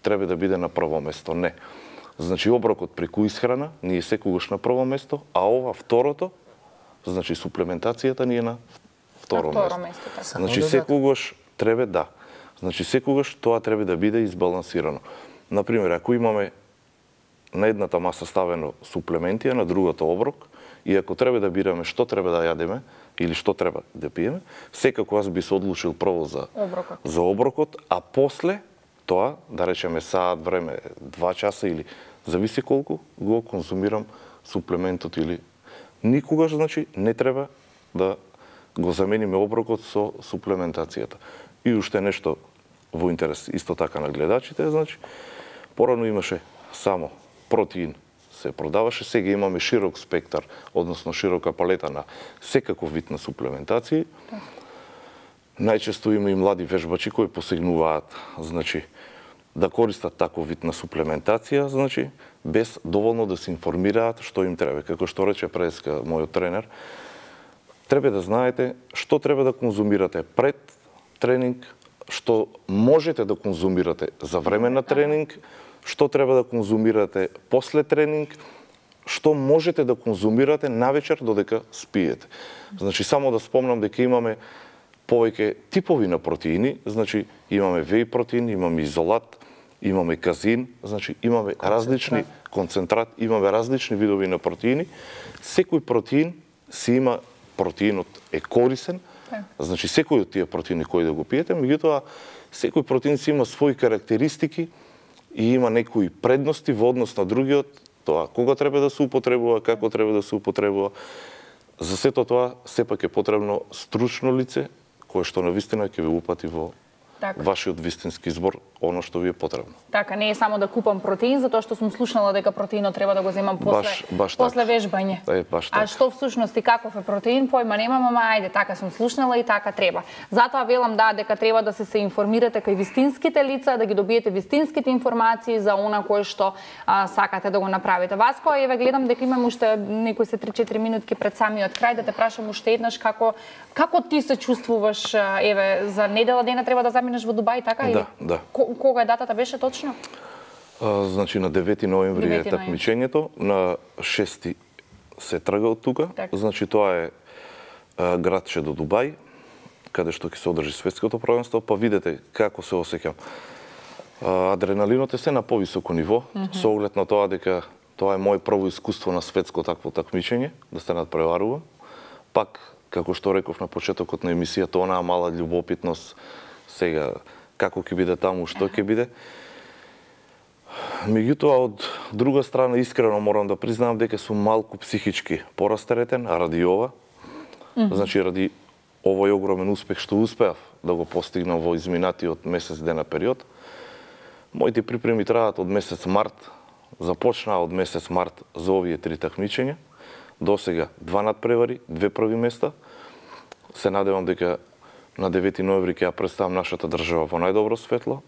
треба да биде на прво место. Не. Значи, оброкот преку исхрана ни е секогаш на прво место, а ова второто, значи суплементацијата ни е на второ, На второ место. место, така. Значи, Само секогаш треба да. Значи, секогаш тоа треба да биде избалансирано. Например, ако имаме на едната маса ставено суплементи, а на другата оброк, и ако треба да бираме што треба да јадеме или што треба да пиеме, секако аз би се одлучил прво за Оброкот. за оброкот, а после тоа, да речеме саат време, два часа или зависи колку го конзумирам суплементот или никогаш, значи, не треба да го замениме оброкот со суплементацијата. И уште нешто во интерес исто така на гледачите, значи, порано имаше само протеин се продаваше, сега имаме широк спектар, односно широка палета на секаков вид на суплементации. Најчесто има и млади вежбачи кои посегнуваат, значи, да користат таков вид на суплементација, значи, без доволно да се информираат што им треба. Како што рече преска мојот тренер, треба да знаете што треба да конзумирате пред тренинг, што можете да конзумирате за време на тренинг, што треба да конзумирате после тренинг, што можете да конзумирате навечер додека спиете. Значи, само да спомнам дека имаме повеќе типови на протеини, значи имаме веј протеин, имаме изолат, имаме казин, значи имаме концентрат. различни концентрат, имаме различни видови на протеини. Секој протеин си има протеинот е корисен, значи секој од тие протеини кои да го пиете, меѓутоа секој протеин си има своји карактеристики и има некои предности во однос на другиот, тоа кога треба да се употребува, како треба да се употребува. За сето тоа сепак е потребно стручно лице кое што навистина ќе ве упати во така. Вашиот вистински збор, оно што ви е потребно. Така, не е само да купам протеин, затоа што сум слушнала дека протеинот треба да го земам после, баш, баш после вежбање. Е, баш а што всушност и каков е протеин, појма немам, ама ајде, така сум слушнала и така треба. Затоа велам да, дека треба да се се информирате кај вистинските лица, да ги добиете вистинските информации за она кое што а, сакате да го направите. Васко, еве гледам дека имам уште некои се три-четири минутки пред самиот крај, да те прашам уште еднаш како како ти се чувствуваш, еве, за недела дена треба да заминеш во Дубај, така? Да, да. Кога е датата беше точно? А, значи на девети ноември е такмичењето, на шести се трга од тука. Так. Значи тоа е а, градче до Дубај, каде што ќе се одржи светското првенство, па видете како се осеќам. Адреналинот е се на повисоко ниво, mm -hmm. со оглед на тоа дека тоа е мој прво искуство на светско такво такмичење, да се надпреварува. Пак, како што реков на почетокот на емисијата, онаа мала љубопитност, сега како ќе биде таму, што ќе биде. Меѓутоа, од друга страна, искрено морам да признам дека сум малку психички порастеретен ради ова. Mm -hmm. Значи, ради овој огромен успех што успеав да го постигнам во изминатиот месец дена период. Моите припреми траат од месец март, започнаа од месец март за овие три такмичења. До сега два надпревари, две први места. Се надевам дека на девети ноември ќе ја представам нашата држава во најдобро светло.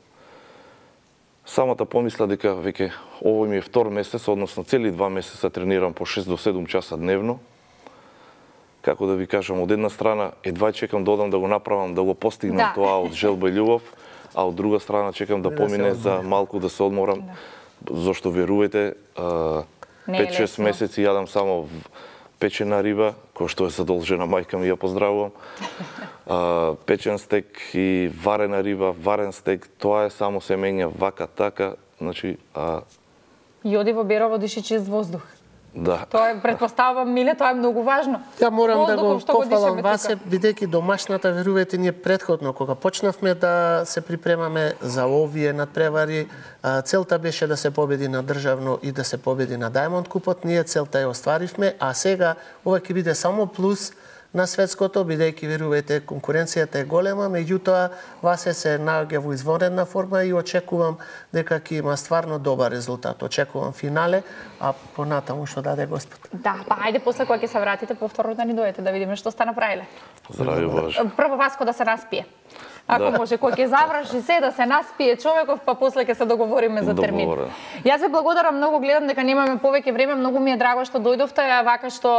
Самата помисла дека веќе овој ми е втор месец, односно цели два месеца тренирам по шест до седум часа дневно. Како да ви кажам, од една страна едва чекам да одам да го направам, да го постигнам да. Тоа од желба и љубов, а од друга страна чекам да помине за малку да се одморам, да. Зошто верувате, пет-шест месеци јадам само печена риба, која што е задолжена мајка ми, ја поздравувам. А, печен стек и варена риба, варен стек, тоа е само се менја вака така, значи... А... Јоди во Берово диши чист воздух. Да. Тоа е, предпоставувам, Миле, тоа е многу важно. Ја морам Воздухов, да го пофалам вас, бидејќи домашната, верувате, ние претходно, кога почнавме да се припремаме за овие надпревари, целта беше да се победи на државно и да се победи на Diamond купот. Ние целта ја остваривме, а сега ова ќе биде само плюс на светското, бидејќи верувате конкуренцијата е голема, меѓутоа Васе се наоѓа во извонредна форма и очекувам дека ќе има стварно добар резултат. Очекувам финале, а понатаму што даде Господ. Да, па ајде после кога ќе се вратите повторно да ни дојдете да видиме што сте направиле. Здрави Боже. Прво Васко да се наспие. Ако да. Може, кога ќе заврши се да се наспие човеков, па после ќе се договориме за термин. Договорен. Јас ви благодарам многу, гледам дека немаме повеќе време, многу ми е драго што дојдовте, вака што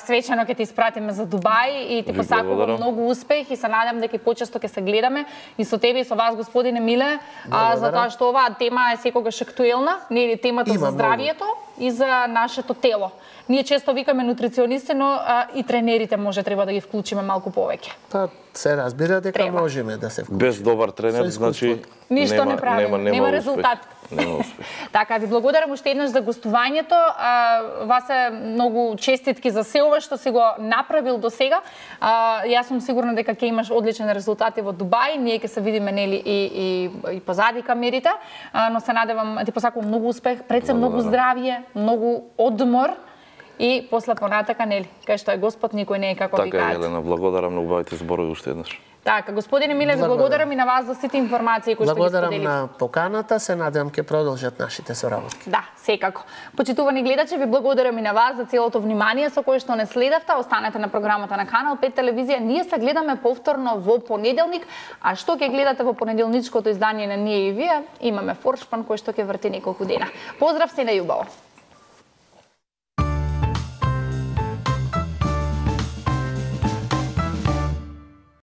свечено ќе ти испратиме за Дубај и ти посакувам многу успех и се надам дека почесто ќе се гледаме и со тебе и со вас, господине Миле, а, затоа што оваа тема е секогаш актуелна, нели темата Има за здравието много. И за нашето тело. Ние често викаме нутриционисти, но а, и тренерите може треба да ги вклучиме малку повеќе. Па се разбира дека треба. Можеме да се вклучиме. Без добар тренер, значи ништо нема, не правиме, нема, нема, нема успех. резултат. Нема успех. Така, ви благодарам уште еднаш за гостувањето. А, вас е многу честитки за се ова што си го направил до сега. А, јас сум сигурна дека ќе имаш одличен резултати во Дубај. Ние ќе се видиме нели и и и позади камерите, а, но се надевам ти посакувам многу успех, пред се многу здравје, многу одмор. И после понатака, нели, кај што е Господ, никој не е како ви кажат. Така, Елена, благодарам на убавите зборови уште еднаш. Така, господине Миле, ви благодарам и на вас за сите информации кои што ги Благодарам споделивте. на поканата, се надевам ќе продолжат нашите соработки. Да, секако. Почитувани гледачи, ви благодарам и на вас за целото внимание со кое што не следавте. Останете на програмата на Канал пет телевизија. Ние се гледаме повторно во понеделник, а што ќе гледате во понеделничкото издание на Ние и вие, имаме форшпан кој што ќе врти неколку дена. Поздрав, се најубаво.